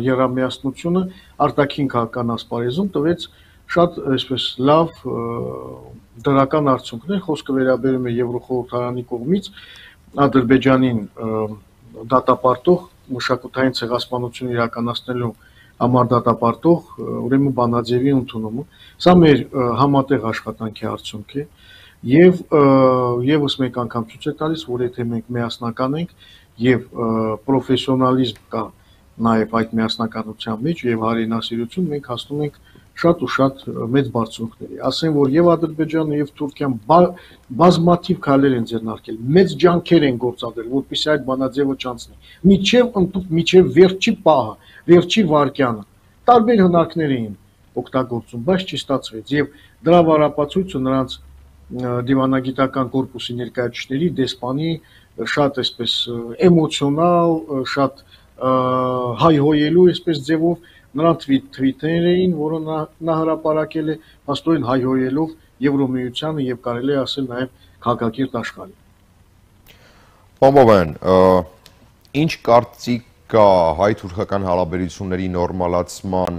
եռամիասնությունը արտաքին քաղաքական ասպարեզում տվեց շատ այսպես լավ դրական արդյունքներ, խոսքը վերաբերում է Եվրոխորհրդարանի կողմից Ադրբեջանին դատապարտող մշակութային ցեղասպանություն իրականացնելու համար դատապարտող ուրեմն բանաձևի ընդունումը։ Սա մեր համատեղ աշխատանքի արդյունք է եւ եւս մեկ անգամ ցույց է տալիս, որ եթե մենք միասնական ենք եւ պրոֆեսիոնալիզմ կա նաեւ այդ միասնականության մեջ եւ հարինասիրություն, մենք հասնում ենք շատ ու շատ մեծ բարձունքների։ Ասեմ, որ եւ Ադրբեջանը եւ Թուրքիան բազմաթիվ քայլեր են ձեռնարկել, մեծ ջանքեր են գործադրել, որպեսզի այդ բանաձևը չանցնի։ Միջև վերջի պահը, վերջի վայրկյանը տարբեր հնարքներ էին օգտագործում, բայց չի ստացվեց։ Եվ դրա վարապացույցը նրանց դիվանագիտական կորպուսի ներկայացուցիչների, դեսպանի շատ այսպես էմոցիոնալ, շատ հայհոյելու այսպես ձևով նրանց թվիթներ էին, որը նա հրապարակել է, փաստորեն հայհոյելով Եվրոմիությանը եւ կարելի է ասել նաեւ քաղաքակիրթ աշխարհին։ Պարոն Բաբայան, ինչ կարծիք կա հայ-թուրքական հարաբերությունների նորմալացման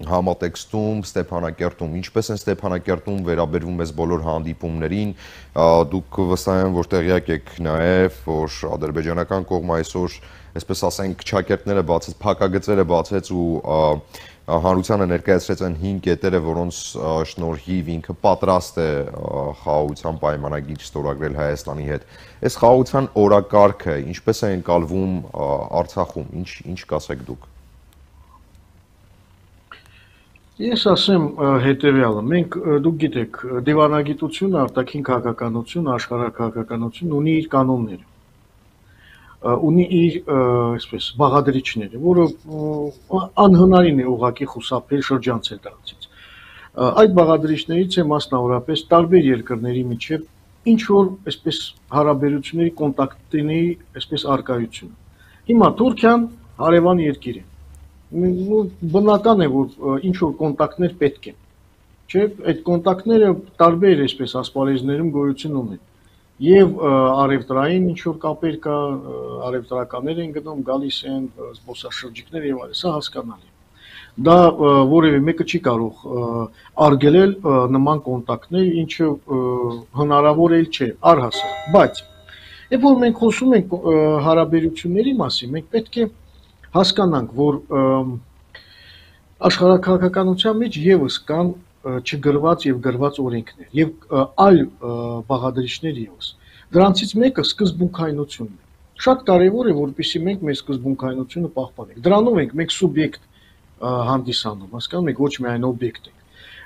համատեքստում Ստեփանակերտում, ինչպես են Ստեփանակերտում վերաբերվում այս բոլոր հանդիպումներին, դուք վստահ եմ, որ տեղյակ եք նաեւ, որ ադրբեջանական կողմը այսօր այսպես ասենք, ճակերտները բացեց, փակագծերը բացեց ու հանրությանը ներկայացրեց այն 5 կետերը, որոնց շնորհիվ ինքը պատրաստ է խաղաղության պայմանագիր ստորագրել Հայաստանի հետ։ Այս խաղաղության օրակարգը ինչպես է ընկալվում Արցախում, ինչ կասեք դուք։ Ես ասեմ հետևյալը, մենք դուք գիտեք, դիվանագիտությունը, արտաքին քաղաքականությունը, աշխարհաքաղաքականությունը ունի իր կանոնները, ունի իր այսպես բաղադրիչները, որը անհնարին է ուղղակի խուսափել շրջանցել դրանցից։ Այդ բաղադրիչներից է մասնավորապես տարբեր երկրների միջև ինչ որ այսպես հարաբերությունների կոնտակտների այսպես արկայությունը։ Հիմա Թուրքիան հարևան երկիր է։ Բնական է, որ ինչ որ կոնտակտներ պետք են, չէ՞, այդ կոնտակտները տարբեր այսպես ասպարեզներում գոյություն ունեն։ Եվ արևտրային ինչ որ կապեր կա, արևտրականներ են գնում, գալիս են զբոսաշրջիկներ եւ այլն, սա հասկանալի է։ Դա որևէ մեկը չի կարող արգելել նման կոնտակտներ, ինչը հնարավոր էլ չէ, առհասարակ, բայց երբ որ մենք խոսում ենք հարաբերությունների մասին, մենք պետք է հասկանանք, որ աշխարհաքաղաքականության մեջ եւս կան չգրված եւ գրված օրենքներ եւ այլ բաղադրիչներ եւս։ Դրանցից մեկը սկզբունքայնությունն է։ Շատ կարեւոր է, որպեսզի մենք մեր սկզբունքայնությունը պահպանենք։ Դրանով ենք մենք սուբյեկտ հանդիսանում, հասկանում եք, ոչ միայն օբյեկտ ենք։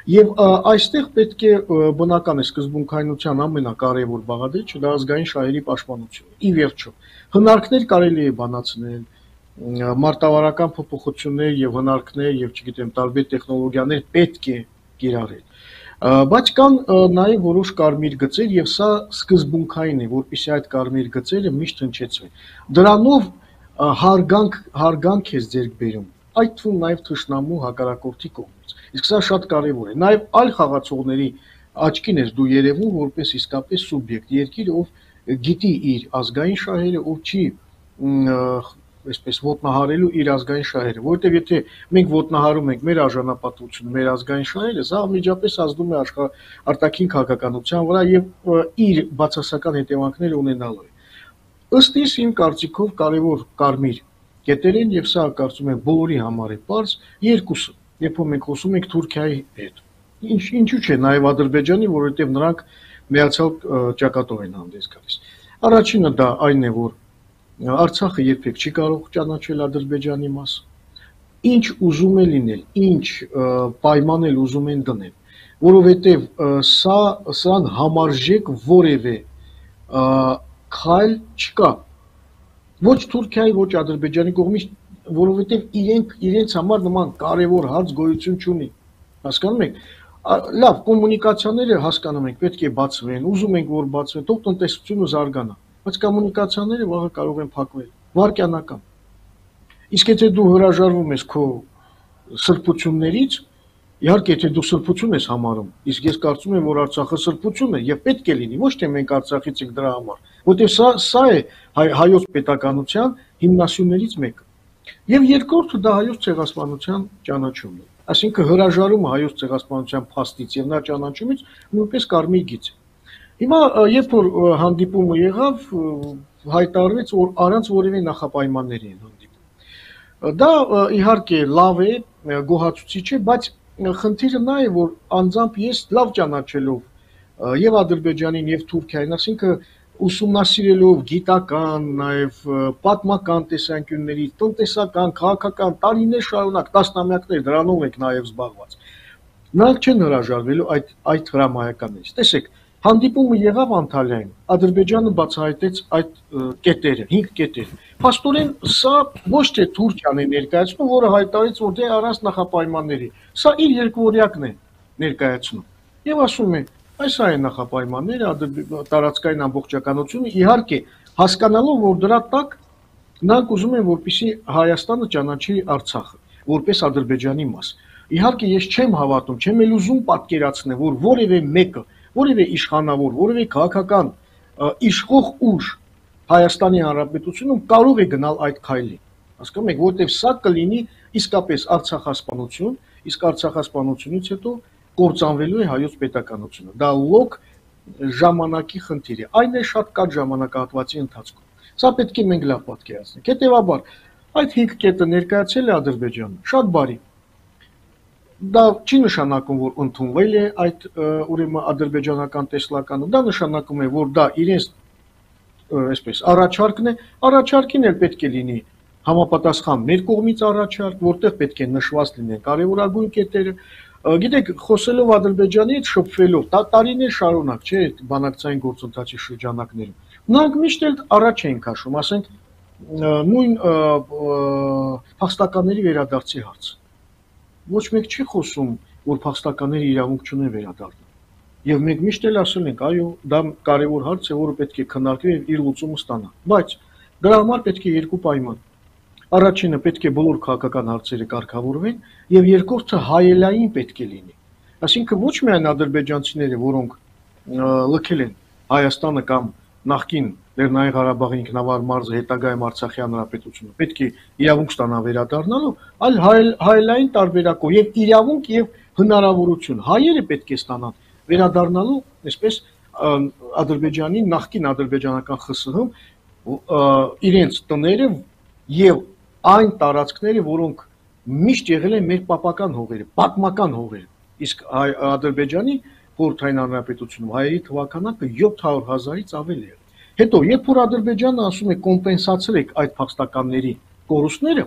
Եվ այստեղ պետք է բնական է սկզբունքայնության ամենակարևոր բաղադրիչը դա ազգային շահերի պաշտպանությունն է։ Ի վերջո, հնարքներ կարելի է բանացնել, մարտավարական փոփոխություններ եւ հնարքներ եւ չգիտեմ տարբեր տեխնոլոգիաներ պետք է կիրառել, բայց կան նաեւ որոշ կարմիր գծեր եւ սա սկզբունքային է, որպեսզի այդ կարմիր գծերը միշտ հնչեցվեն։ Դրանով հարգանք է ձեռք բերում, այդ թվում նաեւ թշնամու հակառակորդի կողմից։ Իսկ սա շատ կարեւոր է։ Նաեւ այլ խաղացողների աչքին է դու երևում որպես իսկապես սուբյեկտ, երկիր, ով գիտի իր ազգային շահերը, ով չի այսպես ոտնահարելու իր ազգային շահերը, որովհետև եթե մենք ոտնահարում ենք մեր արժանապատվությունը, մեր ազգային շահերը, սա միջապես ազդում է արտաքին քաղաքականության վրա եւ իր բացասական հետևանքները ունենալու է։ Ըստ իս իմ կարծիքով կարևոր կարմիր կետեր են եւ սա կարծում եմ բոլորի համար է պարզ, երկուսը, երբ որ մենք խոսում ենք Թուրքիայի հետ։ Ինչու՞ չէ, նաեւ Ադրբեջանի, որովհետեւ նրանք միացյալ ճակատով են հանդես գալիս։ Առաջինը դա այն է, որ Արցախը երբեք չի կարող ճանաչել Ադրբեջանի մաս։ Ինչ ուզում է լինել, ինչ պայմանել ուզում են դնել, որովհետև սրան համարժեք որևէ քայլ չկա։ Ոչ Թուրքիայի, ոչ Ադրբեջանի կողմից, որովհետև իրենց համար նման կարևոր հարց գոյություն չունի։ Հասկանում եք։ Լավ, կոմունիկացիաները հասկանում եք, պետք է բացվեն, ուզում ենք որ բացվեն, թող տնտեսությունը զարգանա։ Բայց կոմունիկացիաները վաղը կարող են փակվել, վարքյանական։ Իսկ եթե դու հրաժարվում ես քո սրբություններից, իհարկե եթե դու սրբություն ես համարում, իսկ ես կարծում եմ, որ Արցախը սրբություն է եւ պետք է լինի, ոչ թե մենք Արցախից ենք դրա համար, որտեղ սա է հայոց պետականության հիմնասյուներից մեկը։ Եվ երկրորդը դա հայոց ցեղասպանության ճանաչումն է։ Այսինքն հրաժարումը հայոց ցեղասպանության փաստից եւ նա ճանաչումից նույնպես կարմիր գիծ է։ Հիմա երբ որ հանդիպումը եղավ, հայտարարվեց, որ առանց որևէ նախապայմանների են հանդիպում։ Դա իհարկե լավ է, գոհացուցիչ է, բայց խնդիրը նա է, որ անձամբ ես լավ ճանաչելով եւ Ադրբեջանին եւ Թուրքիային, ասինքն ուսումնասիրելով գիտական, նաեւ պատմական տեսանկյուններից, տնտեսական, քաղաքական տարիներ շարունակ, տասնամյակներ դրանով ենք նաեւ զբաղված։ Նրանք չեն հրաժարվելու այդ հրամայականներից։ Տեսեք, հանդիպումը եղավ Անտալիայում, Ադրբեջանը բացահայտեց այդ կետերը, 5 կետերը։ Փաստորեն սա ոչ թե Թուրքիան է ներկայացնում, որը հայտարարեց, որ դե առանց նախապայմանների։ Սա իր երկվորյակն է ներկայացնում։ Եվ ասում է, այս այն նախապայմանները, տարածքային ամբողջականությունը, իհարկե, հասկանալով, որ դրա տակ նրանք ուզում են, որպեսզի Հայաստանը ճանաչի Արցախը, որպես Ադրբեջանի մաս։ Իհարկե, ես չեմ հավատում, չեմ էլ ուզում պատկերացնել, որ որևէ մեկը, որևէ իշխանավոր, որևէ քաղաքական իշխող ուժ Հայաստանի Հանրապետությունում կարող է գնալ այդ քայլին։ Հասկանում եք, որտեղ սա կլինի իսկապես արցախասպանություն, իսկ արցախասպանությունից հետո կործանվելու է հայոց պետականությունը։ Դա լոկ ժամանակի խնդիր է։ Այն է շատ կարճ ժամանակահատվածի ընթացքում։ Սա պետք է մենք լավ պատկերացնենք։ Հետևաբար, այդ 5 կետը ներկայացել է Ադրբեջանը, շատ բարի։ Դա չի նշանակում, որ ընդունվել է այդ ուրեմն ադրբեջանական տեսլականը, դա նշանակում է, որ դա իրենց այսպես առաջարկն է, առաջարկին էլ պետք է լինի համապատասխան մեր կողմից առաջարկ, որտեղ պետք է նշված լինեն կարևորագույն կետերը։ Գիտեք, խոսելով Ադրբեջանի հետ շփվելով, տարիներ շարունակ, չէ, այդ բանակցային գործընթացի շրջանակներում, նրանք միշտ էլ առաջ էին քաշում, ասենք նույն փախստականների վերադարձի հարց։ Ոչ մեկ չի խոսում, որ փախստականները իրավունք չունեն վերադառնալ։ Եվ մենք միշտ էլ ասել ենք, այո, դա կարևոր հարց է, որը պետք է քննարկվի եւ իր լուծումը ստանա։ Բայց դրա համար պետք է երկու պայման։ Առաջինը պետք է բոլոր քաղաքական հարցերը կարգավորվեն, եւ երկրորդը հայելային պետք է լինի։ Այսինքն ոչ միայն ադրբեջանցիները, որոնք լքել են Հայաստանը կամ նախկին Լեռնային Ղարաբաղի ինքնավար մարզը, հետագայում Արցախի հանրապետությունը, պետք է իրավունք ստանա վերադառնալու, այլ հայելային տարբերակով եւ իրավունք եւ հնարավորություն հայերը պետք է ստանան վերադառնալու, այսպես Ադրբեջանի նախկին ադրբեջանական ԽՍՀ-ում իրենց տները եւ այն տարածքները, որոնք միշտ եղել են մեր պապական հողերը, պատմական հողերը։ Իսկ Ադրբեջանի խորհրդային հանրապետությունում հայերի թվականակը 700,000-ից ավել է։ Հետո, երբ որ Ադրբեջանը ասում է կոմպենսացրեք այդ փախստականների կորուստները,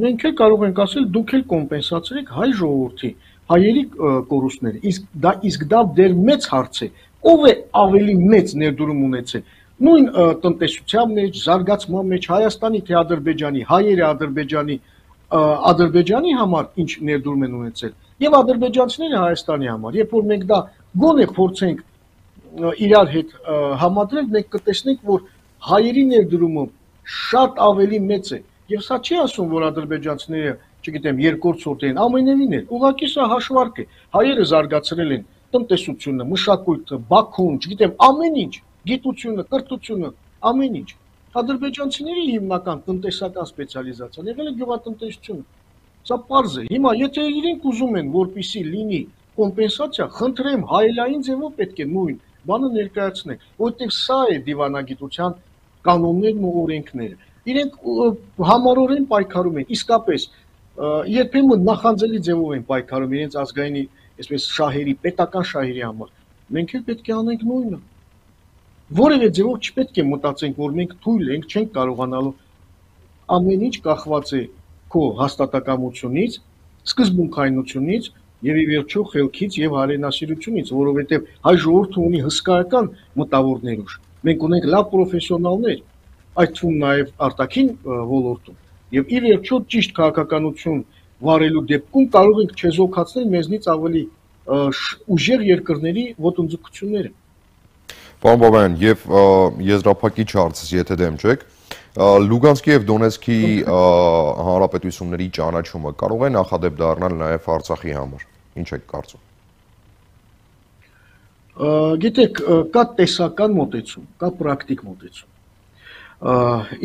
մենք էլ կարող ենք ասել դուք էլ կոմպենսացրեք հայ ժողովրդի հայերի կորուստները, իսկ դա դեռ մեծ հարց է, ով է ավելի մեծ ներդրում ունեցել նույն տնտեսության մեջ, զարգացման մեջ Հայաստանի թե Ադրբեջանի, հայերը Ադրբեջանի համար ինչ ներդրում են ունեցել եւ ադրբեջանցիները Հայաստանի համար, երբ որ մենք դա գոնե փորձենք իրար հետ համադրել, մենք կտեսնենք, որ հայերի ներդրումը շատ ավելի մեծ է եւ սա չի ասում, որ ադրբեջանցիները չգիտեմ, երկրորդ սորտ են, ամենևին էլ, ուղղակի սա հաշվարկ է, հայերը զարգացրել են տնտեսությունը, մշակույթը, Բաքուն, չգիտեմ, ամեն ինչ, գիտությունը, կրթությունը, ամեն ինչ։ Ադրբեջանցիների հիմնական տնտեսական սպեցիալիզացիան եղել է գյուղատնտեսությունը։ Սա պարզ է։ Հիմա, եթե իրենք ուզում են, որպեսզի լինի կոմպենսացիա, խնդրեմ, հայելային ձևով պետք է նույն բանը ներկայացնենք, որտեղ սա է դիվանագիտության կանոններն ու օրենքները։ Իրենք համառորեն պայքարում են, իսկապես երբեմն նախանձելի ձևով են պայքարում իրենց ազգայինի, այսպես շահերի, պետական շահերի համար։ Մենք էլ պետք է անենք նույնը։ Որևէ ձևով չպետք է մտածենք, որ մենք թույլ ենք, չենք կարողանալու, ամեն ինչ կախված է քո հաստատակամությունից, սկզբունքայնությունից եւ ի վերջո խելքից եւ հայրենասիրությունից, որովհետեւ հայ ժողովուրդը ունի հսկայական մտավորներ ուժ։ Մենք ունենք լավ պրոֆեսիոնալներ, այդ թվում նաեւ արտաքին ոլորտում։ Եվ ի վերջո ճիշտ քաղաքականություն վարելու դեպքում կարող ենք չեզոքացնել մեզնից ավելի ուժեղ երկրների ոտնձգությունները։ Պարոն Բաբայան, եւ եզրափակիչ հարցս, եթե դեմ չեք, Լուգանսկի եւ Դոնեցկի հանրապետությունների ճանաչումը կարող է նախադեպ դառնալ նաեւ Արցախի համար։ Ինչ եք կարծում։ Գիտեք, կա տեսական մոտեցում, կա պրակտիկ մոտեցում։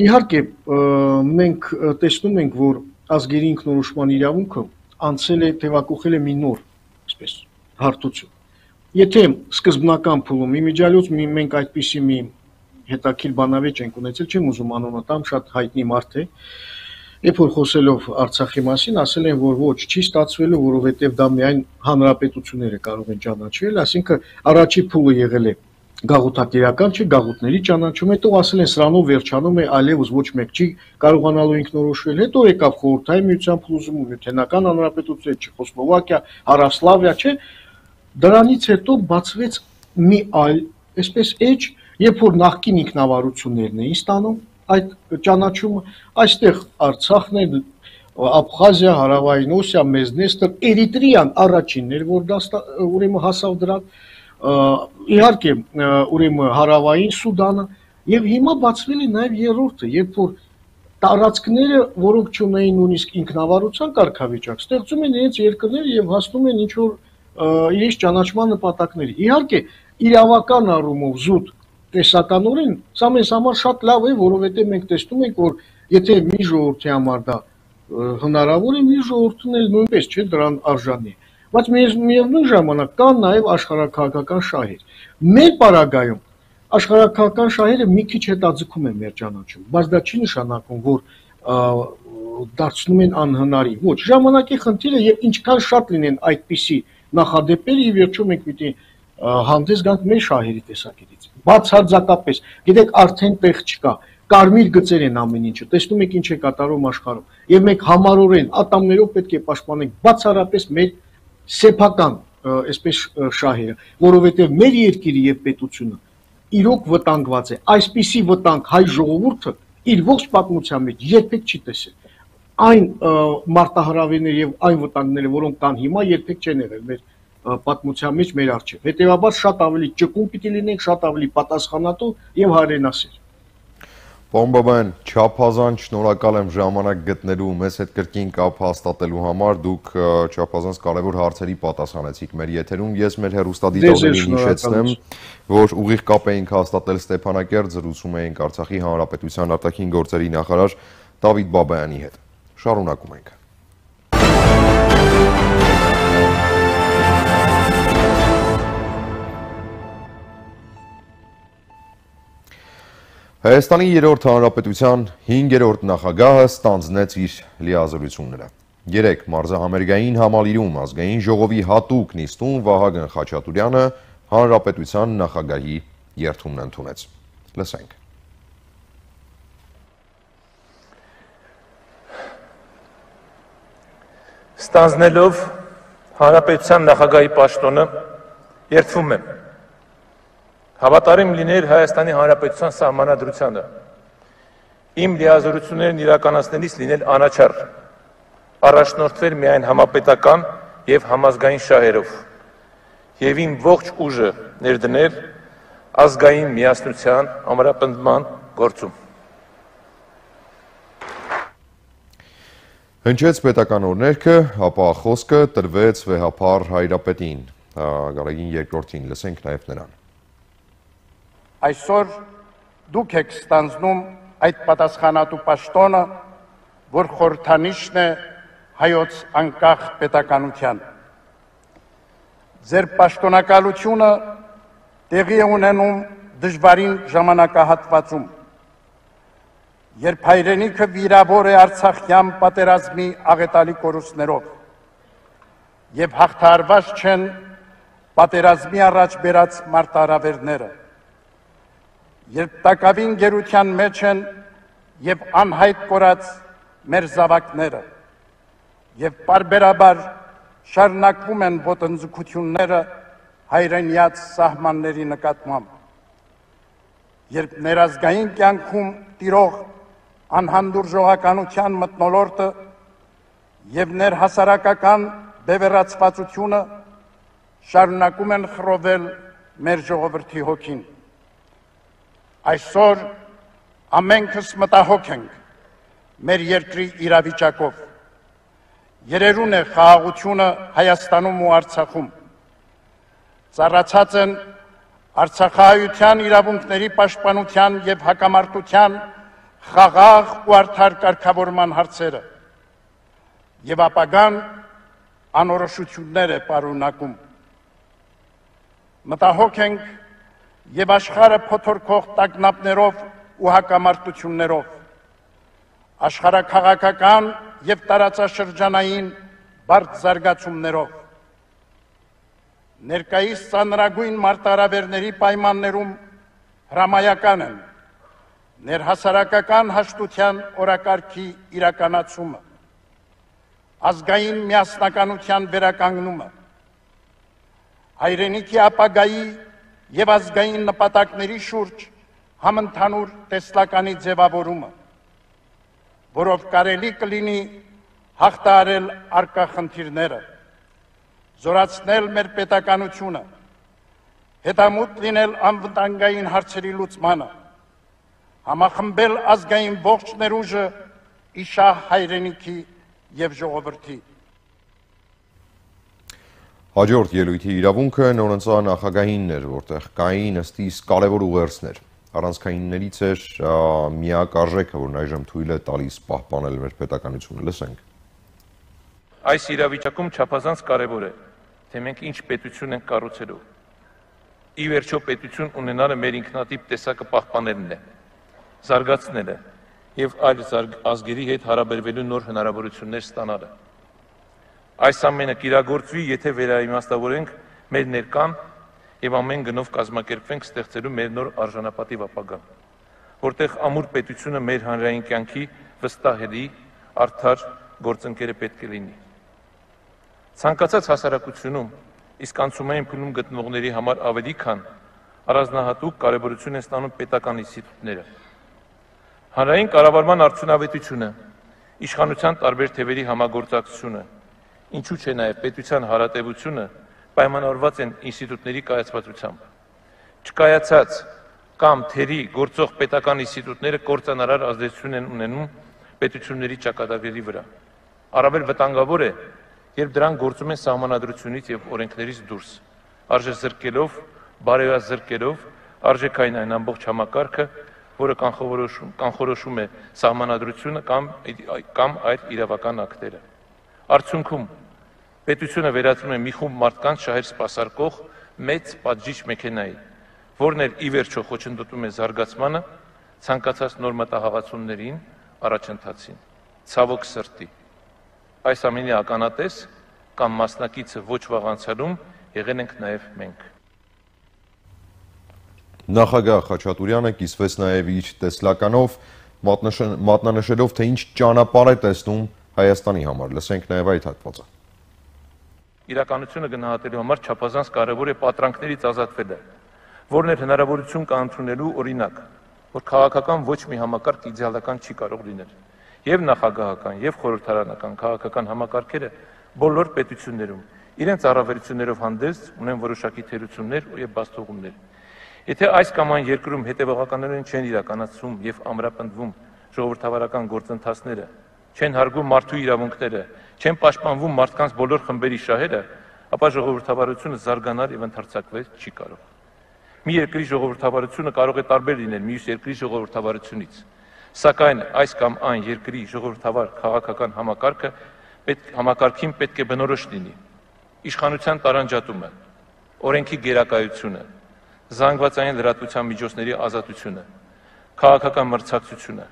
Իհարկե, մենք տեսնում ենք, որ ազգերի ինքնորոշման իրավունքը անցել է, թևակողել է մի նոր, այսպես, հարթություն։ Եթե սկզբնական փուլում իմիջիալոց մենք այդպիսի մի հետաքրքիր բանավեճ ենք ունեցել, չեմ ուզում անունը տամ, շատ հայտնի մարդ է, երբ որ խոսելով Արցախի մասին, ասել են, որ ոչ, չի ստացվելու, որովհետև դա միայն հանրապետությունները կարող են ճանաչել, այսինքն առաջի փուլը եղել է գաղութատիրական, չէ, գաղութների ճանաչում, հետո ասել են սրանով վերջանում է, այլևս ոչ մեկ չի կարողանալու ինքնորոշվել, հետո եկավ խորհրդային միության փլուզումը, Միութենական հանրապետություն, Չեխոսլովակիա, Հարավսլավիա, չէ, դրանից հետո բացվեց մի այլ, այսպես էջ, երբ որ նախկին ինքնավարություններն էին ստանում այդ ճանաչումը, այստեղ Արցախն է, Աբխազիա, Հարավային Օսիա, Մեզնեստր, Էրիտրեան առաջինն էր, որ դա ուրեմն հասավ դրան, իհարկե ուրեմն Հարավային Սուդանը եւ հիմա բացվել է նաեւ երրորդը, երբ որ տարածքները, որոնք չունեին նույնիսկ ինքնավարության կարգավիճակ, ստեղծում են իրենց երկրներ եւ հասնում են ինչ որ իրենց ճանաչման նպատակների։ Իհարկե, իրավական առումով զուտ տեսականորեն սա մեզ համար շատ լավ է, որովհետեւ մենք տեսնում ենք, որ եթե մի ժողովրդի համար դա հնարավոր է, մի ժողովուրդն էլ նույնպես չէ դրան արժանի է։ Բայց միևնույն ժամանակ կան նաև աշխարհաքաղաքական շահեր։ Մեր պարագայում աշխարհաքաղաքական շահերը մի քիչ հետաձգում են մեր ճանաչում, բայց դա չի նշանակում, որ դարձնում են անհնարին։ Ոչ, ժամանակի խնդիրը եւ ինչքան շատ լինեն այդպիսի նախադեպեր, ի վերջո մենք պիտի հանդես գանք մեր շահերի տեսակետից։ Բացարձակապես, գիտեք, արդեն տեղ չկա։ Կարմիր գծեր են ամեն ինչը։ Տեսնում եք ինչ է կատարում աշխարհում։ Եվ մենք համառորեն ատամներով պետք է պաշտպանենք բացառապես մեր սեփական, այսպես շահերը, որովհետեւ մեր երկիրը եւ պետությունը իրոք վտանգված է։ Այսպիսի վտանգ հայ ժողովուրդը իր ողջ պատմության մեջ երբեք չի տեսել։ Այն մարտահրավերները եւ այն վտանգները, որոնք կան հիմա, երբեք չեն եղել մեր պատմության մեջ մեր առջև։ Հետևաբար շատ ավելի ճկուն պիտի լինենք, շատ ավելի պատասխանատու եւ հայրենասեր։ Պարոն, չափազանց շնորհակալ եմ ժամանակ գտնելու մեզ հետ կրկին կապ հաստատելու համար, դուք չափազանց կարևոր հարցերի պատասխանեցիք մեր եթերում, ես մեր հեռուստադիտողներին հիշեցնեմ, որ ուղիղ կապ էինք հաստատել Ստեփանակերտ, զրուցում էինք Արցախի Հանրապետության արտաքին գործերի նախարար Դավիթ Բաբայանի հետ։ Շարունակում ենք։ Հայաստանի 3-րդ Հանրապետության 5-րդ նախագահը ստանձնեց իր լիազորությունները։ 3 մարզահամերգային համալիրում ազգային ժողովի հատուկ նիստում Վահագն Խաչատուրյանը Հանրապետության նախագահի երդումն ընդունեց։ Լսենք։ Ստանձնելով Հանրապետության նախագահի պաշտոնը երդվում եմ հավատարիմ լինել Հայաստանի Հանրապետության սահմանադրությանը, իմ լիազորություններն իրականացնելիս լինել անաչառ, առաջնորդվել միայն համապետական և համազգային շահերով և իմ ողջ ուժը ներդնել ազգային միասնության ամրապնդման գործում։ Հնչեց պետական օրհներգը, ապա խոսքը տրվեց վեհափառ Հայրապետին, Գարեգին II-ին, լսենք նաև նրան։ Այսօր դուք եք ստանձնում այդ պատասխանատու պաշտոնը, որ խորհրդանիշն է հայոց անկախ պետականության։ Ձեր պաշտոնակալությունը տեղի է ունենում դժվարին ժամանակահատվածում, երբ հայրենիքը վիրավոր է արցախյան պատերազմի աղետալի կորուստներով եւ հաղթահարված չեն պատերազմի առաջ բերած մարտահրավերները, երբ տակավին գերության մեջ են եւ անհայտ կորած մեր զավակները եւ պարբերաբար շարունակվում են ոտնձգությունները հայրենիաց սահմանների նկատմամբ, երբ ներազգային կյանքում տիրող անհանդուրժողականության մթնոլորտը եւ ներհասարակական բևեռացվածությունը շարունակում են խռովել մեր ժողովրդի հոգին։ Այսօր ամենքս մտահոգ ենք մեր երկրի իրավիճակով։ Երերուն է խաղաղությունը Հայաստանում ու Արցախում։ Ծառացած են արցախահայության իրավունքների պաշտպանության եւ հակամարտության խաղաղ ու արդար կարգավորման հարցերը եւ ապագան անորոշություններ է պարունակում։ Մտահոգ ենք եւ աշխարհը փոթորկող տագնապներով ու հակամարտություններով, աշխարհաքաղաքական եւ տարածաշրջանային բարդ զարգացումներով, ներկայիս ծանրագույն մարտահրավերների պայմաններում հրամայական են ներհասարակական հաշտության օրակարգի իրականացումը, ազգային միասնականության վերականգնումը, հայրենիքի ապագայի եւ ազգային նպատակների շուրջ համընդհանուր տեսլականի ձևավորումը, որով կարելի կլինի հաղթահարել առկա խնդիրները, զորացնել մեր պետականությունը, հետամուտ լինել անվտանգային հարցերի լուծմանը, համախմբել ազգային ողջ ներուժը իշահ հայրենիքի եւ ժողովրդի։ Հաջորդ ելույթի իրավունքը նորընծա նախագահինն էր, որտեղ կային ըստիս կարևոր ուղերձներ։ Առանցքայիններից էր միակ արժեքը, որն այժմ թույլ է տալիս պահպանել մեր պետականությունը։ Լսենք։ Այս իրավիճակում չափազանց կարևոր է, թե մենք ինչ պետություն ենք կառուցելու։ Ի վերջո պետություն ունենալը մեր ինքնատիպ տեսակը պահպանելն է, զարգացնելը եւ այլ ազգերի հետ հարաբերվելու նոր հնարավորություններ ստանալը։ Այս ամենը կիրագործվի, եթե վերաիմաստավորենք մեր ներկան եւ ամեն գնով կազմակերպվենք ստեղծելու մեր նոր արժանապատիվ ապագան, որտեղ ամուր պետությունը մեր հանրային կյանքի վստահելի, արդար գործընկերը պետք է լինի։ Ցանկացած հասարակությունում իսկ անցումային փուլում գտնվողների համար ավելի քան առանձնահատուկ կարևորություն են ստանում պետական ինստիտուտները։ Հանրային կառավարման արդյունավետությունը, իշխանության տարբեր թևերի համագործակցությունը, ինչու՞ չէ նաև պետության հարատևությունը պայմանավորված են ինստիտուտների կայացվածությամբ։ Չկայացած կամ թերի գործող պետական ինստիտուտները կործանարար ազդեցություն են ունենում պետությունների ճակատագրերի վրա։ Առավել վտանգավոր է, երբ դրանք գործում են սահմանադրությունից եւ օրենքներից դուրս, արժեզրկելով, բարոյազրկելով արժեքային այն ամբողջ համակարգը, որը կանխորոշում է սահմանադրությունը կամ այլ իրավական ակտերը։ Արդյունքում պետությունը վերածվում է մի խումբ մարդկանց շահեր սպասարկող մեծ պատժիչ մեքենայի, որն էլ ի վերջո խոչընդոտում է զարգացմանը, ցանկացած նոր մտահղացումներին, առաջընթացին։ Ցավոք սրտի, այս ամենի ականատես կամ մասնակիցը ոչ վաղ անցյալում եղել ենք նաև մենք։ Նախագահ Խաչատուրյանը կիսվեց նաև իր տեսլականով, մատնանշելով, թե ինչ ճանապարհ է տեսնում Հայաստանի համար։ Լսենք նաև այդ հատվածը։ Իրականությունը գնահատելու համար չափազանց կարևոր է պատրանքներից ազատվելը, որն էլ հնարավորություն կա ընդունելու օրինակ, որ քաղաքական ոչ մի համակարգ իդեալական չի կարող լինել։ Եվ նախագահական, եւ խորհրդարանական քաղաքական համակարգերը բոլոր պետություններում իրենց առավելություններով հանդերձ ունեն որոշակի թերություններ եւ բացթողումներ։ Եթե այս կամ այն երկրում հետևողականորեն չեն իրականացվում եւ ամրապնդվում ժողովրդավարական գործընթացները, չեն հարգում մարդու իրավունքները, չեն պաշտպանվում մարդկանց բոլոր խմբերի շահերը, ապա ժողովրդավարությունը զարգանալ եւ ընդարձակվել չի կարող։ Մի երկրի ժողովրդավարությունը կարող է տարբեր լինել մյուս երկրի ժողովրդավարությունից, սակայն այս կամ այն երկրի ժողովրդավար քաղաքական համակարգին պետք է բնորոշ լինի իշխանության տարանջատումը, օրենքի գերակայությունը, զանգվածային լրատվության միջոցների ազատությունը, քաղաքական մրցակցությունը,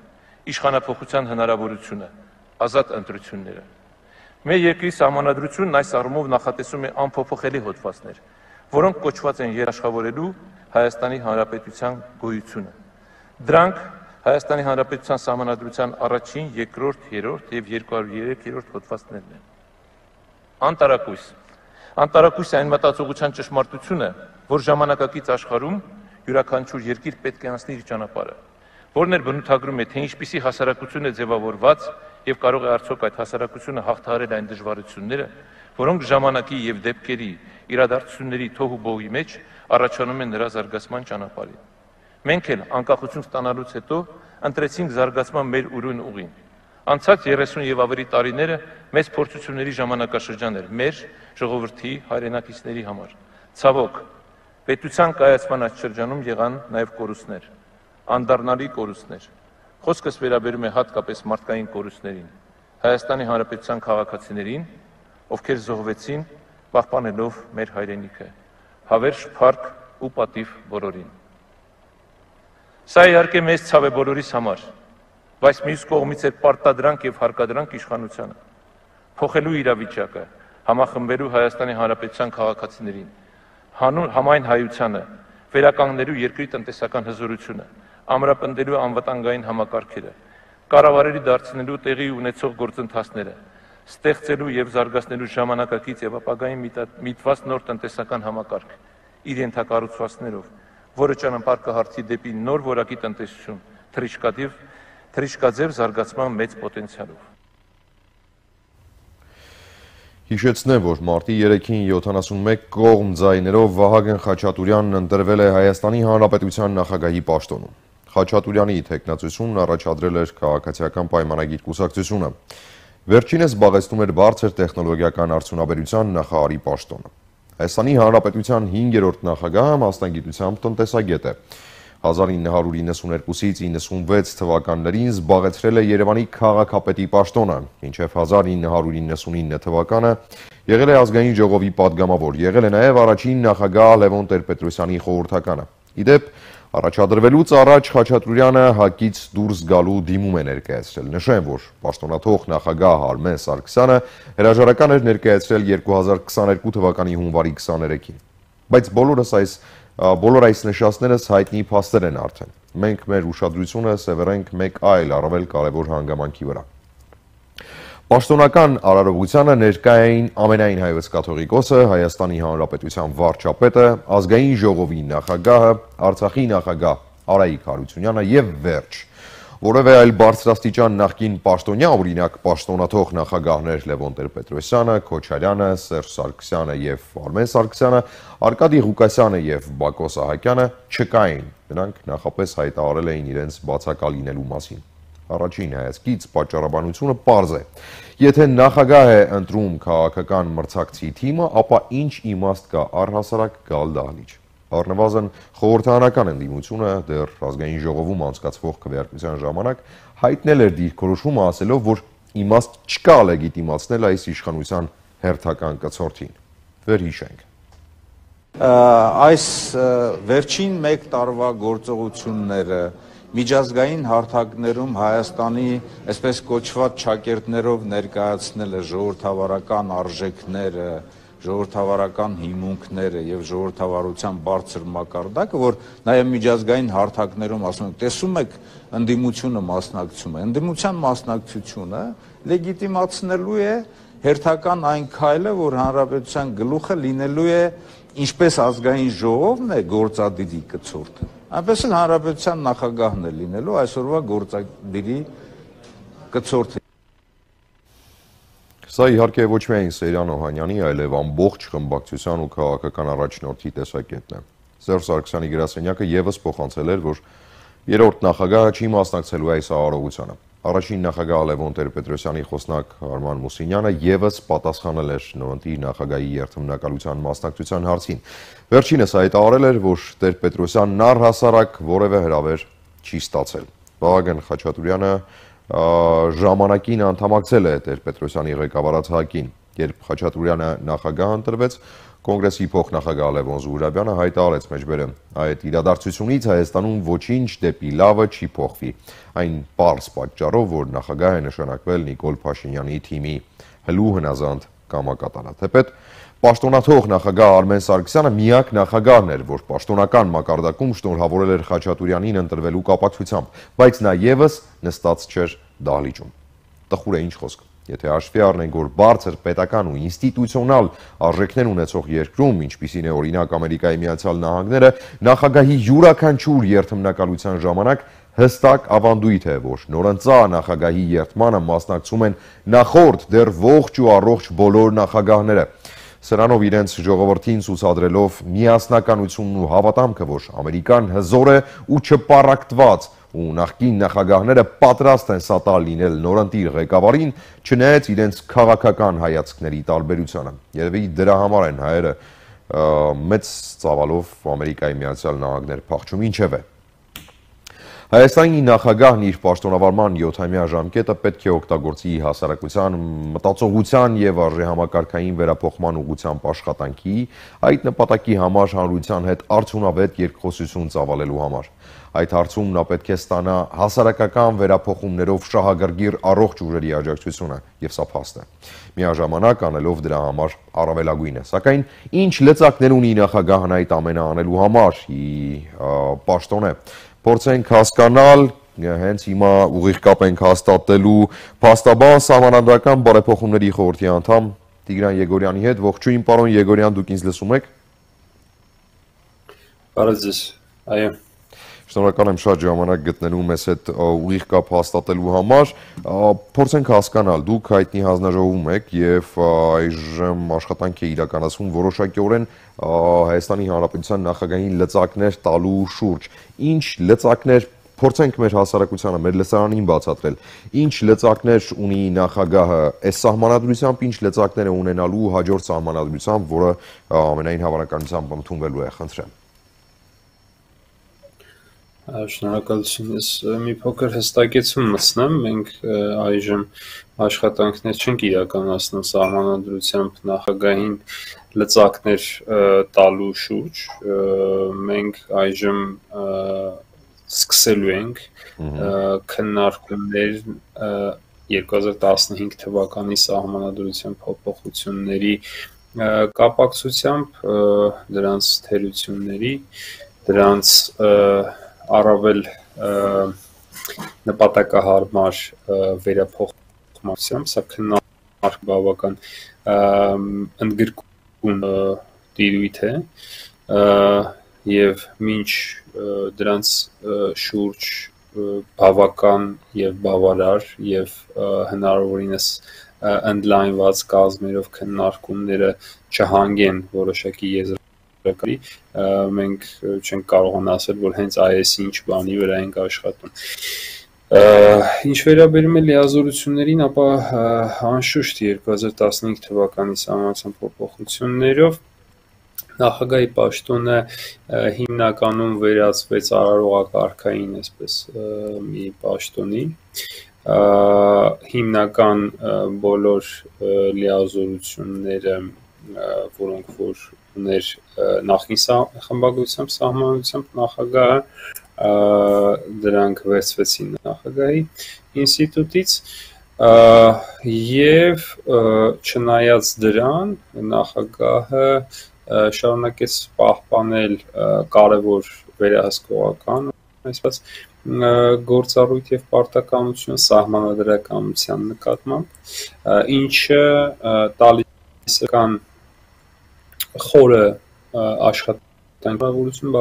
իշխանափոխության հնարավորությունը, ազատ ընտրությունները։ Մեր երկրի սահմանադրությունն այս առումով նախատեսում է անփոփոխելի հոդվածներ, որոնք կոչված են երաշխավորելու Հայաստանի Հանրապետության գոյությունը։ Դրանք Հայաստանի Հանրապետության սահմանադրության առաջին, երկրորդ, երրորդ եւ 203-րդ հոդվածներն են։ Անտարակույս այն մտածողության ճշմարտությունը, որ ժամանակակից աշխարհում յուրաքանչյուր երկիր պետք է անցնի իր ճանապարհը, որն էլ բնութագրում է, թե ինչպիսի հասարակություն է ձևավորված եւ կարող է արդյոք այդ հասարակությունը հաղթահարել այն դժվարությունները, որոնք ժամանակի եւ դեպքերի իրադարձությունների թոհու բողի մեջ առաջանում են նրա զարգացման ճանապարհին։ Մենք էլ անկախություն ստանալուց հետո ընտրեցինք զարգացման մեր ուրույն ուղին։ Անցած 30 եւ ավելի տարիները մեծ փորձությունների ժամանակաշրջան էր մեր ժողովրդի հայրենակիցների համար։ Ցավոք, պետության կայացման այս շրջանում եղան նաեւ կորուստներ, անդառնալի կորուստներ։ Խոսքս վերաբերում է հատկապես մարդկային կորուստներին, Հայաստանի Հանրապետության քաղաքացիներին, ովքեր զոհվեցին, պահպանելով մեր հայրենիքը, հավերժ փառք ու պատիվ բոլորին։ Սա իհարկե մեծ ցավ է բոլորիս համար, բայց մյուս կողմից է պարտադրանք եւ հարկադրանք իշխանությանը, փոխելու իրավիճակը, համախմբելու Հայաստանի Հանրապետության քաղաքացիներին, համայն հայությանը, վերականգնելու երկրի տնտեսական հզորությունը, ամրապնդելու անվտանգային համակարգերը, կառավարելի դարձնելու տեղի ունեցող գործընթացները, ստեղծելու եւ զարգացնելու ժամանակակից եւ ապագային միտված նոր տնտեսական համակարգ իր ենթակառուցվածքներով, որը ճանապարհ կհարթի դեպի նոր որակի տնտեսություն, թռիչքաձև զարգացման մեծ պոտենցիալով։ Հիշեցնեմ, որ մարտի 3-ին 71 կողմ ձայներով Վահագն Խաչատուրյանն ընտրվել է Հայաստանի Հանրապետության նախագահի պաշտոնում։ Խաչատուրյանի թեկնածությունն առաջադրել էր քաղաքացիական պայմանագիր կուսակցությունը։ Վերջինս զբաղեցնում էր բարձր տեխնոլոգիական արդյունաբերության նախարարի պաշտոնը։ Հայաստանի Հանրապետության 5-րդ նախագահը մասնագիտությամբ տնտեսագետ է։ 1992-ից 96 թվականներին զբաղեցրել է Երևանի քաղաքապետի պաշտոնը, մինչև 1999 թվականը եղել է ազգային ժողովի պատգամավոր, եղել է նաև առաջին նախագահ Լևոն Տեր-Պետրոսյանի խորհրդականը։ Ի դեպ, Առաջադրվելուց առաջ Խաչատուրյանը ՀԱԿ-ից դուրս գալու դիմում է ներկայացրել։ Նշեմ, որ պաշտոնաթող նախագահ Արմեն Սարգսյանը հրաժարական էր ներկայացրել 2022 թվականի հունվարի 23-ին։ Բայց բոլոր այս նշածներս հայտնի փաստեր են արդեն։ Մենք մեր ուշադրությունը սևեռենք մեկ այլ առավել կարևոր հանգամանքի վրա։ Պաշտոնական արարողությանը ներկա էին ամենայն հայոց կաթողիկոսը, Հայաստանի Հանրապետության վարչապետը, ազգային ժողովի նախագահը, Արցախի նախագահ Արայիկ Հարությունյանը եւ վերջ։ Որևէ այլ բարձրաստիճան նախկին պաշտոնյա, օրինակ պաշտոնաթող նախագահներ Լևոն Տեր-Պետրոսյանը, Քոչարյանը, Սերժ Սարգսյանը եւ Արմեն Սարգսյանը, Արկադի Ղուկասյանը եւ Բակո Սահակյանը չկային։ Նրանք նախապես հայտարարել էին իրենց բացակա լինելու մասին։ Առաջին հայացքից պատճառաբանությունը պարզ է։ Եթե նախագահ է ընտրում քաղաքական մրցակցի թիմը, ապա ինչ իմաստ կա առհասարակ գալ դահլիճ։ Առնվազն խորհրդարանական ընդդիմությունը դեռ ազգային ժողովում անցկացվող քվեարկության ժամանակ հայտնել էր դիրքորոշումը, ասելով, որ իմաստ չկա լեգիտիմացնել այս իշխանության հերթական կցորդին։ Վերհիշենք։ Այս վերջին մեկ տարվա գործողությունները միջազգային հարթակներում Հայաստանի այսպես կոչված ճակերտներով ներկայացնելը ժողովրդավարական արժեքները, ժողովրդավարական հիմունքները եւ ժողովրդավարության բարձր մակարդակը, որ նաեւ միջազգային հարթակներում ասում ենք, տեսում եք, ընդդիմությունը մասնակցում է։ Ընդդիմության մասնակցությունը լեգիտիմացնելու է հերթական այն քայլը, որ հանրապետության գլուխը լինելու է ինչպես ազգային ժողովն է գործադիրի կցորդը, այնպես էլ հանրապետության նախագահն է լինելու այսօրվա գործադիրի կցորդը։ Սա իհարկե ոչ միայն Սերյան Օհանյանի, այլև ամբողջ խմբակցության ու քաղաքական առաջնորդի տեսակետն է։ Սերժ Սարգսյանի գրասենյակը եւս փոխանցել էր, որ երրորդ նախագահը չի մասնակցելու այս արարողությանը։ Առաջին նախագահ Լևոն Տեր-Պետրոսյանի խոսնակ Արման Մուսինյանը եւս պատասխանել էր նորընտիր նախագահի երթմնակալության մասնակցության հարցին։ Վերջինս հայտարարել էր, որ Տեր-Պետրոսյանն առհասարակ որևէ հրավեր չի ստացել։ Վահագն Խաչատուրյանը ժամանակին անդամակցել է Տեր-Պետրոսյանի ղեկավարած ՀԱԿ-ին, երբ Խաչատուրյանը նախագահ ընտրվեց, Կոնգրեսի փոխնախագահ Լևոն Զուհրաբյանը հայտարարեց մեջբերը այդ իրադարձությունից Հայաստանում ոչինչ դեպի լավը չի փոխվի։ Այն պարզ պատճառով, որ նախագահ է նշանակվել Նիկոլ Փաշինյանի թիմի հլու հնազանդ կամակատարը։ Թեպետ պաշտոնաթող նախագահ Արմեն Սարգսյանը միակ նախագահն էր, որ պաշտոնական մակարդակում շնորհավորել էր Խաչատուրյանին ընտրվելու կապակցությամբ, բայց նա եւս նստած չէր դահլիճում։ Տխուր է ինչ խոսք։ Եթե հաշվի առնենք, որ բարձր պետական ու ինստիտուցիոնալ արժեքներ ունեցող երկրում, ինչպիսին է օրինակ Ամերիկայի Միացյալ Նահանգները, նախագահի յուրաքանչյուր երթմնակալության ժամանակ հստակ ավանդույթ է, որ նորընծա նախագահի երթմանը մասնակցում են նախորդ դեռ ողջ ու առողջ բոլոր նախագահները։ Սրանով իրենց ժողովրդին ցուցադրելով միասնականությունն ու հավատամքը, որ Ամերիկան հզոր է ու չպառակտված, ու նախկին նախագահները պատրաստ են սատալ լինել նորընտիր ղեկավարին, չնայած իրենց քաղաքական հայացքների տարբերությանը։ Երևի դրա համար են հայերը մեծ ծավալով Ամերիկայի Միացյալ Նահանգներ փախչում, ինչևէ։ Հայաստանի նախագահն իր պաշտոնավարման 7-ամյա ժամկետը պետք է օգտագործի հասարակության մտածողության եւ արժեհամակարգային վերափոխման ուղղությամբ աշխատանքի, այդ նպատակի համար հանրության հետ արդյունավետ երկխոսություն ծավալելու համար։ Այդ հարցում նա պետք է ստանա հասարակական վերափոխումներով շահագրգիռ առողջ ուժերի աջակցությունը, եւ սա փաստ է։ Միաժամանակ անելով դրա համար առավելագույնը։ Սակայն ինչ լծակներ ունի նախագահն այդ ամենը անելու համար, պաշտոն է։ Փորձենք հասկանալ, հենց հիմա ուղիղ կապ ենք հաստատելու փաստաբան Սահմանադրական բարեփոխումների խորհրդի անդամ Տիգրան Եգորյանի հետ։ Ողջույն, պարոն Եգորյան, դուք ինձ լսում եք։ Բարև ձեզ։ Այո։ Շնորհակալ եմ շատ ժամանակ գտնելու մեզ հետ ուղիղ կապ հաստատելու համար։ Փորձենք հասկանալ, դուք հայտնի հանձնաժողովում եք եւ այժմ աշխատանք է իրականացվում որոշակիորեն Հայաստանի Հանրապետության նախագահային լծակներ տալու շուրջ։ Ինչ լծակներ փորձենք մեր հասարակությանը, մեր լսարանին բացատրել։ Ինչ լծակներ ունի նախագահը այս սահմանադրությամբ, ինչ լծակներ է ունենալու հաջորդ սահմանադրությամբ, որը ամենայն հավանականությամբ ընդունվելու է, խնդրեմ։ Շնորհակալություն, ես մի փոքր հստակեցում մտցնեմ, մենք այժմ աշխատանքներ չենք իրականացնում սահմանադրությամբ նախագահին լծակներ տալու շուրջ մենք այժմ սկսելու ենք քննարկումներ 2015 թվականի սահմանադրության փոփոխությունների կապակցությամբ դրանց թերությունների, դրանց առավել նպատակահարմար վերափոխումությամբ, սա քննարկում բավական ընդգրկուն տիրույթ է եւ մինչ դրանց շուրջ բավական եւ բավարար եւ հնարավորինս ընդլայնված կազմերով քննարկումները չհանգեն որոշակի եզրակացի, մենք չենք կարողանա ասել, որ հենց այս ինչ բանի վրա ենք աշխատում։ Ինչ վերաբերում է լիազորություններին, ապա անշուշտ 2015 թվականի սահմանադրության փոփոխություններով նախագահի պաշտոնը հիմնականում վերածվեց արարողակարգային, այսպես մի պաշտոնի, հիմնական բոլոր լիազորությունները, որոնք որ ուներ նախին խմբագրությամբ սահմանադրությամբ նախագահը, դրանք վերցվեցին նախագահի ինստիտուտից եւ չնայած դրան նախագահը շարունակեց պահպանել կարևոր վերահսկողական, այսպես գործառույթ եւ պարտականություն սահմանադրականության նկատմամբ, ինչը տալիս է կան խորը աշխատանքի հնարավորություն,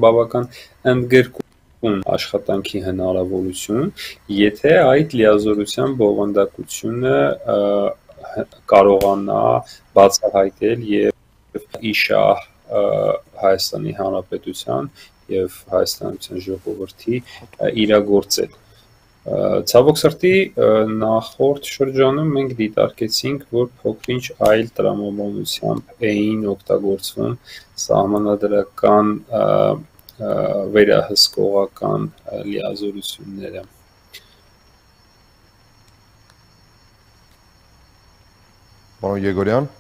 բավական ընդգրկուն աշխատանքի հնարավորություն, եթե այդ լիազորության բովանդակությունը կարողանա բացահայտել եւ իշահ Հայաստանի Հանրապետության եւ Հայաստանյան ժողովրդի իրագործել։ Ցավոք սրտի նախորդ շրջանում մենք դիտարկեցինք, որ փոքրինչ այլ տրամաբանությամբ էին օգտագործվում սահմանադրական վերահսկողական լիազորությունները։ Պարոն Եգորյան,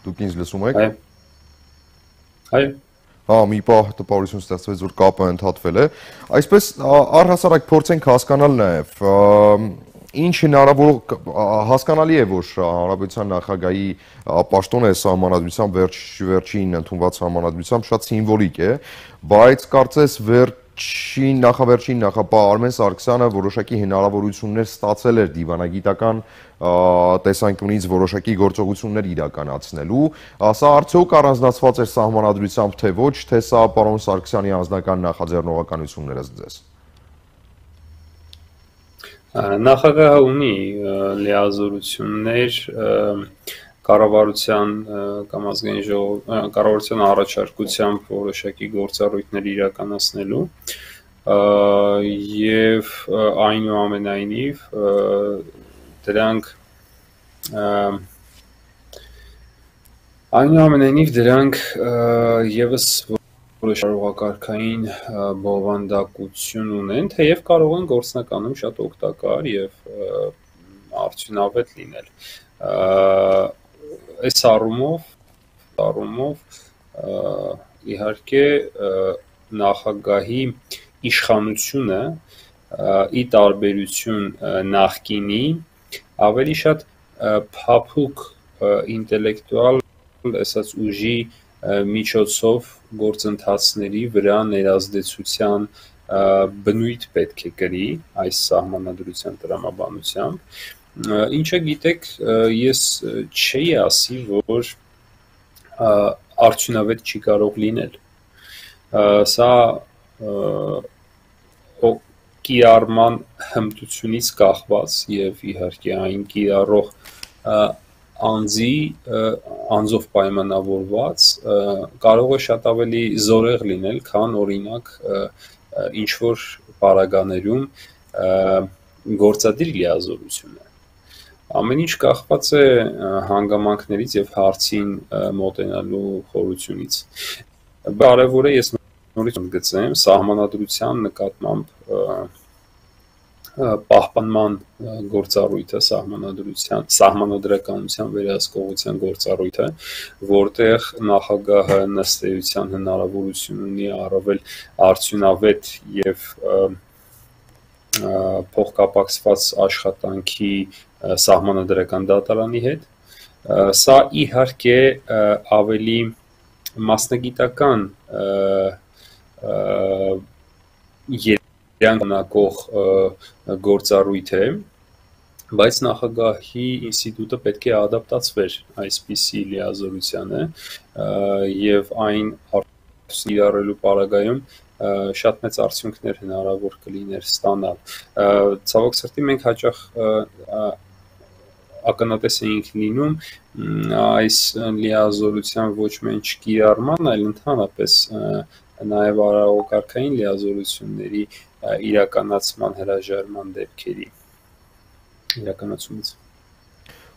դուք ինձ լսում եք։ Այո։ Հա, մի պահ տպավորություն ստեղծվեց, որ կապը ընդհատվել է։ Այսպես առհասարակ փորձենք հասկանալ նաև ինչ հասկանալի է, որ Հանրապետության նախագահի պաշտոնը սահմանադրությամբ վերջին ընդունված սահմանադրությամբ շատ սիմվոլիկ է, բայց կարծես նախավերջին նախապահ Արմեն Սարգսյանը որոշակի հնարավորություններ ստացել էր դիվանագիտական տեսանկյունից որոշակի գործողություններ իրականացնելու, սա արդյոք առանձնացված էր սահմանադրությամբ թե ոչ, թե սա պարոն Սարգսյանի անձնական նախաձեռնողականություններ ձեզ։ Նախագահը ունի լիազորություններ կառավարության կամ ազգային կառավարության առաջարկությամբ որոշակի գործառույթներ իրականացնելու եւ այնուամենայնիվ դրանք եւս որոշ արարողակարգային բովանդակություն ունեն, թեև կարող են գործնականում շատ օգտակար եւ արդյունավետ լինել։ Այս առումով իհարկե նախագահի իշխանությունը ի տարբերություն նախկինի ավելի շատ փափուկ ինտելեկտուալ ասած ուժի միջոցով գործընթացների վրա ներազդեցության բնույթ պետք է կրի այս սահմանադրության տրամաբանությամբ, ինչը գիտեք, ես չի ասի, որ արդյունավետ չի կարող լինել։ Սա կիրառման հմտությունից կախված եւ իհարկե այն կիրառող անձով պայմանավորված կարող է շատ ավելի զորեղ լինել, քան օրինակ ինչ որ պարագաներում գործադիր լիազորությունը։ Ամեն ինչ կախված է հանգամանքներից եւ հարցին մոտենալու խորությունից։ Կարևոր է ես նորից ընդգծեմ սահմանադրության նկատմամբ պահպանման գործառույթը, սահմանադրականության վերահսկողության գործառույթը, որտեղ նախագահը ըստ էության հնարավորություն ունի առավել արդյունավետ եւ փոխկապակցված աշխատանքի սահմանադրական դատարանի հետ։ Սա իհարկե ավելի մասնագիտական երանգնակող գործառույթ է, բայց նախագահի ինստիտուտը պետք է ադապտացվեր այսպիսի լիազորությանը եւ այն իրարելու պարագայում շատ մեծ արդյունքներ հնարավոր կլիներ ստանալ։ Ցավոք սրտի մենք հաճախ ակնատես էինք լինում այս լիազորության ոչ միայն չկիրառման, այլ ընդհանրապես նաև արարողակարգային լիազորությունների իրականացման հրաժարման դեպքերի իրականացումից։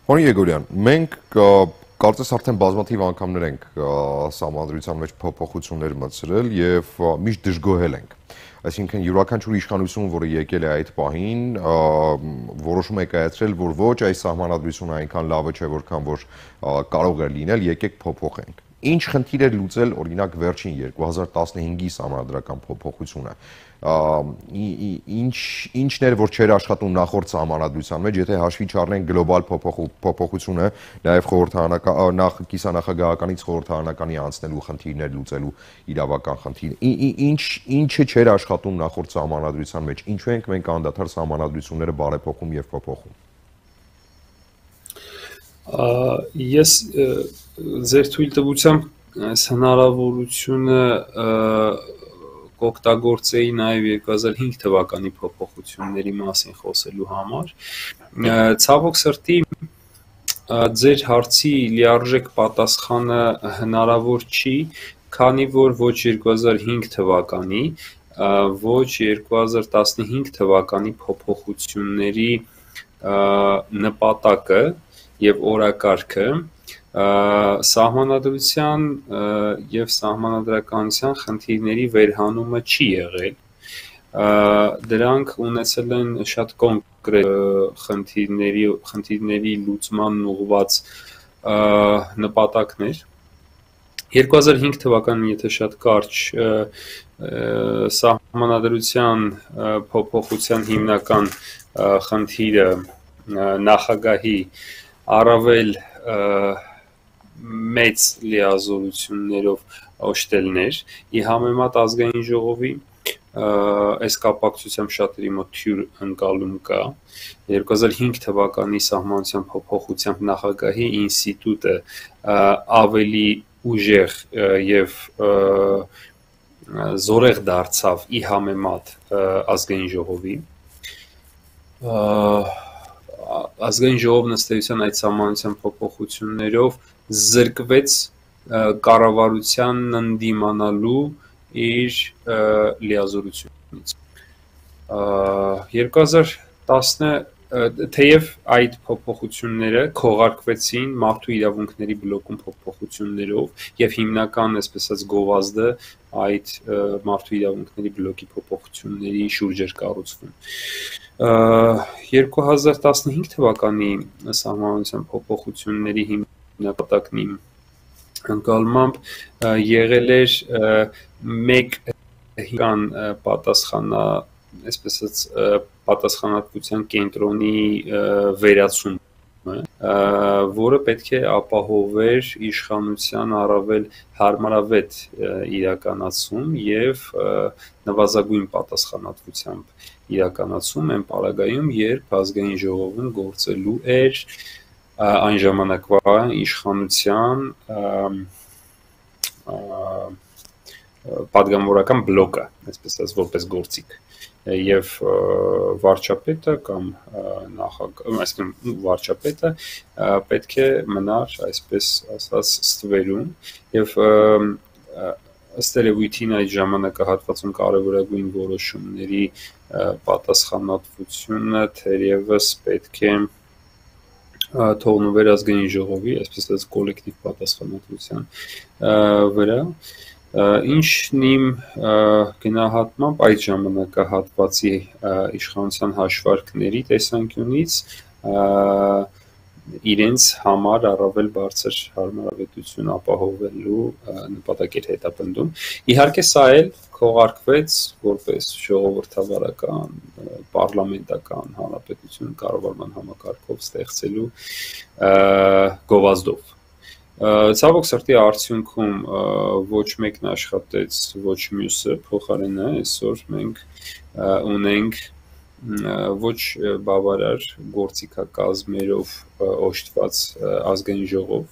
Պարոն Եգորյան, մենք կարծես արդեն բազմաթիվ անգամներ ենք սահմանադրության մեջ փոփոխություններ մտցրել եւ միշտ դժգոհել ենք։ Այսինքն յուրաքանչյուր իշխանություն, որը եկել է այդ պահին, որոշում է կայացրել, որ ոչ, այս սահմանադրությունը այնքան լավը չէ, որքան որ կարող է լինել, եկեք փոփոխենք։ Ինչ խնդիր էր լուծել օրինակ վերջին 2015-ի սահմանադրական փոփոխությունը։ Ինչն էր, որ չէր աշխատում նախորդ սահմանադրության մեջ, եթե հաշվի չառնենք գլոբալ փոփոխությունը, նաև կիսանախագահականից խորհրդարանականի անցնելու խնդիրներ լուծելու իրավական խնդիր։ Ինչը չէր աշխատում նախորդ սահմանադրության մեջ, ինչու ենք մենք անդադար սահմանադրությունները բարեփոխում եւ փոփոխում։ Ես ձեր թույլտվությամբ այս հնարավորությունը կօգտագործեի նաև 2005 թվականի փոփոխությունների մասին խոսելու համար։ Ցավոք սրտի ձեր հարցի լիարժեք պատասխանը հնարավոր չի, քանի որ ոչ 2005 թվականի, ոչ 2015 թվականի փոփոխությունների նպատակը եւ օրակարգը սահմանադրության եւ սահմանադրականության խնդիրների վերհանումը չի եղել։ Դրանք ունեցել են շատ կոնկրետ խնդիրների լուծման ուղղված նպատակներ։ 2005 թվականին, եթե շատ կարճ սահմանադրության փոփոխության հիմնական խնդիրը նախագահի առավել մեծ լիազորություններով օժտելներ, ի համեմատ ազգային ժողովի, այս կապակցությամբ շատերի մոտ թյուր ընկալում կա։ 2005 թվականի սահմանության փոփոխությամբ նախագահի ինստիտուտը ավելի ուժեղ եւ զորեղ դարձավ ի համեմատ ազգային ժողովի։ Ազգային ժողովն ըստ էության այդ սահմանության փոփոխություններով զրկվեց կառավարությանն ընդդիմանալու իր լիազորությունից։ 2010 թեև այդ փոփոխությունները քողարկվեցին մարդու իրավունքների բլոկում փոփոխություններով եւ հիմնական, այսպես ասած, գովազդը այդ մարդու իրավունքների բլոկի փոփոխությունների շուրջ էր կառուցվում։ 2015 թվականի սահմանության փոփոխությունների հիմնապատակն ընկալմամբ եղել էր մեկ հիմնական այսպես ասած պատասխանատվության կենտրոնի վերացումը, որը պետք է ապահովեր իշխանության առավել հարմարավետ իրականացում եւ նվազագույն պատասխանատվությամբ իրականացում են պարագայում, երբ ազգային ժողովում գործելու էր այն ժամանակվա իշխանության պատգամավորական բլոկը, այսպես ասած, որպես գործիք, եւ վարչապետը կամ այսինքն վարչապետը պետք է մնար, այսպես ասած, ստվերում եւ ըստ երևույթին այդ ժամանակահատվածում կարևորագույն որոշումների պատասխանատվությունը թերևս պետք է թողնվեր ազգային ժողովի, այսպես ասած, կոլեկտիվ պատասխանատվության վրա։ Ինչն իմ գնահատմամբ այդ ժամանակահատվածի իշխանության հաշվարկների տեսանկյունից իրենց համար առավել բարձր հարմարավետություն ապահովելու նպատակ էր հետապնդում։ Իհարկե սա էլ քողարկվեց որպես ժողովրդավարական, պարլամենտական հանրապետություն կառավարման համակարգով ստեղծելու գովազդով։ Ցավոք սրտի արդյունքում ոչ մեկն աշխատեց, ոչ մյուսը, փոխարենը այսօր մենք ունենք ոչ բավարար գործիքակազմերով օժտված ազգային ժողով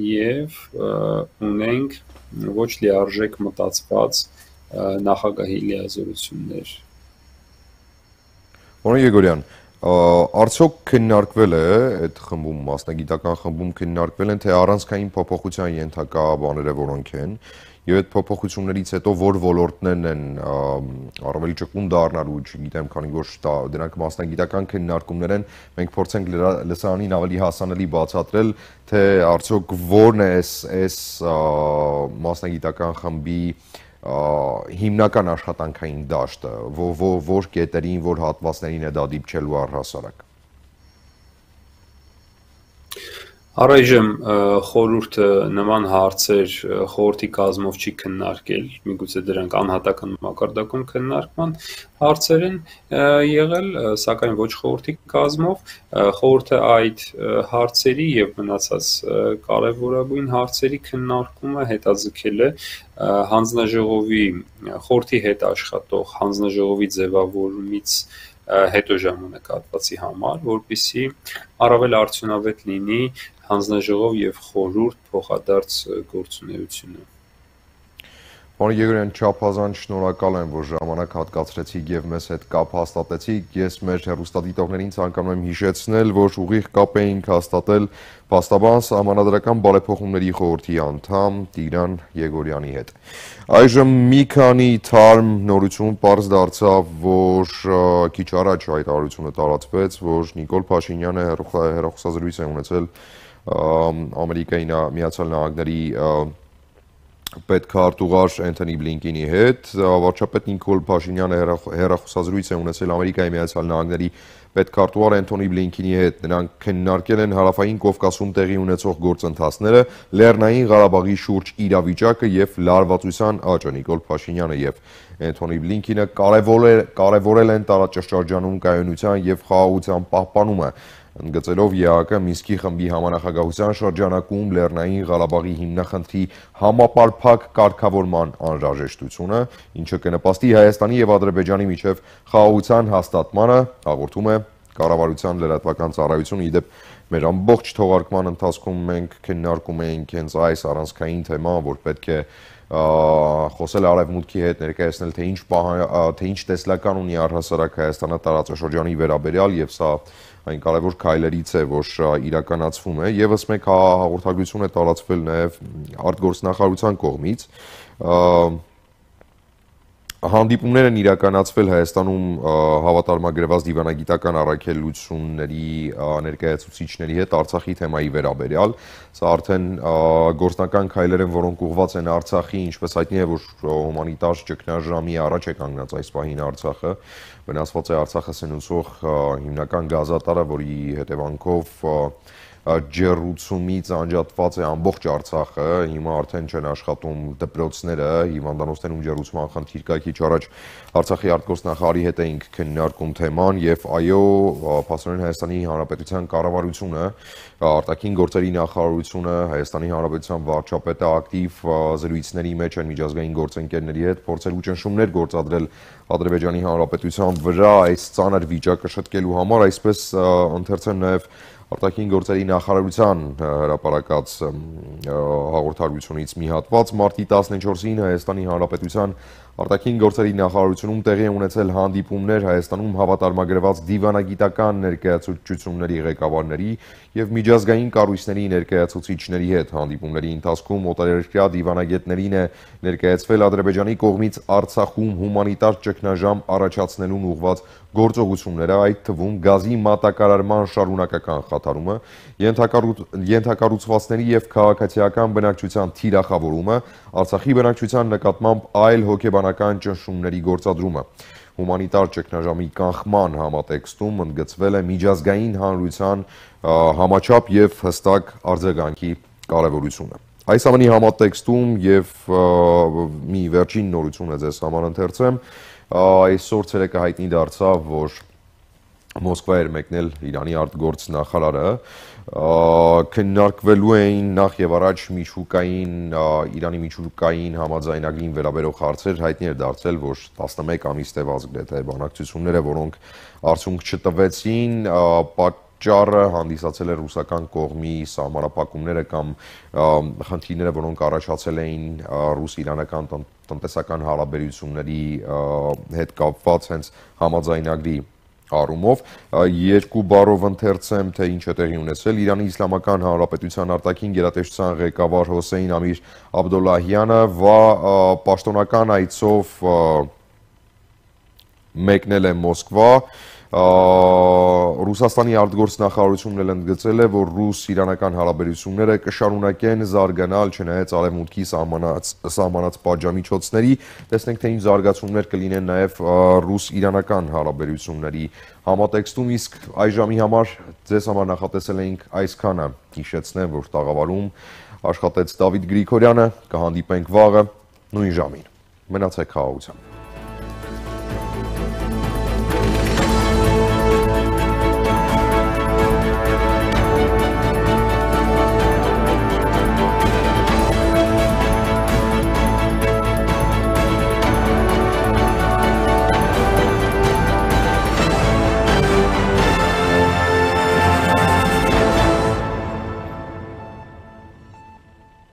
եւ ունենք ոչ լիարժեք մտածված նախագահի լիազորություններ։ Պարոն Եգորյան, արդյոք քննարկվել է այդ խմբում, մասնագիտական խմբում քննարկվել են, թե առանցքային փոփոխության ենթակա բաները որոնք են, եւ այդ փոփոխություններից հետո որ ոլորտներն են առավել ճկուն դառնալու, չգիտեմ, քանի որ դրանք մասնագիտական քննարկումներ են, մենք փորձենք լսարանին ավելի հասանելի բացատրել, թե արդյոք որն է այս մասնագիտական խմբի հիմնական աշխատանքային դաշտը, որ կետերին, որ հատվածներին է դա դիպչելու առհասարակ։ Առայժմ խորհուրդը նման հարցեր խորհրդի կազմով չի քննարկել, միգուցե դրանք անհատական մակարդակում քննարկման հարցեր են եղել, սակայն ոչ խորհրդի կազմով, խորհուրդը այդ հարցերի եւ մնացած կարեւորագույն հարցերի քննարկումը հետաձգել է հանձնաժողովի խորհրդի հետ աշխատող հանձնաժողովի ձևավորումից հետո ժամանակահատվածի համար, որպեսզի առավել արդյունավետ լինի հանձնաժողով եւ խորհուրդ փոխադարձ գործունեությունը։ Պարոն Եգորյան, չափազանց շնորհակալ եմ, որ ժամանակ հատկացրեցիք եւ մեզ հետ կապ հաստատեցիք։ Ես մեր հեռուստադիտողներին ցանկանում եմ հիշեցնել, որ ուղիղ կապ էինք հաստատել փաստաբան Սահմանադրական բարեփոխումների խորհրդի անդամ Տիգրան Եգորյանի հետ։ Այժմ մի քանի թարմ նորություն պարզ դարձավ, որ քիչ առաջ հայտարարությունը տարածվեց, որ Նիկոլ Փաշինյանը հեռախոսազրույց է ունեցել Ամերիկայի Միացյալ Նահանգների պետքարտուղար Էնթոնի Բլինկենի հետ, վարչապետ Նիկոլ Փաշինյանը հեռախոսազրույց է ունեցել Ամերիկայի Միացյալ Նահանգների պետքարտուղար Էնթոնի Բլինկենի հետ, նրանք քննարկել են հարավային Կովկասում տեղի ունեցող գործընթացները, Լեռնային Ղարաբաղի շուրջ իրավիճակը եւ լարվածության աճը։ Նիկոլ Փաշինյանը եւ Էնթոնի Բլինկենը կարևորել են տարածաշրջանում կայունության եւ խաղաղության պահպանումը, ընդգծելով ԵԱՀԿ Մինսկի խմբի համանախագահության շրջանակում Լեռնային Ղարաբաղի հիմնախնդրի համապարփակ կարգավորման անհրաժեշտությունը, ինչը կնպաստի Հայաստանի եւ Ադրբեջանի միջև խաղաղության հաստատմանը, հաղորդում է Կառավարության լրատվական ծառայությունը։ Իդեպ մեր ամբողջ թողարկման ընթացքում մենք քննարկում էինք հենց այս առանցքային թեման, որ պետք է խոսել Արևմուտքի հետ, ներկայացնել, թե ինչ տեսլական ունի առհասարակ Հայաստանը տարածաշրջանի վերաբերյալ, եւ սա այն կարևոր քայլերից է, որ իրականացվում է։ Եվս մեկ հաղորդագրություն է տարածվել նաև արտգործնախարարության կողմից։ Հանդիպումներ են իրականացվել Հայաստանում հավատարմագրված դիվանագիտական առաքելությունների ներկայացուցիչների հետ Արցախի թեմայի վերաբերյալ։ Սա արդեն գործնական քայլեր են, որոնք ուղղված են Արցախի, ինչպես հայտնի է, որ հումանիտար ճգնաժամի առաջ է կանգնած այս պահին Արցախը։ Վնասված է Արցախը սնուցող հիմնական գազատարը, որի հետևանքով ջեռուցումից անջատված է ամբողջ Արցախը, հիմա արդեն չեն աշխատում դպրոցները, հիվանդանոցներում ջեռուցման խնդիր կա։ Քիչ առաջ Արցախի արտգործնախարարի հետ էինք քննարկում թեման եւ այո, փաստորեն Հայաստանի Հանրապետության կառավարությունը, արտաքին գործերի նախարարությունը, Հայաստանի Հանրապետության վարչապետը ակտիվ զրույցների մեջ են միջազգային գործընկերների հետ, փորձելու ճնշումներ գործադրել Ադրբեջանի Հանրապետության վրա այս ծանր վիճակը շտկելու համար, այսպես ընթերցեմ նաեւ արտաքին գործերի նախարարության հրապարակած հաղորդագրությունից մի հատված մարտի 14-ին Հայաստանի Հանրապետության արտաքին գործերի նախարարությունում տեղի ունեցել հանդիպումներ Հայաստանում հավատարմագրված դիվանագիտական ներկայացուցչությունների ղեկավարների եւ միջազգային կառույցների ներկայացուցիչների հետ։ Հանդիպումների ընթացքում օտարերկրյա դիվանագետներին է ներկայացվել Ադրբեջանի կողմից Արցախում հումանիտար ճգնաժամ առաջացնելուն ուղղված գործողությունները, այդ թվում գազի մատակարարման շարունակական դադարումը, ենթակառուցվածքների եւ քաղաքացիական բնակչության թիրախավորումը, Արցախի բնակչության նկատմամբ այլ հոգեբանական ճնշումների գործադրումը։ Հումանիտար ճգնաժամի կանխման համատեքստում ընդգծվել է միջազգային հանրության համաչափ եւ հստակ արձագանքի կարեւորությունը։ Այս ամենի համատեքստում եւ մի վերջին նորություն է ձեզ համար ընթերցեմ, այսօր ցերեկը հայտնի դարձավ, որ Մոսկվա էր մեկնել Իրանի արտգործնախարարը, քննարկվելու էին նախ եւ առաջ Իրանի միջուկային համաձայնագրին վերաբերող հարցեր, հայտնի էր դարձել, որ 11 ամիս տևած գրեթե բանակցությունները, որոնք արդյունք չտվեցին, պատճառը հանդիսացել է ռուսական կողմի սահմանափակումները կամ խնդիրները, որոնք առաջացել էին ռուս-իրանական տնտեսական հարաբերությունների հետ կապված հենց համաձայնագրի առումով, երկու բառով ընթերցեմ, թե ինչ է տեղի ունեցել։ Իրանի Իսլամական Հանրապետության արտաքին գերատեսչության ղեկավար Հոսեյն Ամիր Աբդոլլահյանը պաշտոնական այցով մեկնել է Մոսկվա, Ռուսաստանի արտգործնախարարությունն էլ ընդգծել է, որ ռուս-իրանական հարաբերությունները կշարունակեն զարգանալ, չնայած արևմուտքի սահմանած պատժամիջոցների, տեսնենք, թե ինչ զարգացումներ կլինեն նաև ռուս-իրանական հարաբերությունների համատեքստում, իսկ այս ժամի համար ձեզ համար նախատեսել էինք այսքանը, հիշեցնեմ, որ տաղավարում աշխատեց Դավիթ Գրիգորյանը, կհանդիպենք վաղը նույն ժամին։ Մնացեք խաղաղությամբ։